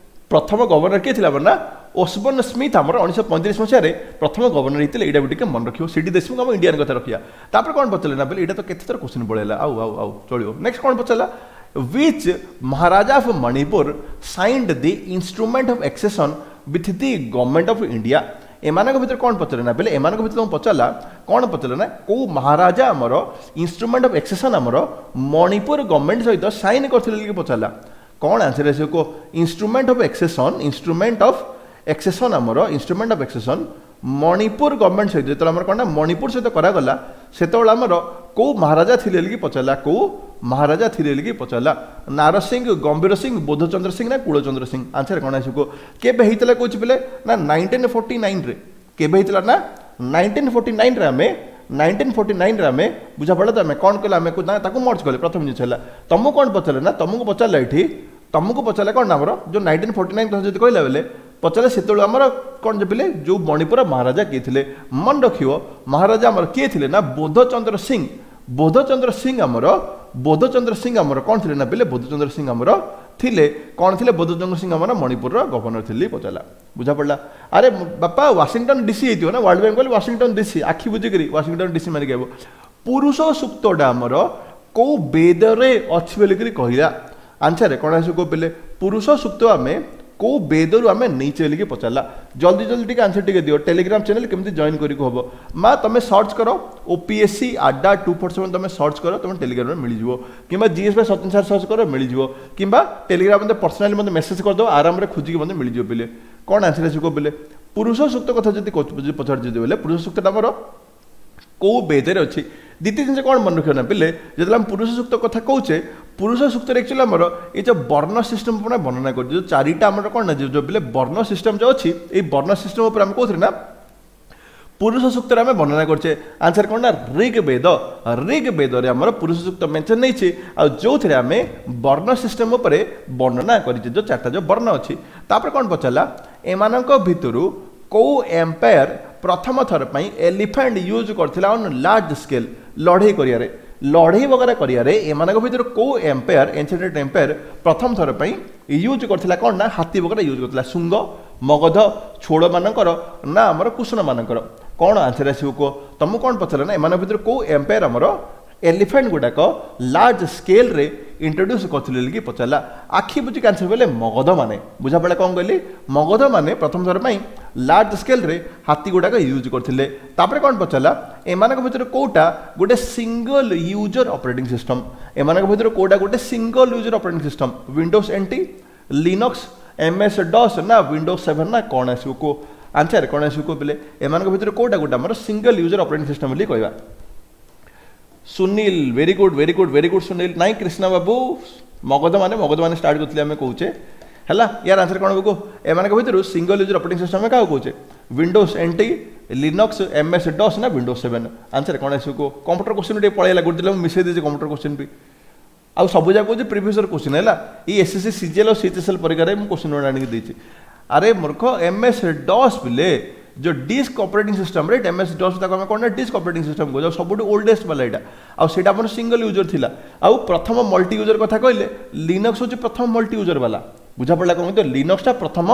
A: ପ୍ରଥମ ଗଭର୍ଣ୍ଣର କିଏ ଥିଲା ନା ଓସବର୍ନ ସ୍ମିଥ୍ ଆମର ଉଣେଇଶହ ପଇଁତିରିଶ ମସିହାରେ ପ୍ରଥମ ଗଭର୍ଣ୍ଣର ହେଇଥିଲେ। ଏଇଟା ବି ଟିକେ ମନେ ରଖିବ। ସିଡି ଦେଶମୁଖ ଆମ ଇଣ୍ଡିଆନ୍ କଥା ରଖିବା। ତାପରେ କ'ଣ ପଚାରିଲେ ନା ବୋଲେ, ଏଇଟା ତ କେତେ ଥର କ୍ୱେଶ୍ଚିନ୍ ପଳେଇଲା। ଆଉ ଆଉ ଆଉ ଚଳିବ। ନେକ୍ସଟ କ'ଣ ପଚାରିଲା? Which Maharaja of Manipur signed the instrument of accession with the government of India? ଏମାନଙ୍କ ଭିତରେ କ'ଣ ପଚାରିଲେ ନା ବେଲେ, ଏମାନଙ୍କ ଭିତରେ ତୁମକୁ ପଚାରିଲା କ'ଣ ପଚାରିଲା ନା, କେଉଁ ମହାରାଜା ଆମର ଇନଷ୍ଟ୍ରୁମେଣ୍ଟ ଅଫ୍ ଏକ୍ସେସନ୍ ଆମର ମଣିପୁର ଗଭର୍ଣ୍ଣମେଣ୍ଟ ସହିତ ସାଇନ୍ କରିଥିଲେ କି ପଚାରିଲା। କ'ଣ ଆନ୍ସର ଆସିବ କୁହ? Instrument of accession, instrument of accession ଆମର, ଇନଷ୍ଟ୍ରୁମେଣ୍ଟ ଅଫ୍ ଏକ୍ସେସନ୍ ମଣିପୁର ଗଭର୍ଣ୍ଣମେଣ୍ଟ ସହିତ ଯେତେବେଳେ ଆମର କ'ଣ ନା ମଣିପୁର ସହିତ କରାଗଲା, ସେତେବେଳେ ଆମର କେଉଁ ମହାରାଜା ଥିଲେ କି ପଚାରିଲା। କେଉଁ ମହାରାଜା ଥିଲେ କି ପଚାରିଲା? ନାରସିଂହ, ଗମ୍ଭୀର ସିଂ, ବୋଧଚନ୍ଦ୍ର ସିଂ ନା କୁଳଚନ୍ଦ୍ର ସିଂ? ଆନ୍ସର କ'ଣ ଆସିବ? କେବେ ହେଇଥିଲା କହୁଛି ପିଲେ ନା ନାଇନଟିନ୍ ଫୋର୍ଟି ନାଇନରେ। କେବେ ହେଇଥିଲା ନା ନାଇନଟିନ୍ ଫୋର୍ଟି ନାଇନରେ ଆମେ, ନାଇନଟିନ୍ ଫୋର୍ଟି ନାଇନରେ ଆମେ, ବୁଝାପଡ଼ିଲା ତ? ଆମେ କ'ଣ କଲେ? ଆମେ ନା ତାକୁ ମର୍ଜ କଲେ। ପ୍ରଥମ ଜିନିଷ ହେଲା ତମକୁ କ'ଣ ପଚାରିଲେ ନା, ତମକୁ ପଚାରିଲା ଏଠି, ତମକୁ ପଚାରିଲା କ'ଣ ନା ଆମର ଯେଉଁ ନାଇନଟିନ୍ ଫୋର୍ଟି ନାଇନ୍ କଥା ଯଦି କହିଲା ବେଲେ ପଚାରିଲେ, ସେତେବେଳେ ଆମର କ'ଣ ପିଲେ ଯେଉଁ ମଣିପୁର ମହାରାଜା କିଏ ଥିଲେ? ମନେ ରଖିବ, ମହାରାଜା ଆମର କିଏ ଥିଲେ ନା ବୋଧଚନ୍ଦ୍ର ସିଂ। ବୋଧଚନ୍ଦ୍ର ସିଂ ଆମର, ବୋଧଚନ୍ଦ୍ର ସିଂ ଆମର କ'ଣ ଥିଲେ ନା ପିଲେ, ବୋଧଚନ୍ଦ୍ର ସିଂ ଆମର ଥିଲେ କ'ଣ ଥିଲେ? ବୋଧଚନ୍ଦ୍ର ସିଂ ଆମର ମଣିପୁରର ଗଭର୍ଣ୍ଣର ଥିଲେ ପଚାରିଲା। ବୁଝା ପଡ଼ିଲା? ଆରେ ବାପା, ୱାଶିଂଟନ ଡିସି ହେଇଥିବ ନା, ୱାର୍ଲଡ ବ୍ୟାଙ୍କ କହିଲେ ୱାଶିଂଟନ ଡିସି, ଆଖି ବୁଜିକିରି ୱାଶିଂଟନ ଡିସି ମାରିକି ଆଇବ। ପୁରୁଷ ସୂକ୍ତଟା ଆମର କେଉଁ ବେଦରେ ଅଛି ବୋଲିକିରି କହିଲା, ଆନ୍ସର କ'ଣ ଆସିବ ପିଲେ? ପୁରୁଷ ସୂକ୍ତ ଆମେ କେଉଁ ବେଦରୁ ଆମେ ନେଇଛେ ବୋଲିକି ପଚାରିଲା। ଜଲ୍ଦି ଜଲ୍ଦି ଟିକେ ଆନ୍ସର ଟିକେ ଦିଅ। ଟେଲିଗ୍ରାମ ଚ୍ୟାନେଲ କେମିତି ଜଏନ୍ କରିବାକୁ ହେବ ମା? ତମେ ସର୍ଚ୍ଚ କର OPSC Adda two four seven, ତମେ ସର୍ଚ୍ଚ କର, ତମେ ଟେଲିଗ୍ରାମରେ ମିଳିଯିବ। କିମ୍ବା GS by Sachin sir search କର, ମିଳିଯିବ। କିମ୍ବା ଟେଲିଗ୍ରାମ ମୋତେ ପର୍ସନାଲି ମୋତେ ମେସେଜ କରିଦେବ, ଆରାମରେ ଖୋଜିକି ମୋତେ ମିଳିଯିବ ପିଲେ। କ'ଣ ଆନ୍ସର ଆସିବ ପିଲେ? ପୁରୁଷ ସୂକ୍ତ କଥା ଯଦି ପଚାରୁଛି ବୋଲେ, ପୁରୁଷ ସୂକ୍ତଟା ଆମର କେଉଁ ବେଦରେ ଅଛି? ଦ୍ୱିତୀୟ ଜିନିଷ କ'ଣ ମନେ ରଖିବ ନା ପିଲେ, ଯେତେବେଳେ ଆମେ ପୁରୁଷ ସୂକ୍ତ କଥା କହୁଛେ, ପୁରୁଷ ସୂକ୍ତରେ ଆକ୍ଚୁଆଲି ଆମର ଏଇ ଯେଉଁ ବର୍ଣ୍ଣ ସିଷ୍ଟମ୍ ଉପରେ ବର୍ଣ୍ଣନା କରୁଛି। ଯେଉଁ ଚାରିଟା ଆମର କ'ଣ ନା ଯେଉଁ ପିଲେ ବର୍ଣ୍ଣ ସିଷ୍ଟମ୍ ଯେଉଁ ଅଛି, ଏଇ ବର୍ଣ୍ଣ ସିଷ୍ଟମ୍ ଉପରେ ଆମେ କହୁଥିଲେ ନା ପୁରୁଷ ସୂକ୍ତରେ ଆମେ ବର୍ଣ୍ଣନା କରୁଛେ। ଆନ୍ସର କ'ଣ ନା ଋଗ ବେଦ। ଋଗ ବେଦରେ ଆମର ପୁରୁଷ ସୂକ୍ତ ମେନସନ୍ ନେଇଛି, ଆଉ ଯେଉଁଥିରେ ଆମେ ବର୍ଣ୍ଣ ସିଷ୍ଟମ୍ ଉପରେ ବର୍ଣ୍ଣନା କରିଛେ, ଯେଉଁ ଚାରିଟା ଯେଉଁ ବର୍ଣ୍ଣ ଅଛି। ତାପରେ କ'ଣ ପଚାରିଲା? ଏମାନଙ୍କ ଭିତରୁ କେଉଁ ଏମ୍ପାୟାର ପ୍ରଥମ ଥର ପାଇଁ ଏଲିଫାଣ୍ଟ ୟୁଜ୍ କରିଥିଲା ଅନ୍ ଲାର୍ଜ ସ୍କେଲ୍ ଲଢ଼େଇ କରିବାରେ? ଲଢ଼େଇ ବଗେରା କରିବାରେ ଏମାନଙ୍କ ଭିତରୁ କେଉଁ ଏମ୍ପାୟାର, ଏନ୍ସିଏଣ୍ଟ ଏମ୍ପାୟାର ପ୍ରଥମ ଥର ପାଇଁ ୟୁଜ୍ କରିଥିଲା କ'ଣ ନା ହାତୀ ବଗେରା ୟୁଜ୍ କରିଥିଲା? ଶୁଙ୍ଗ, ମଗଧ, ଛୋଡ଼ମାନଙ୍କର ନା ଆମର କୁଷଣମାନଙ୍କର? କ'ଣ ଆନ୍ସର ଆସିବ କୁହ? ତମକୁ କ'ଣ ପଚାରିଲା ନା ଏମାନଙ୍କ ଭିତରୁ କେଉଁ ଏମ୍ପାୟାର ଆମର ଏଲିଫାଣ୍ଟ ଗୁଡ଼ାକ ଲାର୍ଜ ସ୍କେଲ୍ରେ ଇଣ୍ଟ୍ରୋଡ୍ୟୁସ୍ କରିଥିଲେ କି ପଚାରିଲା। ଆଖି ବୁଜିକି ଆନ୍ସର ବୋଇଲେ ମଗଧ ମାନେ। ବୁଝାପଡ଼ିଲା କ'ଣ କହିଲି? ମଗଧ ମାନେ ପ୍ରଥମ ଥର ପାଇଁ ଲାର୍ଜ ସ୍କେଲ୍ରେ ହାତୀ ଗୁଡ଼ାକ ୟୁଜ୍ କରିଥିଲେ। ତାପରେ କ'ଣ ପଚାରିଲା? ଏମାନଙ୍କ ଭିତରୁ କେଉଁଟା ଗୋଟେ ସିଙ୍ଗଲ ୟୁଜର ଅପରେଟିଂ ସିଷ୍ଟମ୍? ଏମାନଙ୍କ ଭିତରୁ କେଉଁଟା ଗୋଟେ single user operating system? Windows N T, Linux, M S DOS ନା ୱିଣ୍ଡୋଜ୍ ସେଭେନ୍ ନା କ'ଣ ଆସିବ କୁହ? ଆନ୍ସର କ'ଣ ଆସିବ କୁହ ପିଲେ? ଏମାନଙ୍କ ଭିତରୁ କେଉଁଟା ଗୋଟେ ଆମର ସିଙ୍ଗଲ ୟୁଜର ଅପରେଟିଂ ସିଷ୍ଟମ୍ ବୋଲି କହିବା? Sunil, very good, very good, very good Sunil. ନାଇଁ କୃଷ୍ଣ ବାବୁ, ମଗଧ ମାନେ, ମଗଧ ମାନେ ଷ୍ଟାର୍ଟ କରିଥିଲେ ଆମେ କହୁଛେ। ହେଲା, ୟାର ଆନ୍ସର କ'ଣ ହେବ? ଏମାନଙ୍କ ଭିତରୁ ସିଙ୍ଗଲ ୟୁଜର ଅପରେଟିଂ ସିଷ୍ଟମ୍ ଆମେ କାହାକୁ କହୁଛେ? Windows N T, Linux, M S DOS ନା ୱିଣ୍ଡୋଜ୍ ସେଭେନ୍? ଆନ୍ସର କ'ଣ ଆସିବ କୁହ? କମ୍ପ୍ୟୁଟର କ୍ୱେଶ୍ଚିନ୍ ଟିକେ ପଳେଇଲା, ଗୋଟେ ଦିନ ମୁଁ ମିଶେଇ ଦେଇଛି କମ୍ପ୍ୟୁଟର କ୍ୱେଶ୍ଚିନ୍ ବି। ଆଉ ସବୁ ଯାକ କହୁଛି ପ୍ରିଭିୟସ୍ କ୍ୱେଶ୍ଚିନ୍। ହେଲା, ଏଇ ଏସ୍ଏସ୍ସି ସିଜିଏଲ୍ ଆଉ ସିଏଚଏସ୍ଏଲ୍ ପରୀକ୍ଷାରେ ମୁଁ କ୍ୱେଶ୍ଚିନ୍ ଗୁଡ଼ା ଆଣିକି ଦେଇଛି। ଆରେ ମୂର୍ଖ, ଏମ୍ଏସ୍ ଡସ୍ ପିଲେ, ଯେଉଁ ଡିସ୍କ ଅପରେଟିଂ ସିଷ୍ଟମ୍ ରେ ଏମ୍ଏସ୍ ଡସ୍, ତାକୁ ଆମେ କ'ଣ ନା ଡିସ୍କ ଅପରେଟିଂ ସିଷ୍ଟମ୍ କହୁଛୁ। ଆଉ ସବୁଠୁ ଓଲ୍ଡେଷ୍ଟ ବାଲା ଏଇଟା, ଆଉ ସେଇଟା ଆମର ସିଙ୍ଗଲ ୟୁଜର ଥିଲା। ଆଉ ପ୍ରଥମ ମଲ୍ଟି ୟୁଜର କଥା କହିଲେ ଲିନକ୍ସ ହେଉଛି ପ୍ରଥମ ମଲ୍ଟି ୟୁଜର ବାଲା। ବୁଝାପଡ଼ିଲା କ'ଣ ତ ଲିନକ୍ସଟା ପ୍ରଥମ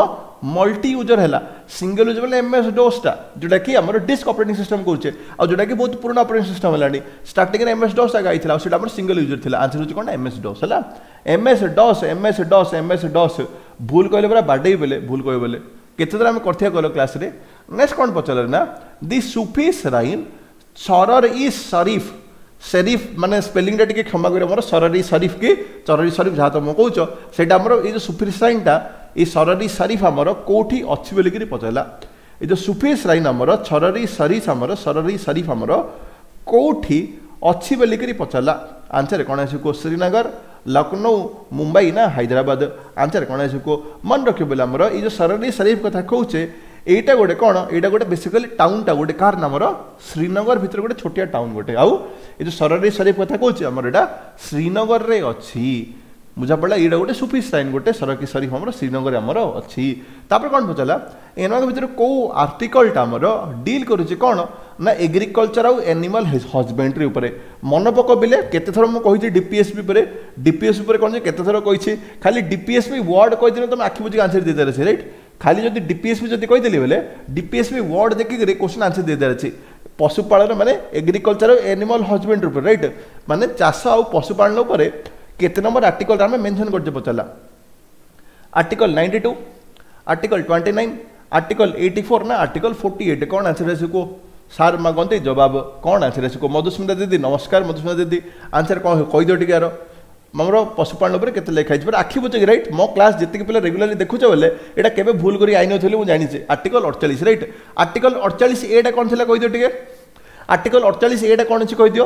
A: ମଲ୍ଟି ୟୁଜର ହେଲା ସିଙ୍ଗଲ ୟୁଜର ବୋଲେ ଏମ୍ଏସ୍ ଡୋସ୍ଟା ଯେଉଁଟାକି ଆମର ଡିସ୍କ ଅପରେଟିଂ ସିଷ୍ଟମ୍ କହୁଛେ ଆଉ ଯେଉଁଟାକି ବହୁତ ପୁରୁଣା ଅପରେଟିଂ ସିଷ୍ଟମ୍ ହେଲାଣି ଷ୍ଟାର୍ଟିଂରେ ଏମ୍ଏସ୍ ଡସ୍ ଆଗ ଆଇଥିଲା ଆଉ ସେଇଟା ଆମର ସିଙ୍ଗଲ ୟୁଜର ଥିଲା ଆନ୍ସର ହେଉଛି କ'ଣ ଏମ୍ଏସ୍ ଡସ୍ ହେଲା MS DOS MS DOS MS DOS ଭୁଲ କହିଲେ ପୁରା ବାଡ଼େଇ ବେଲେ ଭୁଲ କହିବେ ବୋଲେ କେତେ ଥର ଆମେ କରିଥିବା କହିଲ କ୍ଲାସ୍ରେ ନେକ୍ସଟ କ'ଣ ପଚାରିଲେ ନା ଦି ସୁଫି ଶ୍ରାଇନ୍ ସରର ଇ ସରିଫ ସେରିଫ ମାନେ ସ୍ପେଲିଂଟା ଟିକେ କ୍ଷମା କରିବ ମୋର ସରରି ସରିଫ କି ଚରରି ସରିଫ ଯାହା ତମେ କହୁଛ ସେଇଟା ଆମର ଏଇ ଯେଉଁ ସୁଫି ଶ୍ରାଇନ୍ଟା ଏଇ ସରରି ସରିଫ ଆମର କେଉଁଠି ଅଛି ବୋଲିକିରି ପଚାରିଲା ଏଇ ଯେଉଁ ସୁଫି ଶ୍ରାଇନ୍ ଆମର ସରରି ସରିଫ ଆମର ସରରି ସରିଫ ଆମର କେଉଁଠି ଅଛି ବୋଲିକିରି ପଚାରିଲା ଆନ୍ସର କ'ଣ ଆସିବ ଶ୍ରୀନଗର ଲକ୍ଷ୍ନୌ ମୁମ୍ବାଇ ନା ହାଇଦ୍ରାବାଦ ଆନ୍ସର କ'ଣ ଆସିବ ମନେ ରଖିବ ବୋଲେ ଆମର ଏଇ ଯେଉଁ ସରରି ସରିଫ କଥା କହୁଛେ ଏଇଟା ଗୋଟେ କ'ଣ ଏଇଟା ଗୋଟେ ବେସିକାଲି ଟାଉନଟା ଗୋଟେ କାହାର ନାମର ଶ୍ରୀନଗର ଭିତରେ ଗୋଟେ ଛୋଟିଆ ଟାଉନ ଗୋଟେ ଆଉ ଏ ଯେଉଁ ସରରି ସରିଫ କଥା କହୁଛି ଆମର ଏଇଟା ଶ୍ରୀନଗରରେ ଅଛି ବୁଝାପଡ଼ିଲା ଏଇଟା ଗୋଟେ ସୁଫି ଶ୍ରାଇନ୍ ଗୋଟେ ସରକି ସରିଫ ଆମର ଶ୍ରୀନଗରରେ ଆମର ଅଛି ତାପରେ କ'ଣ ପଚାରିଲା ଏମାନଙ୍କ ଭିତରେ କେଉଁ ଆର୍ଟିକଲଟା ଆମର ଡିଲ୍ କରୁଛି କ'ଣ ନା ଏଗ୍ରିକଲଚର ଆଉ ଆନିମାଲ ହଜବେଣ୍ଡ୍ରି ଉପରେ ମନେ ପକ ବିଲେ କେତେ ଥର ମୁଁ କହିଛି ଡିପିଏସ୍ପି ଉପରେ ଡିପିଏସ୍ପି ଉପରେ କ'ଣ ଯେ କେତେ ଥର କହିଛି ଖାଲି ଡିପିଏସ୍ପି ୱାର୍ଡ଼ କହିଦେଲେ ତମେ ଆଖି ବୁଜିକି ଆନ୍ସର ଦେଇଦେବାର ଅଛି ରାଇଟ୍ ଖାଲି ଯଦି ଡିପିଏସ୍ପି ଯଦି କହିଦେଲି ବୋଲେ ଡିପିଏସ୍ପି ୱାର୍ଡ଼ ଦେଖିକିରି କ୍ୱେଶ୍ଚନ୍ ଆନ୍ସର ଦେଇଦେବାର ଅଛି ପଶୁପାଳନ ମାନେ ଏଗ୍ରିକଲଚର ଆଉ ଆନିମାଲ ହଜବେଣ୍ଡ୍ରି ଉପରେ ରାଇଟ୍ ମାନେ ଚାଷ ଆଉ ପଶୁପାଳନ ଉପରେ କେତେ ନମ୍ବର ଆର୍ଟିକଲଟା ଆମେ ମେନସନ୍ କରିଛେ ପଚାରିଲା Article ninety two Article twenty nine Article eighty four ନା ଆର୍ଟିକଲ ଫୋର୍ଟି ଏଇଟ୍ କ'ଣ ଆନ୍ସର ଆସିବ କୁହ ସାର୍ ମାଗନ୍ତି ଜବାବ କ'ଣ ଆନ୍ସର ଆସିବ ମଧୁସ୍ମିତା ଦିଦି ନମସ୍କାର ମଧୁସ୍ମିତା ଦିଦି ଆନ୍ସର କ'ଣ କହିଦିଅ ଟିକେ ଆର ଆମର ପଶୁପାଳନ ଉପରେ କେତେ ଲେଖା ହେଇଛି ପୁରା ଆଖି ବୁଜିକି ରାଇଟ୍ ମୋ କ୍ଲାସ୍ ଯେତିକି ପିଲା ରେଗୁଲାରଲି ଦେଖୁଛ ବୋଲେ ଏଇଟା କେବେ ଭୁଲ କରି ଆଇନଥିଲି ମୁଁ ଜାଣିଛି ଆର୍ଟିକଲ ଅଡ଼ଚାଳିଶ ରାଇଟ୍ ଆର୍ଟିକଲ ଅଡ଼ଚାଳିଶ ଏଟା କ'ଣ ଥିଲା କହିଦିଅ ଟିକେ ଆର୍ଟିକଲ ଅଡ଼ଚାଳିଶ ଏଟା କ'ଣ ଅଛି କହିଦିଅ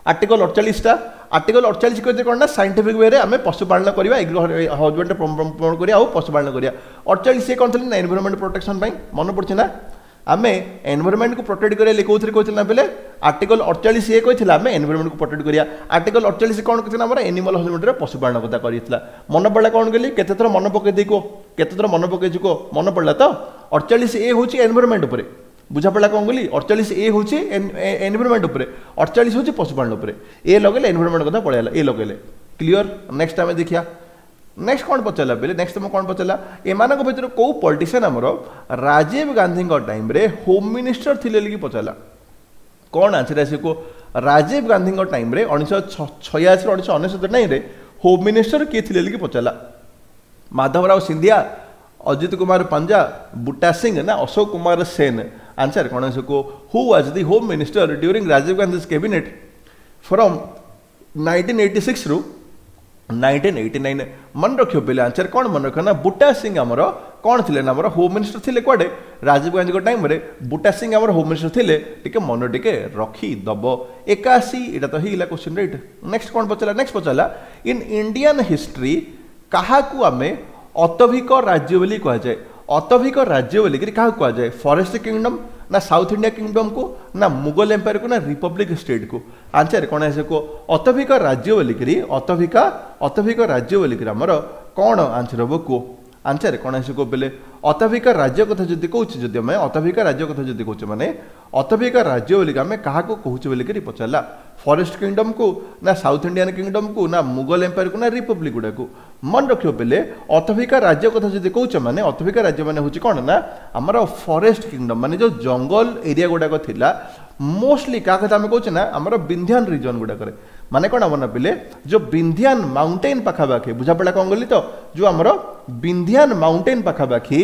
A: ଆର୍ଟିକଲ ଅଡ଼ଚାଳିଶଟା ଆର୍ଟିକଲ ଅଡ଼ଚାଳିଶ କହିଦିଅ କ'ଣ ନା ସାଇଣ୍ଟିଫିକ୍ ୱେରେ ଆମେ ପଶୁପାଳନ କରିବା ହଜବେଣ୍ଡ ପ୍ରମୋଟ କରିବା ଆଉ ପଶୁପାଳନ କରିବା ଅଡ଼ଚାଳିଶ ଏ କ'ଣ ଥିଲା ନା ଏନଭାରମେଣ୍ଟ ପ୍ରୋଟେକ୍ସନ୍ ପାଇଁ ମନେ ପଡ଼ୁଛି ନା ଆମେ ଏନଭାରମେଣ୍ଟକୁ ପ୍ରୋଟେକ୍ଟ କରିବା କେଉଁଥିରେ କହିଥିଲା ନା ବେଲେ ଆର୍ଟିକଲ ଅଡ଼ଚାଳିଶ ଏ କହିଥିଲା ଆମେ ଏନଭାରମେଣ୍ଟକୁ ପ୍ରୋଟେକ୍ଟ କରିବା ଆର୍ଟିକଲ ଅଡ଼ଚାଳିଶ କ'ଣ କହିଥିଲା ଆମର ଏନିମାଲ ହଜବେଣ୍ଡରେ ପଶୁପାଳନ କଥା କରିଥିଲା ମନେ ପଡ଼ିଲା କ'ଣ କହିଲି କେତେ ଥର ମନେ ପକେଇ ଦେଇ କୁହ କେତେ ଥର ମନେ ପକେଇଛି କୁହ ମନେ ପଡ଼ିଲା ତ ଅଡ଼ଚାଳିଶ ଏ ହେଉଛି ଏନଭାରମେଣ୍ଟ ଉପରେ ବୁଝାପଡ଼ିଲା କ'ଣ କହିଲି ଅଡ଼ଚାଳିଶ ଏ ହେଉଛି ଏନଭାରମେଣ୍ଟ ଉପରେ ଅଡ଼ଚାଳିଶ ହେଉଛି ପଶୁପାଳନ ଉପରେ ଏ ଲଗେଇଲେ ଏନଭାରମେଣ୍ଟ କଥା ପଳେଇଲା ଏ ଲଗେଇଲେ କ୍ଲିଅର ନେକ୍ସଟ ଆମେ ଦେଖିବା ନେକ୍ସଟ କ'ଣ ପଚାରିଲା ବେଲେ ନେକ୍ସଟ ମୁଁ କ'ଣ ପଚାରିଲା ଏମାନଙ୍କ ଭିତରୁ କେଉଁ ପଲିଟିସିଆନ୍ ଆମର ରାଜୀବ ଗାନ୍ଧୀଙ୍କ ଟାଇମ୍ରେ ହୋମ୍ ମିନିଷ୍ଟର ଥିଲେ ବୋଲି ପଚାରିଲା କ'ଣ ଆନ୍ସର ଆସିବ କୁହ ରାଜୀବ ଗାନ୍ଧୀଙ୍କ ଟାଇମ୍ରେ ଉଣେଇଶହ ଛୟାଅଶୀ ଉଣେଇଶହ ଅନେଶତ ଟାଇମ୍ରେ ହୋମ୍ ମିନିଷ୍ଟର କିଏ ଥିଲେ ବୋଲି ପଚାରିଲା ମାଧବରାଓ ସିନ୍ଧିଆ ଅଜିତ କୁମାର ପଞ୍ଜା ବୁଟା ସିଂ ନା ଅଶୋକ କୁମାର ସେନ ଆନ୍ସର କ'ଣ ଆସିବ କୁହ Who was the Home Minister during Rajiv Gandhi's cabinet from nineteen eighty ସିକ୍ସରୁ nineteen eighty nine ମନେ ରଖିବ ପିଲା ଆନ୍ସର କ'ଣ ମନେ ରଖିବ ନା ବୁଟା ସିଂ ଆମର କ'ଣ ଥିଲେ ନା ଆମର ହୋମ୍ ମିନିଷ୍ଟର ଥିଲେ କୁଆଡ଼େ ରାଜୀବ ଗାନ୍ଧୀଙ୍କ ଟାଇମ୍ରେ ବୁଟା ସିଂ ଆମର ହୋମ୍ ମିନିଷ୍ଟର ଥିଲେ ଟିକେ ମନେ ଟିକେ ରଖିଦେବ ଏକାଅଶୀ ଏଇଟା ତ ହେଇଗଲା କ୍ୱେଶ୍ଚିନ୍ ରାଇଟ୍ ନେକ୍ସଟ କ'ଣ ପଚାରିଲା ନେକ୍ସଟ ପଚାରିଲା ଇନ୍ ଇଣ୍ଡିଆନ୍ ହିଷ୍ଟ୍ରି କାହାକୁ ଆମେ ଅତଭିକ ରାଜ୍ୟ ବୋଲି କୁହାଯାଏ ଅତଭିକ ରାଜ୍ୟ ବୋଲିକିରି କାହାକୁ କୁହାଯାଏ ଫରେଷ୍ଟ କିଙ୍ଗଡମ୍ ନା ସାଉଥ ଇଣ୍ଡିଆ କିଙ୍ଗଡମ୍କୁ ନା ମୁଗଲ ଏମ୍ପାୟାରକୁ ନା ରିପବ୍ଲିକ୍ ଷ୍ଟେଟ୍କୁ ଆନ୍ସର କ'ଣ ଆସିବ କୁହ ଅତଭିକ ରାଜ୍ୟ ବୋଲିକିରି ଅତଭିକା ଅତଭିକ ରାଜ୍ୟ ବୋଲିକିରି ଆମର କ'ଣ ଆନ୍ସର ହେବ କୁହ ଆନ୍ସର କ'ଣ ଆସିବ କୁହ ବେଲେ ଅତଭିକ ରାଜ୍ୟ କଥା ଯଦି କହୁଛେ ଯଦି ଆମେ ଅତଭିକ ରାଜ୍ୟ କଥା ଯଦି କହୁଛେ ମାନେ ଅତଭିକ ରାଜ୍ୟ ବୋଲିକି ଆମେ କାହାକୁ କହୁଛେ ବୋଲିକିରି ପଚାରିଲା ଫରେଷ୍ଟ କିଙ୍ଗଡମ୍କୁ ନା ସାଉଥ ଇଣ୍ଡିଆନ୍ କିଙ୍ଗଡମ୍କୁ ନା ମୁଗଲ ଏମ୍ପାୟାରକୁ ନା ରିପବ୍ଲିକ୍ ଗୁଡ଼ାକୁ ମନେ ରଖିବ ବେଲେ ଅତଭିକ ରାଜ୍ୟ କଥା ଯଦି କହୁଛେ ମାନେ ଅତଭିକ ରାଜ୍ୟ ମାନେ ହେଉଛି କ'ଣ ନା ଆମର ଫରେଷ୍ଟ କିଙ୍ଗଡମ୍ ମାନେ ଯେଉଁ ଜଙ୍ଗଲ ଏରିଆ ଗୁଡ଼ାକ ଥିଲା ମୋଷ୍ଟଲି କାହା କଥା ଆମେ କହୁଛେ ନା ଆମର ବିନ୍ଧ୍ୟାନ ରିଜନ୍ ଗୁଡ଼ାକରେ ମାନେ କ'ଣ ଆମର ନା ପିଲେ ଯେଉଁ ବିନ୍ଧ୍ୟାନ ମାଉଣ୍ଟେନ୍ ପାଖାପାଖି ବୁଝାପଡ଼ିଲା କ'ଣ କଲି ତ ଯେଉଁ ଆମର ବିନ୍ଧ୍ୟାନ ମାଉଣ୍ଟେନ୍ ପାଖାପାଖି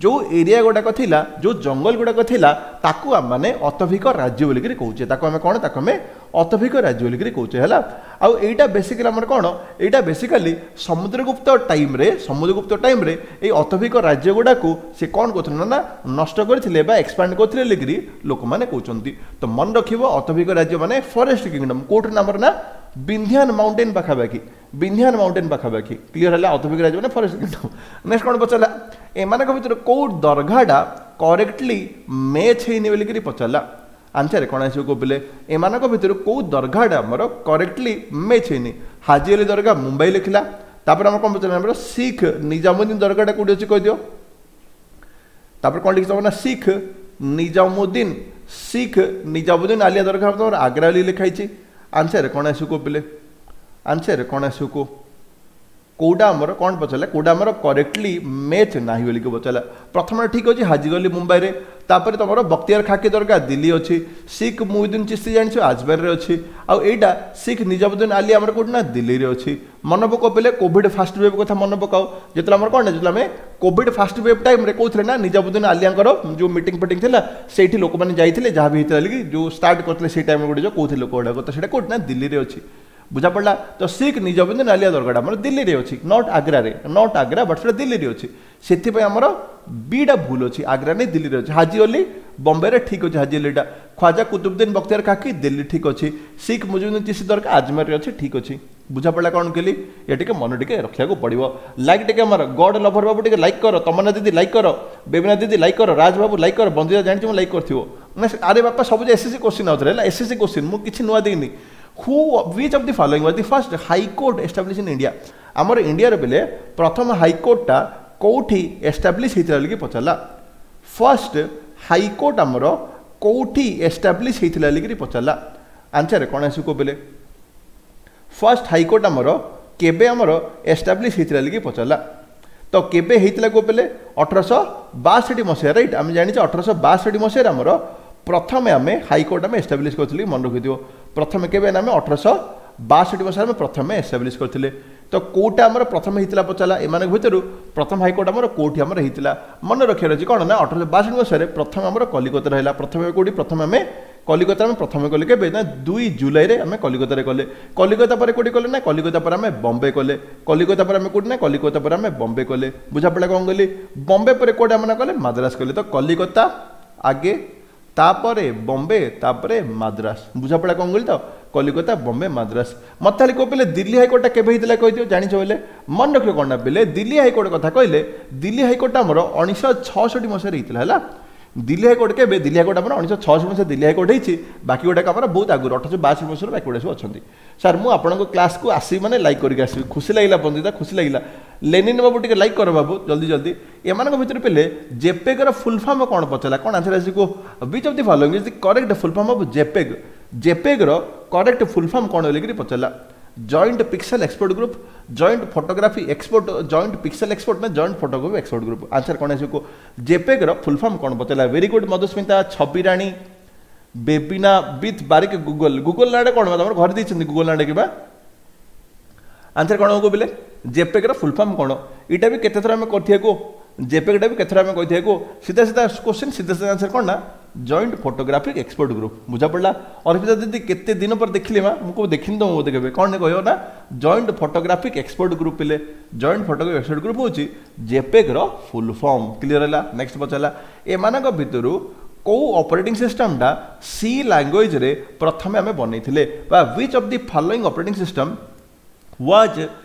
A: ଯେଉଁ ଏରିଆ ଗୁଡ଼ାକ ଥିଲା ଯେଉଁ ଜଙ୍ଗଲ ଗୁଡ଼ାକ ଥିଲା ତାକୁ ଆମମାନେ ଅତଭିକ ରାଜ୍ୟ ବୋଲିକିରି କହୁଛେ ତାକୁ ଆମେ କ'ଣ ତାକୁ ଆମେ ଅତଭିକ ରାଜ୍ୟ ବୋଲିକିରି କହୁଛେ ହେଲା ଆଉ ଏଇଟା ବେସିକାଲି ଆମର କ'ଣ ଏଇଟା ବେସିକାଲି ସମୁଦ୍ରଗୁପ୍ତ ଟାଇମ୍ରେ ସମୁଦ୍ରଗୁପ୍ତ ଟାଇମ୍ରେ ଏଇ ଅତଭିକ ରାଜ୍ୟ ଗୁଡ଼ାକୁ ସେ କ'ଣ କରୁଥିଲେ ନା ନଷ୍ଟ କରିଥିଲେ ବା ଏକ୍ସପାଣ୍ଡ କରୁଥିଲେ ବୋଲିକିରି ଲୋକମାନେ କହୁଛନ୍ତି ତ ମନେ ରଖିବ ଅତଭିକ ରାଜ୍ୟ ମାନେ ଫରେଷ୍ଟ କିଙ୍ଗଡମ୍ କେଉଁଠି ଆମର ନା ବିନ୍ଧ୍ୟାନ ମାଉଣ୍ଟେନ୍ ପାଖାପାଖି ବିନ୍ଧ୍ୟାନ ମାଉଣ୍ଟେନ୍ ପାଖାପାଖି କ୍ଲିଅର ହେଲା ଅତଭିକ ରାଜ୍ୟ ମାନେ ଫରେଷ୍ଟ କିଙ୍ଗଡମ୍ ନେକ୍ସଟ କ'ଣ ପଚାରିଲା ଏମାନଙ୍କ ଭିତରେ କେଉଁ ଦରଘାଟା କରେକ୍ଟଲି ମ୍ୟାଚ୍ ହେଇନି ବୋଲିକିରି ପଚାରିଲା ଆନ୍ସର କ'ଣ ଆସିବ କୋଉ ଏମାନଙ୍କ ଭିତରୁ କେଉଁ ଦରଘାଟା ଆମର କରେକ୍ଟଲି ମ୍ୟାଚ୍ ହେଇନି ହାଜି ଅଲି ଦରଘା ମୁମ୍ବାଇ ଲେଖିଲା ତାପରେ ଆମର କ'ଣ ପଚାରିଲା ଆମର ଶିଖ ନିଜାମୁଦ୍ଦିନ ଦରଘାଟା କେଉଁଠି ଅଛି କହିଦିଅ ତାପରେ କ'ଣ ଲେଖିଛି ନା ଶିଖ ନିଜାମୁଦ୍ଦିନ ଶିଖ ନିଜାମୁଦ୍ଦିନ ଆଲିଆ ଦରଘା ତମର ଆଗ୍ରା ବୋଲି ଲେଖା ହେଇଛି ଆନ୍ସର କ'ଣ ଆସିବ କୋଉ ପିଲେ ଆନ୍ସର କ'ଣ ଆସିବ କୁହ କୋଉଟା ଆମର କ'ଣ ପଚାରିଲା କୋଉଟା ଆମର କରେକ୍ଟଲି ମ୍ୟାଚ୍ ନାହିଁ ବୋଲିକି ପଚାରିଲା ପ୍ରଥମେ ଠିକ୍ ଅଛି ହାଜିଗଲି ମୁମ୍ବାଇରେ ତାପରେ ତମର ବକ୍ତିଆର ଖାକି ଦରଗା ଦିଲ୍ଲୀ ଅଛି ଶିଖ ମୁଇଦୁନ ଚିସ୍ତି ଜାଣିଛ ଆଜମେରରେ ଅଛି ଆଉ ଏଇଟା ଶିଖ ନିଜାମୁଦ୍ଦିନ ଆଲି ଆମର କୋଉଠି ନା ଦିଲ୍ଲୀରେ ଅଛି ମନେ ପକାଅ ପିଲେ କୋଭିଡ ଫାଷ୍ଟ ୱେଭ୍ କଥା ମନେ ପକାଅ ଯେତେବେଳେ ଆମର କ'ଣ ନା ଯେତେବେଳେ ଆମେ କୋଭିଡ ଫାଷ୍ଟ ୱେଭ୍ ଟାଇମ୍ରେ କହୁଥିଲେ ନା ନିଜାମୁଦ୍ଦିନ ଆଲିଆଙ୍କର ଯେଉଁ ମିଟିଂ ଫିଟିଂ ଥିଲା ସେଇଠି ଲୋକମାନେ ଯାଇଥିଲେ ଯାହା ବି ହେଇଥିଲା କି ଯେଉଁ ଷ୍ଟାର୍ଟ କରିଥିଲେ ସେଇ ଟାଇମ୍ରେ ଗୋଟେ ଯେଉଁ କହୁଥିଲେ ଲୋକ ଗୁଡ଼ାକ ତ ସେଇଟା କୋଉଠି ନା ଦିଲ୍ଲୀରେ ଅଛି ବୁଝା ପଡ଼ିଲା ତ ଶିଖ ନିଜାମୁଦ୍ଦିନ ଆଲିଆ ଦରଗାଟା ଆମର ଦିଲ୍ଲୀରେ ଅଛି not ଆଗ୍ରାରେ not Agra but ସେଟା ଦିଲ୍ଲୀରେ ଅଛି ସେଥିପାଇଁ ଆମର ବିଟା ଭୁଲ ଅଛି ଆଗ୍ରା ନେଇ ଦିଲ୍ଲୀରେ ଅଛି ହାଜି ଅଲି ବମ୍ବେରେ ଠିକ୍ ଅଛି ହାଜି ଅଲିଟା ଖ୍ୱାଜା କୁତୁବୁଦ୍ଦିନ ବକ୍ତିଆର ଖାକି ଦିଲ୍ଲୀ ଠିକ୍ ଅଛି ଶିଖ ମୁଜିବୁଦ୍ଦିନ ଚିସ୍ତି ଦରଗା ଆଜମେରରେ ଅଛି ଠିକ୍ ଅଛି ବୁଝା ପଡ଼ିଲା କ'ଣ କହିଲି ଏ ଟିକେ ମନେ ଟିକେ ରଖିବାକୁ ପଡ଼ିବ ଲାଇକ୍ ଟିକେ ଆମର ଗଡ୍ ଲଭର ବାବୁ ଟିକେ ଲାଇକ୍ କର ତମନ୍ନା ଦିଦି ଲାଇକ୍ କର ବେବିନା ଦିଦି ଲାଇକ୍ କର ରାଜ ବାବୁ ଲାଇକ୍ କର ବନ୍ଦିତା ଜାଣିଛି ମୁଁ ଲାଇକ୍ କରିଥିବ ନା ଆରେ ବାପା ସବୁ ଯେ ଏସ୍ଏସ୍ସି କୋଶ୍ଚିନ୍ ଆଉଥରେ ହେଲା ଏସ୍ଏସ୍ସି କୋଶ୍ଚିନ୍ ମୁଁ କିଛି ନୂଆ ଦେଇନି who which of the following was the first high court establish in India ଆମର ଇଣ୍ଡିଆର ବେଲେ ପ୍ରଥମ ହାଇକୋର୍ଟଟା କେଉଁଠି ଏଷ୍ଟାବ୍ଲିଶ ହେଇଥିଲା ବୋଲିକି ପଚାରିଲା ଫାର୍ଷ୍ଟ ହାଇକୋର୍ଟ ଆମର କେଉଁଠି ଏଷ୍ଟାବ୍ଲିଶ ହେଇଥିଲା ବୋଲିକିରି ପଚାରିଲା ଆନ୍ସର କ'ଣ ଆସିବ ବେଲେ ଫାର୍ଷ୍ଟ ହାଇକୋର୍ଟ ଆମର କେବେ ଆମର ଏଷ୍ଟାବ୍ଲିଶ ହେଇଥିଲା ବୋଲିକି ପଚାରିଲା ତ କେବେ ହେଇଥିଲା କୋଉ ବେଲେ ଅଠରଶହ ବାଷଠି ମସିହା ରାଇଟ୍ ଆମେ ଜାଣିଛେ ଅଠରଶହ ବାଷଠି ମସିହାରେ ଆମର ପ୍ରଥମେ ଆମେ ହାଇକୋର୍ଟ ଆମେ ଏଷ୍ଟାବ୍ଲିଶ କରିଥିଲେ ମନେ ରଖିଥିବ ପ୍ରଥମେ କେବେ ନା ଆମେ ଅଠରଶହ ବାଷଠି ମସିହାରେ ଆମେ ପ୍ରଥମେ ଏଷ୍ଟାବ୍ଲିଶ କରିଥିଲେ ତ କେଉଁଟା ଆମର ପ୍ରଥମେ ହେଇଥିଲା ପଚାରିଲା ଏମାନଙ୍କ ଭିତରୁ ପ୍ରଥମ ହାଇକୋର୍ଟ ଆମର କେଉଁଠି ଆମର ହେଇଥିଲା ମନେ ରଖିବାର ଅଛି କ'ଣ ନା ଅଠରଶହ ବାଷଠି ମସିହାରେ ପ୍ରଥମେ ଆମର କଲିକତାରେ ହେଲା ପ୍ରଥମେ କେଉଁଠି ପ୍ରଥମେ ଆମେ କଲିକତାରେ ଆମେ ପ୍ରଥମେ କଲେ କେବେ ନା ଦୁଇ ଜୁଲାଇରେ ଆମେ କଲିକତାରେ କଲେ କଲିକତା ପରେ କେଉଁଠି କଲେ ନା କଲିକତା ପରେ ଆମେ ବମ୍ବେ କଲେ କଲିକତା ପରେ ଆମେ କେଉଁଠି ନା କଲିକତା ପରେ ଆମେ ବମ୍ବେ କଲେ ବୁଝାପଡ଼ିଲା କ'ଣ କଲି ବମ୍ବେ ପରେ କେଉଁଠି ଆମେ ନା କଲେ ମାଦ୍ରାସ କଲେ ତ କଲିକତା ଆଗେ ତାପରେ ବମ୍ବେ ତାପରେ ମାଦ୍ରାସ ବୁଝାପଡ଼ିଲା କ'ଣ କହିଲି ତ କଲିକତା ବମ୍ବେ ମାଦ୍ରାସ ମତେ ଖାଲି କହିଲେ ଦିଲ୍ଲୀ ହାଇକୋର୍ଟଟା କେବେ ହେଇଥିଲା କହିଦିଅ ଜାଣିଛ ବୋଇଲେ ମନେ ରଖିବ କ'ଣ ନା ପିଲେ ଦିଲ୍ଲୀ ହାଇକୋର୍ଟ କଥା କହିଲେ ଦିଲ୍ଲୀ ହାଇକୋର୍ଟଟା ଆମର ଉଣେଇଶହ ଛଅଷଠି ମସିହାରେ ହେଇଥିଲା ହେଲା ଦିଲ୍ଲୀ ହାଇକୋର୍ଟ କେବେ ଦିଲ୍ଲୀ ହାଇକୋର୍ଟ ଆମର ଉଣେଇଶହ ଛଅଷଠି ମସିହା ଦିଲ୍ଲୀ ହାଇକୋର୍ଟ ହେଇଛି ବାକି ଗୁଡ଼ାକ ଆମର ବହୁତ ଆଗରୁ ଅଠରଶହ ବାଷଠି ମସିହାରୁ ବାକି ଗୁଡ଼ା ସବୁ ଅଛନ୍ତି ସାର୍ ମୁଁ ଆପଣଙ୍କ କ୍ଲାସ୍କୁ ଆସିବି ମାନେ ଲାଇକ୍ କରିକି ଆସିବି ଖୁସି ଲାଗିଲା ବନ୍ଦିତା ଖୁସି ଲାଗିଲା ଲେନିନ ବାବୁ ଟିକେ ଲାଇକ୍ କର ବାବୁ ଜଲ୍ଦି ଜଲ୍ଦି ଏମାନଙ୍କ ଭିତରେ ପିଲେ ଜେପେଗର ଫୁଲ୍ ଫର୍ମ କ'ଣ ପଚାରିଲା କ'ଣ ଆନ୍ସର ଆସିବ which of the following is the correct full form of JPEG ଜେପେଗର correct full form କ'ଣ ବୋଲିକିରି ପଚାରିଲା joint pixel expert group joint photography expert joint pixel expert ନା joint photography expert group answer କ'ଣ ଆସିବ ଜେପେଗର ଫୁଲ୍ ଫର୍ମ କ'ଣ ପଚାରିଲା very good Madhusmita ଛବି ରାଣୀ Bebina ବିଥ୍ Barik Google Google ନାଁଟା କ'ଣ ତମର ଘରେ ଦେଇଛନ୍ତି ଗୁଗଲ ନାଁଟା କିବା ଆନ୍ସର କ'ଣ ହବ ବୋଲେ ଜେପେଗର ଫୁଲ୍ ଫର୍ମ କ'ଣ ଏଇଟା ବି କେତେ ଥର ଆମେ କରିଥିବା କୁହ ଜେପେଗଟା ବି କେତେ ଥର ଆମେ କହିଥିବା କୁହ ସିଧା ସିଧା କୋଶ୍ଚିନ୍ ସିଧା ସିଧା ଆନ୍ସର କ'ଣ ନା ଜଏଣ୍ଟ ଫଟୋଗ୍ରାଫିକ୍ ଏକ୍ସପର୍ଟ ଗ୍ରୁପ୍ ବୁଝା ପଡ଼ିଲା ଅର୍ପିତା ଦିଦି କେତେ ଦିନ ପରେ ଦେଖିଲି ମା ମୁଁ କେବେ ଦେଖିନି ତ ମୁଁ ବୋଧେ କେବେ କ'ଣ କହିବ ନା ଜଏଣ୍ଟ ଫଟୋଗ୍ରାଫିକ୍ ଏକ୍ସପର୍ଟ ଗ୍ରୁପ୍ ପିଲେ ଜଏଣ୍ଟ ଫଟୋଗ୍ରାଫିକ୍ ଏକ୍ସପର୍ଟ ଗ୍ରୁପ୍ ହେଉଛି ଜେପେଗର ଫୁଲ୍ ଫର୍ମ କ୍ଲିୟର ହେଲା ନେକ୍ସଟ ପଚାରିଲା ଏମାନଙ୍କ ଭିତରୁ କେଉଁ ଅପରେଟିଂ ସିଷ୍ଟମଟା ସି ଲାଙ୍ଗୁଏଜରେ ପ୍ରଥମେ ଆମେ ବନେଇଥିଲେ ବା which of the following operating system was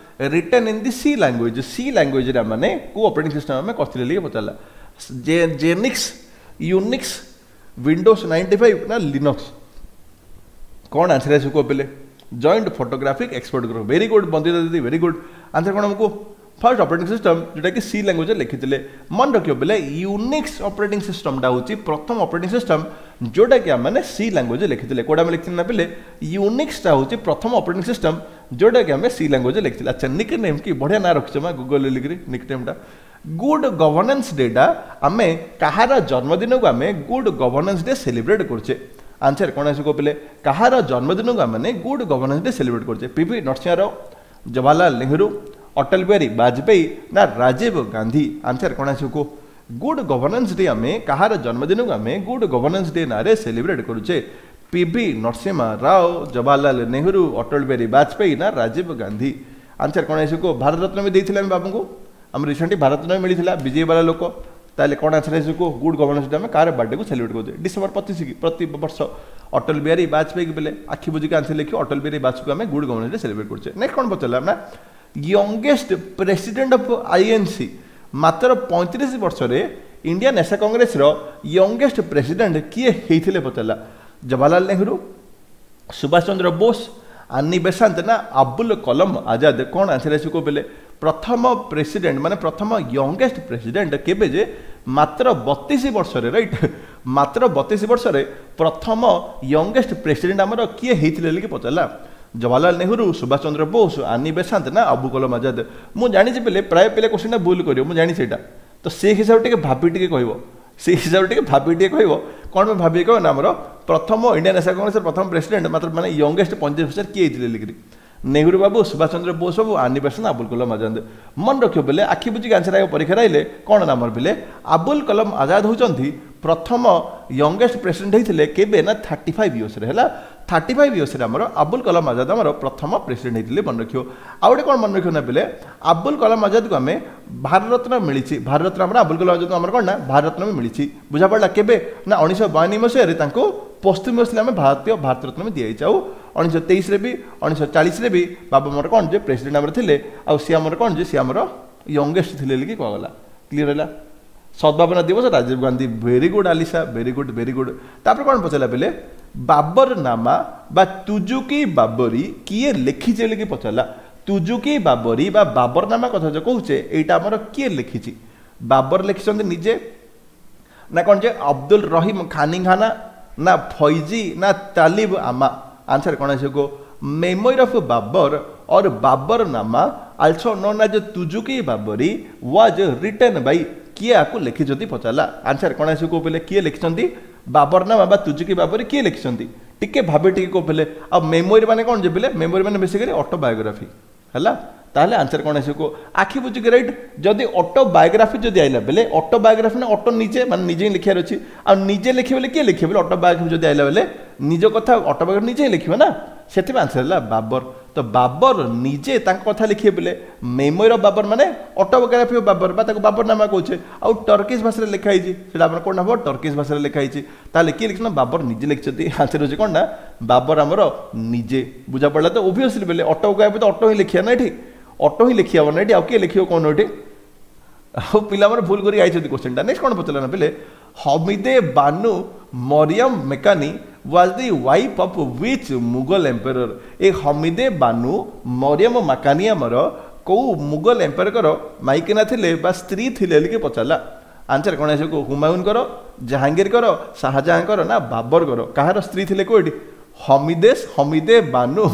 A: written in the C language C ଲାଙ୍ଗୁଏଜରେ ମାନେ କେଉଁ ଅପରେଟିଂ ସିଷ୍ଟମ ଆମେ କରିଥିଲେ ବୋଲି ପଚାରିଲା ଜେନିକ୍ସ ୟୁନିକ୍ସ ୱିଣ୍ଡୋଜ୍ ନାଇଣ୍ଟି ଫାଇଭ୍ ନା ଲିନକ୍ସ କ'ଣ ଆନ୍ସର ଆସିବ କୁହ ପିଲେ joint photographic expert group very good Bandita ଦିଦି ଭେରି ଗୁଡ୍ ଆନ୍ସର କ'ଣ ଆମକୁ ଫାର୍ଷ୍ଟ ଅପରେଟିଂ ସିଷ୍ଟମ ଯେଉଁଟାକି ସି ଲାଙ୍ଗୁଏଜରେ ଲେଖିଥିଲେ ମନେ ରଖିବ ପିଲେ ୟୁନିକ୍ସ ଅପରେଟିଂ ସିଷ୍ଟମଟା ହେଉଛି ପ୍ରଥମ ଅପରେଟିଂ ସିଷ୍ଟମ ଯେଉଁଟାକି ଆମେ ସି ଲାଙ୍ଗୁଏଜରେ ଲେଖିଥିଲେ କେଉଁଟା ଆମେ ଲେଖିଥିଲେ ନା ପିଲେ ୟୁନିକ୍ସଟା ହେଉଛି ପ୍ରଥମ ଅପରେଟିଂ ସିଷ୍ଟମ ଯେଉଁଟାକି ଆମେ ସି ଲାଙ୍ଗୁଏଜରେ ଲେଖିଥିଲେ ଆଚ୍ଛା ନିକ୍ ନେମ୍ କି ବଢ଼ିଆ ନାଁ ରଖିଛ ମା ଗୁଗଲ ଲିଖିରି ନିକ୍ ନେମ୍ଟା ଗୁଡ୍ ଗଭର୍ଣ୍ଣାନ୍ସ ଡେଟା ଆମେ କାହାର ଜନ୍ମଦିନକୁ ଆମେ ଗୁଡ୍ ଗଭର୍ଣ୍ଣାନ୍ସ ଡେ ସେଲିବ୍ରେଟ୍ କରୁଛେ ଆନ୍ସର କ'ଣ ଆସିବ ପିଲେ କାହାର ଜନ୍ମଦିନକୁ ଆମେ ଗୁଡ୍ ଗଭର୍ଣ୍ଣାନ୍ସ ଡେ ସେଲିବ୍ରେଟ୍ କରୁଛେ ପିଭି ନରସିଂହ ରାଓ ଜବାହରଲାଲ ନେହେରୁ ଅଟଳ ବିହାରୀ ବାଜପେୟୀ ନା ରାଜୀବ ଗାନ୍ଧୀ ଆନ୍ସର କ'ଣ ଆସିବ କୁହ ଗୁଡ୍ ଗଭର୍ଣ୍ଣାନ୍ସ ଡେ ଆମେ କାହାର ଜନ୍ମଦିନକୁ ଆମେ ଗୁଡ୍ ଗଭର୍ଣ୍ଣାନ୍ସ ଡେ ନାଁରେ ସେଲିବ୍ରେଟ୍ କରୁଛେ ପିଭି ନରସିଂହା ରାଓ ଜବାହରଲାଲ ନେହେରୁ ଅଟଳ ବିହାରୀ ବାଜପେୟୀ ନା ରାଜୀବ ଗାନ୍ଧୀ ଆନ୍ସର କ'ଣ ଆସିବ କୁହ ଭାରତ ରତ୍ନ ବି ଦେଇଥିଲେ ଆମେ ବାବୁଙ୍କୁ ଆମର ରିସେଣ୍ଟଲି ଭାରତ ରତ୍ନ ମିଳିଥିଲା ବିଜେପି ବାଲା ଲୋକ ତାହେଲେ କ'ଣ ଆନ୍ସର ଆସିବ କୁହ ଗୁଡ୍ ଗଭର୍ଣ୍ଣାନ୍ସ ଡେ ଆମେ କାହାର ବାର୍ଥଡେକୁ ସେଲିବ୍ରେଟ୍ କରୁଛେ ଡିସେମ୍ବର ପଚିଶ କି ପ୍ରତି ବର୍ଷ ଅଟଳ ବିହାରୀ ବାଜପେୟୀ ବେଲେ ଆଖି ବୁଜିକି ଆନ୍ସର ଲେଖିବ ଅଟଳ ବିହାରୀ ବାଜପେୟୀ ଆମେ ଗୁଡ୍ ଗଭର୍ଣ୍ଣାନ୍ସ ଡେ ସେଲିବ୍ରେଟ୍ କରୁଛେ ନେକ୍ସଟ କ'ଣ ପଚାରିଲା ନା ୟଙ୍ଗେଷ୍ଟ ପ୍ରେସିଡେଣ୍ଟ ଅଫ୍ ଆଇଏନ୍ସି ମାତ୍ର ପଇଁତିରିଶ ବର୍ଷରେ ଇଣ୍ଡିଆନ୍ ନ୍ୟାସନାଲ କଂଗ୍ରେସର ୟଙ୍ଗେଷ୍ଟ ପ୍ରେସିଡେଣ୍ଟ କିଏ ହେଇଥିଲେ ପଚାରିଲା ଜବାହରଲାଲ ନେହେରୁ ସୁଭାଷ ଚନ୍ଦ୍ର ବୋଷ ଆନି ବେସାନ୍ତ ନା ଆବୁଲ କଲମ ଆଜାଦ କ'ଣ ଆନ୍ସର ଆସିବ କହିଲେ ପ୍ରଥମ ପ୍ରେସିଡେଣ୍ଟ ମାନେ ପ୍ରଥମ ୟଙ୍ଗେଷ୍ଟ ପ୍ରେସିଡେଣ୍ଟ କେବେ ଯେ ମାତ୍ର ବତିଶ ବର୍ଷରେ ରାଇଟ୍ ମାତ୍ର ବତିଶ ବର୍ଷରେ ପ୍ରଥମ ୟଙ୍ଗେଷ୍ଟ ପ୍ରେସିଡେଣ୍ଟ ଆମର କିଏ ହେଇଥିଲେ ବୋଲି ପଚାରିଲା ଜବାହରଲାଲ ନେହେରୁ, ସୁଭାଷ ଚନ୍ଦ୍ର ବୋଷ, ଆନି ବେସାନ୍ତ ନା ଅବୁ କଲାମ ଆଜାଦ? ମୁଁ ଜାଣିଛି ପିଲେ, ପ୍ରାୟ ପିଲା କୋଶ୍ଚିନ୍ଟା ଭୁଲ କରିବ, ମୁଁ ଜାଣିଛି ସେଇଟା। ତ ସେଇ ହିସାବରେ ଟିକେ ଭାବି ଟିକେ କହିବ, ସେଇ ହିସାବରେ ଟିକେ ଭାବି ଟିକେ କହିବ। କ'ଣ ପାଇଁ ଭାବି କହିବ ନା, ଆମର ପ୍ରଥମ ଇଣ୍ଡିଆନ୍ ନ୍ୟାସନାଲ୍ କଂଗ୍ରେସର ପ୍ରଥମ ପ୍ରେସିଡେଣ୍ଟ ମାତ୍ର ମାନେ ୟଙ୍ଗେଷ୍ଟ ପଇଁତିରିଶ ବର୍ଷରେ କିଏ ହେଇଥିଲେ ଲିକିରି? ନେହେରୁ ବାବୁ, ସୁଭାଷ ଚନ୍ଦ୍ର ବୋଷ ବାବୁ, ଆନି ବେସାନ୍ତ, ଆବୁଲ କଲାମ ଆଜାଦ। ମନେ ରଖିବ ପିଲେ, ଆଖି ବୁଜିକି ଆନ୍ସର ଆଗ ପରୀକ୍ଷାରେ ଆଇଲେ କ'ଣ ନା ଆମର ପିଲେ ଆବୁଲ କଲାମ ଆଜାଦ ହେଉଛନ୍ତି ପ୍ରଥମ ୟଙ୍ଗେଷ୍ଟ ପ୍ରେସିଡେଣ୍ଟ ହେଇଥିଲେ। କେବେ ନା ଥାର୍ଟି ଫାଇଭ୍ ଇୟର୍ସରେ ହେଲା। ଥାର୍ଟି ଫାଇଭ୍ ଇୟର୍ସରେ ଆମର ଆବୁଲ କଲାମ ଆଜାଦ ଆମର ପ୍ରଥମ ପ୍ରେସିଡେଣ୍ଟ ହେଇଥିଲେ, ମନେ ରଖିବ। ଆଉ ଗୋଟେ କ'ଣ ମନେ ରଖିବ ନା ପିଲେ, ଆବୁଲ କଲାମ ଆଜାଦକୁ ଆମେ ଭାରତରତ୍ନ ମିଳିଛି। ଭାରତରତ୍ନ ଆମର ଆବୁଲ କଲାମ ଆଜାଦ ଆମର କ'ଣ ନା ଭାରତରତ୍ନ ବି ମିଳିଛି। ବୁଝା ପଡ଼ିଲା? କେବେ ନା ଉଣେଇଶହ ବୟାନବେ ମସିହାରେ ତାଙ୍କୁ ପଶ୍ଚିମବଙ୍ଗରେ ଆମେ ଭାରତୀୟ ଭାରତରତ୍ନ ବି ଦିଆଯାଇଛି। ଆଉ ଉଣେଇଶହ ତେଇଶରେ ବି, ଉଣେଇଶହ ଚାଳିଶରେ ବି ବାବା ଆମର କ'ଣ ଯେ ପ୍ରେସିଡେଣ୍ଟ ଆମର ଥିଲେ। ଆଉ ସିଏ ଆମର କ'ଣ ଯେ ସିଏ ଆମର ୟଙ୍ଗେଷ୍ଟ ଥିଲେ ବୋଲି କୁହାଗଲା। କ୍ଲିୟର ହେଲା? ସଦ୍ଭାବନା ଦିବସ Rajiv Gandhi. Very good Alisa, very good, very good. ତାପରେ କ'ଣ ପଚାରିଲା ପିଲେ? ବାବର ନାମା ବା ତୁଜୁକି ବାବରୀ କିଏ ଲେଖିଛି ବୋଲିକି ପଚାରିଲା। ତୁଜୁକି ବାବରୀ ବା ବାବରନାମା କଥା ଯେଉଁ କହୁଛେ, ଏଇଟା ଆମର କିଏ ଲେଖିଛି? ବାବର ଲେଖିଛନ୍ତି ନିଜେ ନା କ'ଣ ଯେ ଅବଦୁଲ ରହିମ ଖାନିଖାନା ନା ଫୈଜି ନା ତାଲିବ ଆମା? ଆନ୍ସର କ'ଣ ଆସିବ? Memoir of Babur or Babur Nama, also known as Tuzuk-i Baburi, was written by, କିଏ ଆକୁ ଲେଖିଛନ୍ତି ପଚାରିଲା। ଆନ୍ସର କ'ଣ ଆସିବ କୋଉ ପିଲେ? କିଏ ଲେଖିଛନ୍ତି ବାବରନାମା ବା ତୁଜୁକି ବାବରୀ କିଏ ଲେଖିଛନ୍ତି? ଟିକେ ଭାବି ଟିକେ କୋଉ ପିଲେ। ଆଉ ମେମୋରି ମାନେ କ'ଣ ଯେ ପିଲେ? ମେମୋରି ମାନେ ବେସିକାଲି ଅଟୋବାୟୋଗ୍ରାଫି ହେଲା। ତାହେଲେ ଆନ୍ସର କ'ଣ ଆସିବ? ଆଖି ବୁଜିକି ରାଇଟ୍। ଯଦି ଅଟୋବାୟୋଗ୍ରାଫି ଯଦି ଆଇଲା ବେଲେ, ଅଟୋବାୟୋଗ୍ରାଫି ନା ଅଟୋ ନିଜେ ମାନେ ନିଜେ ହିଁ ଲେଖିବାର ଅଛି। ଆଉ ନିଜେ ଲେଖିବେ ବେଲେ କିଏ ଲେଖିବେ? ଅଟୋବାୟୋଗ୍ରାଫି ଯଦି ଆଇଲା ବେଲେ ନିଜ କଥା ଅଟୋବାୟୋଗ୍ରାଫି ନିଜେ ହିଁ ଲେଖିବ ନା, ସେଥିପାଇଁ ଆନ୍ସର ହେଲା ବାବର। ତ ବାବର ନିଜେ ତାଙ୍କ କଥା ଲେଖିବେ ବେଲେ ମେମୋରି ଅଫ୍ ବାବର ମାନେ ଅଟୋବାୟୋଗ୍ରାଫି ଅଫ୍ ବାବର ବା ତାକୁ ବାବର ନାମା କହୁଛେ। ଆଉ ଟର୍କିଶ ଭାଷାରେ ଲେଖା ହେଇଛି ସେଇଟା ଆମର କ'ଣ ହବ? ଟର୍କିଶ ଭାଷାରେ ଲେଖା ହେଇଛି। ତାହେଲେ କିଏ ଲେଖିଛନ୍ତି? ବାବର ନିଜେ ଲେଖିଛନ୍ତି। ଆନ୍ସର ହେଉଛି କ'ଣ ନା ବାବର ଆମର ନିଜେ। ବୁଝା ପଡ଼ିଲା ତ? ଓଭିୟସଲି ବେଲେ ଅଟୋବାୟୋଗ୍ରାଫି ତ ଅଟୋ ହିଁ ଲେଖିବା ନା ଏଠି, ଅଟୋ ହିଁ ଲେଖି ହବ ନା ଏଠି, ଆଉ କିଏ ଲେଖିବ କ'ଣ ଏଠି? ଆଉ ପିଲାମାନେ ଭୁଲ କରି ଆଇଛନ୍ତି କୋଶ୍ଚିନ୍ଟା। ନେକ୍ସଟ କ'ଣ ପଚାରିଲା ନା ପିଲେ, Hamide Banu Mariam Makani was the wife of which Mughal emperor? ଏ ହମିଦେ ବାନୁ ମରିୟମ ମାକାନି ଆମର କେଉଁ ମୁଗଲ ଏମ୍ପେରର ମାଇକିନା ଥିଲେ ବା ସ୍ତ୍ରୀ ଥିଲେ ବୋଲିକି ପଚାରିଲା। ଆନ୍ସର କ'ଣ ଆସିବ? ହୁମାୟୁନଙ୍କର, ଜାହାଙ୍ଗୀରଙ୍କର, ଶାହଜାହାନଙ୍କର ନା ବାବରଙ୍କର? କାହାର ସ୍ତ୍ରୀ ଥିଲେ କେଉଁ ଏଠି? ହମିଦେଶ ହମିଦେ ବାନୁ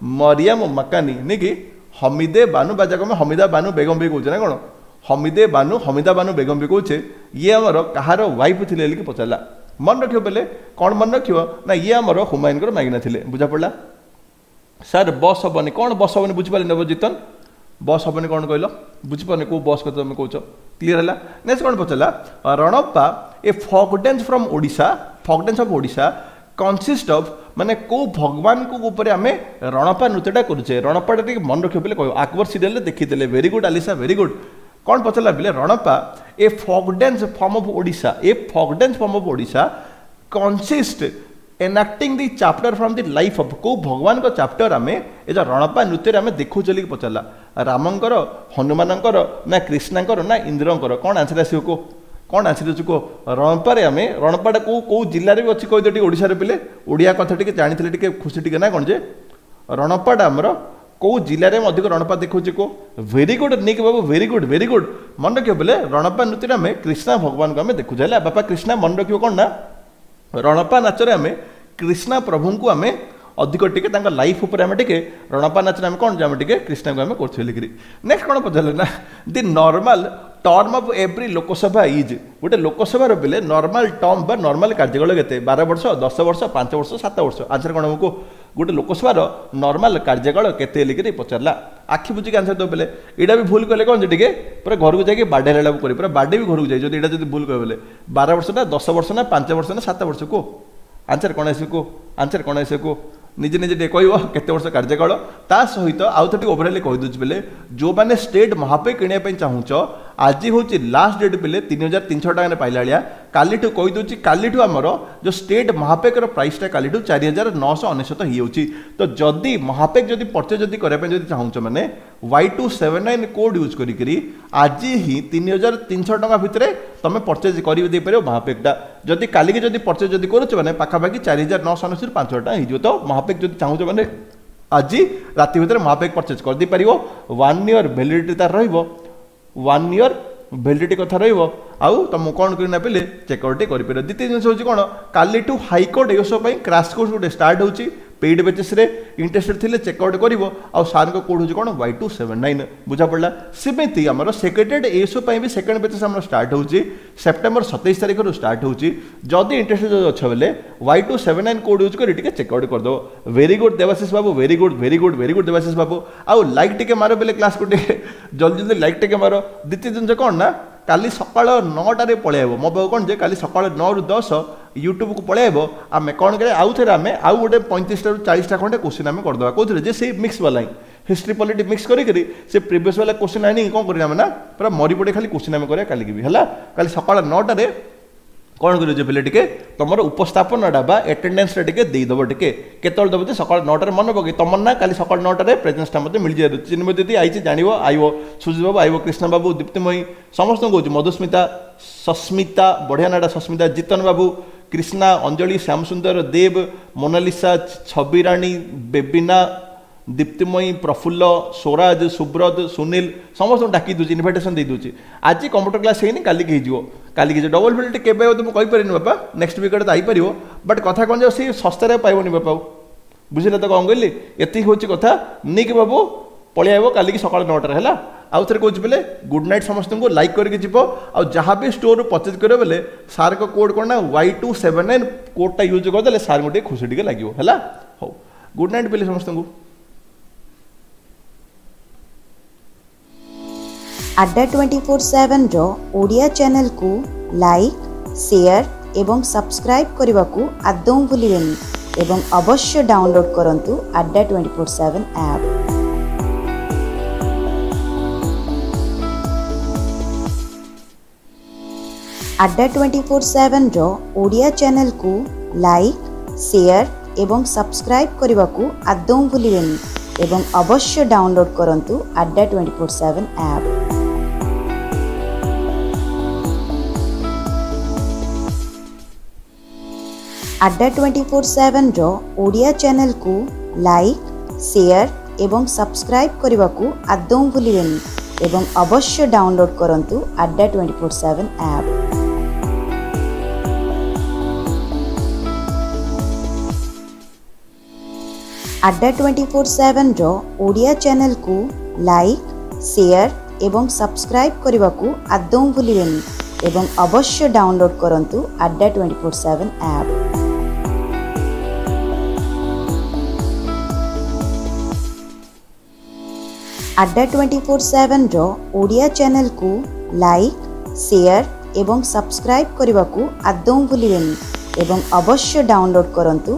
A: ମରିୟମ ମାକାନି ନାଇଁ କି? ହମିଦେ ବାନୁ ବା ଯାକୁ ଆମେ ହମିଦା ବାନୁ ବେଗମ ବି କହୁଛେ ନା କ'ଣ? ହମିଦେ ବାନୁ, ହମିଦା ବାନୁ ବେଗମ ବି କହୁଛେ। ଇଏ ଆମର କାହାର ୱାଇଫ୍ ଥିଲେ ବୋଲିକି ପଚାରିଲା। ମନେ ରଖିବ ବେଲେ, କ'ଣ ମନେ ରଖିବ ନା ଇଏ ଆମର ହୁମାୟୁନଙ୍କର ମାଇକିନା ଥିଲେ। ବୁଝା ପଡ଼ିଲା? ସାର୍ ବସ୍ ହବନି କ'ଣ? ବସ୍ ହବନି ବୁଝିପାରିଲି ନବ ଜିତନ, ବସ୍ ହବନି କ'ଣ କହିଲ? ବୁଝିପାରୁନି କେଉଁ ବସ୍ କଥା ତୁମେ କହୁଛ। କ୍ଲିୟର ହେଲା? ନେକ୍ସଟ କ'ଣ ପଚାରିଲା? Ranapa, a folk dance from Odisha, folk dance of Odisha consist of, ମାନେ କେଉଁ ଭଗବାନଙ୍କ ଉପରେ ଆମେ ରଣପା ନୃତ୍ୟଟା କରୁଛେ? ରଣପାଟା ଟିକେ ମନେ ରଖିବ ବୋଲି କହିବ, ଆକବର ସିରିଏଲରେ ଦେଖିଥିଲେ। Very good Alisa, very good. କ'ଣ ପଚାରିଲା ପିଲେ? Ranapa, a folk dance form of Odisha, a folk dance form of Odisha consist enacting the chapter from the life of, କେଉଁ ଭଗବାନଙ୍କ ଚାପ୍ଟର ଆମେ ଏ ଯେଉଁ ରଣପା ନୃତ୍ୟରେ ଆମେ ଦେଖୁଛେ ବୋଲି ପଚାରିଲା। ରାମଙ୍କର, ହନୁମାନଙ୍କର ନା କୃଷ୍ଣଙ୍କର ନା ଇନ୍ଦ୍ରଙ୍କର? କ'ଣ ଆନ୍ସର ଆସିବ କୁହ? କ'ଣ ଆନ୍ସର ଅଛି କୁହ? ରଣପାରେ ଆମେ ରଣପାଟା କେଉଁ କେଉଁ ଜିଲ୍ଲାରେ ବି ଅଛି କହିଦିଅ ଟିକେ ଓଡ଼ିଶାରେ ପିଲେ। ଓଡ଼ିଆ କଥା ଟିକେ ଜାଣିଥିଲେ ଟିକେ ଖୁସି ଟିକେ ନା କ'ଣ ଯେ ରଣପାଟା ଆମର କେଉଁ ଜିଲ୍ଲାରେ ଆମେ ଅଧିକ ରଣପା ଦେଖୁଛେ କୁହ? ଭେରି ଗୁଡ୍ ନିକ୍ ବାବୁ, ଭେରି ଗୁଡ୍, ଭେରି ଗୁଡ୍। ମନେ ରଖିବ ବୋଲେ ରଣପା ନୃତ୍ୟରେ ଆମେ କୃଷ୍ଣ ଭଗବାନଙ୍କୁ ଆମେ ଦେଖୁଛେ ହେଲା। ବାପା କୃଷ୍ଣ ମନେ ରଖିବ କ'ଣ ନା ରଣପା ନାଚରେ ଆମେ କୃଷ୍ଣ ପ୍ରଭୁଙ୍କୁ ଆମେ ଅଧିକ ଟିକେ ତାଙ୍କ ଲାଇଫ୍ ଉପରେ ଆମେ ଟିକେ ରଣପା ନାଚରେ ଆମେ କ'ଣ ଯେ ଆମେ ଟିକେ କୃଷ୍ଣଙ୍କୁ ଆମେ କରୁଛୁ ବୋଲିକିରି। ନେକ୍ସଟ କ'ଣ ପଚାରିଲେ ନା the normal term of every Lok Sabha is, ଗୋଟେ ଲୋକସଭାର ପିଲେ ନର୍ମାଲ ଟର୍ମ ବା ନର୍ମାଲ କାର୍ଯ୍ୟକାଳ କେତେ? ବାର ବର୍ଷ, ଦଶ ବର୍ଷ, ପାଞ୍ଚ ବର୍ଷ, ସାତ ବର୍ଷ? ଆନ୍ସର କ'ଣ ହବ? ଗୋଟେ ଲୋକସଭାର ନର୍ମାଲ କାର୍ଯ୍ୟକାଳ କେତେ ବୋଲିକିରି ପଚାରିଲା। ଆଖି ବୁଜିକି ଆନ୍ସର ଦେବ ବେଲେ। ଏଇଟା ବି ଭୁଲ କଲେ କ'ଣ ଯେ ଟିକେ ପୁରା ଘରକୁ ଯାଇକି ବାଡ଼େଇ ହେଲା କରିବ, ପୁରା ବାଡ଼େଇ ବି ଘରକୁ ଯାଇ ଯଦି ଏଇଟା ଯଦି ଭୁଲ କହିବେ ବେଲେ। ବାର ବର୍ଷ ନା ଦଶ ବର୍ଷ ନା ପାଞ୍ଚ ବର୍ଷ ନା ସାତ ବର୍ଷ କୁହ? ଆନ୍ସର କ'ଣ ଆସିବ କୁହ? ଆନ୍ସର କ'ଣ ଆସିବ କୁହ? ନିଜେ ନିଜେ ଟିକେ କହିବ କେତେ ବର୍ଷ କାର୍ଯ୍ୟକାଳ। ତା ସହିତ ଆଉ ଥରେ ଟିକେ ଓଭରାଲି କହିଦେଉଛି ବେଲେ, ଯେଉଁମାନେ ଷ୍ଟେଟ୍ ମହାପେ କିଣିବା ପାଇଁ ଚାହୁଁଛ, ଆଜି ହେଉଛି ଲାଷ୍ଟ ଡେଟ୍ ପିଲେ, ତିନି ହଜାର ତିନିଶହ ଟଙ୍କାରେ ପାଇଲା ଭଳିଆ। କାଲିଠୁ କହିଦେଉଛି, କାଲିଠୁ ଆମର ଯେଉଁ ଷ୍ଟେଟ୍ ମହାପେକର ପ୍ରାଇସ୍ଟା କାଲିଠୁ ଚାରି ହଜାର ନଅଶହ ଅନେଶତ ହେଇଯାଉଛି। ତ ଯଦି ମହାପେକ ଯଦି ପରଚେଜ୍ ଯଦି କରିବା ପାଇଁ ଯଦି ଚାହୁଁଛ ମାନେ Y two seven nine code use କରିକିରି ଆଜି ହିଁ ତିନି ହଜାର ତିନିଶହ ଟଙ୍କା ଭିତରେ ତୁମେ ପରଚେଜ୍ କରି ଦେଇପାରିବ ମହାପେକଟା। ଯଦି କାଲିକି ଯଦି ପରଚେଜ୍ ଯଦି କରୁଛ ମାନେ ପାଖାପାଖି ଚାରି ହଜାର ନଅଶହ ଅନେଶତରୁ ପାଞ୍ଚ ହଜାର ଟଙ୍କା ହେଇଯିବ। ତ ମହାପେକ ଯଦି ଚାହୁଁଛ ମାନେ ଆଜି ରାତି ଭିତରେ ମହାପେକ ପରଚେଜ୍ କରିଦେଇପାରିବ। ୱାନ୍ ଇୟର୍ ଭ୍ୟାଲିଡ଼ିଟି ତାର ରହିବ, ୱାନ୍ ଇୟର୍ ଭ୍ୟାଲିଡ଼ିଟି କଥା ରହିବ। ଆଉ ତୁମକୁ କ'ଣ କରି ନା ପିଲେ ଚେକ୍ଆଉଟ୍ କରିପାରିବ। ଦ୍ୱିତୀୟ ଜିନିଷ ହେଉଛି କ'ଣ, କାଲିଠୁ ହାଇକୋର୍ଟ ଏସବୁ ପାଇଁ କ୍ରାସ୍ କୋର୍ସ ଗୋଟେ ଷ୍ଟାର୍ଟ ହେଉଛି। ପେଡ୍ ବେଚେସ୍ରେ ଇଣ୍ଟରେଷ୍ଟେଡ୍ ଥିଲେ ଚେକ୍ଆଉଟ୍ କରିବ ଆଉ ସାର୍ଙ୍କ କୋଡ୍ ହେଉଛି କ'ଣ ୱାଇ ଟୁ ସେଭେନ୍ ନାଇନ୍ ବୁଝା ପଡ଼ିଲା ସେମିତି ଆମର ସେକ୍ରେଟେରିଏଟ୍ ଏଏସ୍ଓ ପାଇଁ ବି ସେକେଣ୍ଡ ବେଚେସ୍ ଆମର ଷ୍ଟାର୍ଟ ହେଉଛି ସେପ୍ଟେମ୍ବର ସତେଇଶ ତାରିଖରୁ ଷ୍ଟାର୍ଟ ହେଉଛି ଯଦି ଇଣ୍ଟରେଷ୍ଟେଡ୍ ଅଛ ବେଲେ Y two seven nine code use କରି ଟିକେ ଚେକ୍ଆଉଟ୍ କରିଦେବ ଭେରି ଗୁଡ୍ ଦେବାଶିଷ ବାବୁ very good very good very good Debashish ବାବୁ ଆଉ ଲାଇକ୍ ଟିକେ ମାର ବେଲେ କ୍ଲାସ୍କୁ ଟିକେ ଜଲ୍ଦି ଜଲ୍ଦି ଲାଇକ୍ ଟିକେ ମାର ଦ୍ୱିତୀୟ ଜିନିଷ କ'ଣ ନା କାଲି ସକାଳ ନଅଟାରେ ପଳେଇବ ମୋ ପାଖକୁ କ'ଣ ଯେ କାଲି ସକାଳ ନଅରୁ ଦଶ ୟୁଟ୍ୟୁବକୁ ପଳେଇବ ଆମେ କ'ଣ କରିବା ଆଉ ଥରେ ଆମେ ଆଉ ଗୋଟେ ପଇଁତିରିଶଟାରୁ ଚାଳିଶଟା ଖଣ୍ଡେ କୋଶ୍ଚିନ୍ ଆମେ କରିଦେବା କେଉଁଥିରେ ଯେ ସେଇ ମିକ୍ସ ବାଲା ହିଁ ହିଷ୍ଟ୍ରି ପଲିଟି ମିକ୍ସ କରିକିରି ସେ ପ୍ରିଭିୟସ୍ ବାଲା କୋଶ୍ଚିନ୍ ଆଣିକି କ'ଣ କରିବା ଆମେ ନା ପୁରା ମରି ପଡ଼ି ଖାଲି କୋଶ୍ଚିନ୍ ଆମେ କରିବା କାଲିକି ବି ହେଲା କାଲି ସକାଳ ନଅଟାରେ କ'ଣ କରିବ ଯେ ପିଲେ ଟିକେ ତୁମର ଉପସ୍ଥାପନାଟା ବା ଆଟେଣ୍ଡାନ୍ସଟା ଟିକେ ଦେଇଦେବ ଟିକେ କେତେବେଳେ ଦେବ ଯେ ସକାଳ ନଅଟାରେ ମନେ ପକେଇ ତମର ନା କାଲି ସକାଳ ନଅଟାରେ ପ୍ରେଜେନ୍ସଟା ମୋତେ ମିଳିଯିବ ଚିନ୍ମୟ ଦିଦି ଆଇଛି ଜାଣିବ ଆଇବ ସୁଜିତ ବାବୁ ଆଇବ କୃଷ୍ଣ ବାବୁ ଦୀପ୍ତିମୟୀ ସମସ୍ତଙ୍କୁ କହୁଛି ମଧୁସ୍ମିତା ସସ୍ମିତା ବଢ଼ିଆ ନାଁଟା ସସ୍ମିତା ଜିତନ ବାବୁ କୃଷ୍ଣା ଅଞ୍ଜଳି ଶ୍ୟାମସୁନ୍ଦର ଦେବ ମୋନାଲିସା ଛବିରାଣୀ ବେବିନା ଦୀପ୍ତିମୟୀ ପ୍ରଫୁଲ୍ଲ ସ୍ୱରାଜ ସୁବ୍ରତ ସୁନୀଲ ସମସ୍ତଙ୍କୁ ଡାକି ଦେଉଛି ଇନଭାଇଟେସନ୍ ଦେଇ ଦେଉଛି ଆଜି କମ୍ପ୍ୟୁଟର କ୍ଲାସ୍ ହେଇନି କାଲିକି ହେଇଯିବ କାଲିକି ହେଇଯିବ ଡବଲ୍ ଫିଲ୍ଡ କେବେ ତ ମୁଁ କହିପାରିନି ବାପା ନେକ୍ସଟ ୱିକ୍ ତ ଆଇପାରିବ ବଟ୍ କଥା କ'ଣ ଯେ ସେ ଶସ୍ତାରେ ପାଇବନି ବାପା ଆଉ ବୁଝିଲେ ତ କ'ଣ କହିଲି ଏତିକି ହେଉଛି କଥା ନିକ୍ ବାବୁ ପଳେଇ ଆଇବ କାଲିକି ସକାଳ ନଅଟାରେ ହେଲା ଆଉ ଥରେ କହୁଛି ବେଲେ ଗୁଡ୍ ନାଇଟ୍ ସମସ୍ତଙ୍କୁ ଲାଇକ୍ କରିକି ଯିବ ଆଉ ଯାହା ବି ଷ୍ଟୋରରୁ ପରଚେଜ୍ କରିବ ବେଲେ ସାର୍ଙ୍କ କୋଡ଼୍ କ'ଣ ନା ୱାଇ ଟୁ ସେଭେନ୍ ନାଇନ୍ କୋଡ଼୍ଟା ୟୁଜ୍ କରିଦେଲେ ସାର୍ଙ୍କୁ ଟିକେ ଖୁସି ଟିକେ ଲାଗିବ ହେଲା ହଉ ଗୁଡ୍ ନାଇଟ୍ ବେଲେ ସମସ୍ତଙ୍କୁ
B: ଆଡ୍ଡା ଟ୍ୱେଣ୍ଟି ଫୋର୍ ସେଭେନ୍ର ଓଡ଼ିଆ ଚ୍ୟାନେଲକୁ ଲାଇକ୍ ସେୟାର ଏବଂ ସବସ୍କ୍ରାଇବ୍ କରିବାକୁ ଆଦୌ ଭୁଲିବେନି ଏବଂ ଅବଶ୍ୟ ଡାଉନଲୋଡ୍ କରନ୍ତୁ Adda twenty four seven app Adda twenty four ସେଭେନ୍ର Odia ଚ୍ୟାନେଲକୁ ଲାଇକ୍ ସେୟାର ଏବଂ ସବସ୍କ୍ରାଇବ୍ କରିବାକୁ ଆଦୌ ଭୁଲିବେନି ଏବଂ ଅବଶ୍ୟ ଡାଉନଲୋଡ୍ କରନ୍ତୁ Adda twenty four seven app Adda twenty four ସେଭେନ୍ର Odia ଚ୍ୟାନେଲକୁ ଲାଇକ୍ ସେୟାର ଏବଂ ସବସ୍କ୍ରାଇବ୍ କରିବାକୁ ଆଦୌ ଭୁଲିବେନି ଏବଂ ଅବଶ୍ୟ ଡାଉନଲୋଡ୍ କରନ୍ତୁ Adda twenty four seven app Adda twenty four ସେଭେନ୍ର Odia ଚ୍ୟାନେଲକୁ ଲାଇକ୍ ସେୟାର ଏବଂ ସବସ୍କ୍ରାଇବ୍ କରିବାକୁ ଆଦୌ ଭୁଲିବେନି ଏବଂ ଅବଶ୍ୟ ଡାଉନଲୋଡ୍ କରନ୍ତୁ Adda twenty four seven app Adda twenty four ସେଭେନ୍ର Odia ଚ୍ୟାନେଲକୁ ଲାଇକ୍ ସେୟାର ଏବଂ ସବସ୍କ୍ରାଇବ୍ କରିବାକୁ ଆଦୌ ଭୁଲିବେନି ଏବଂ ଅବଶ୍ୟ ଡାଉନଲୋଡ୍ କରନ୍ତୁ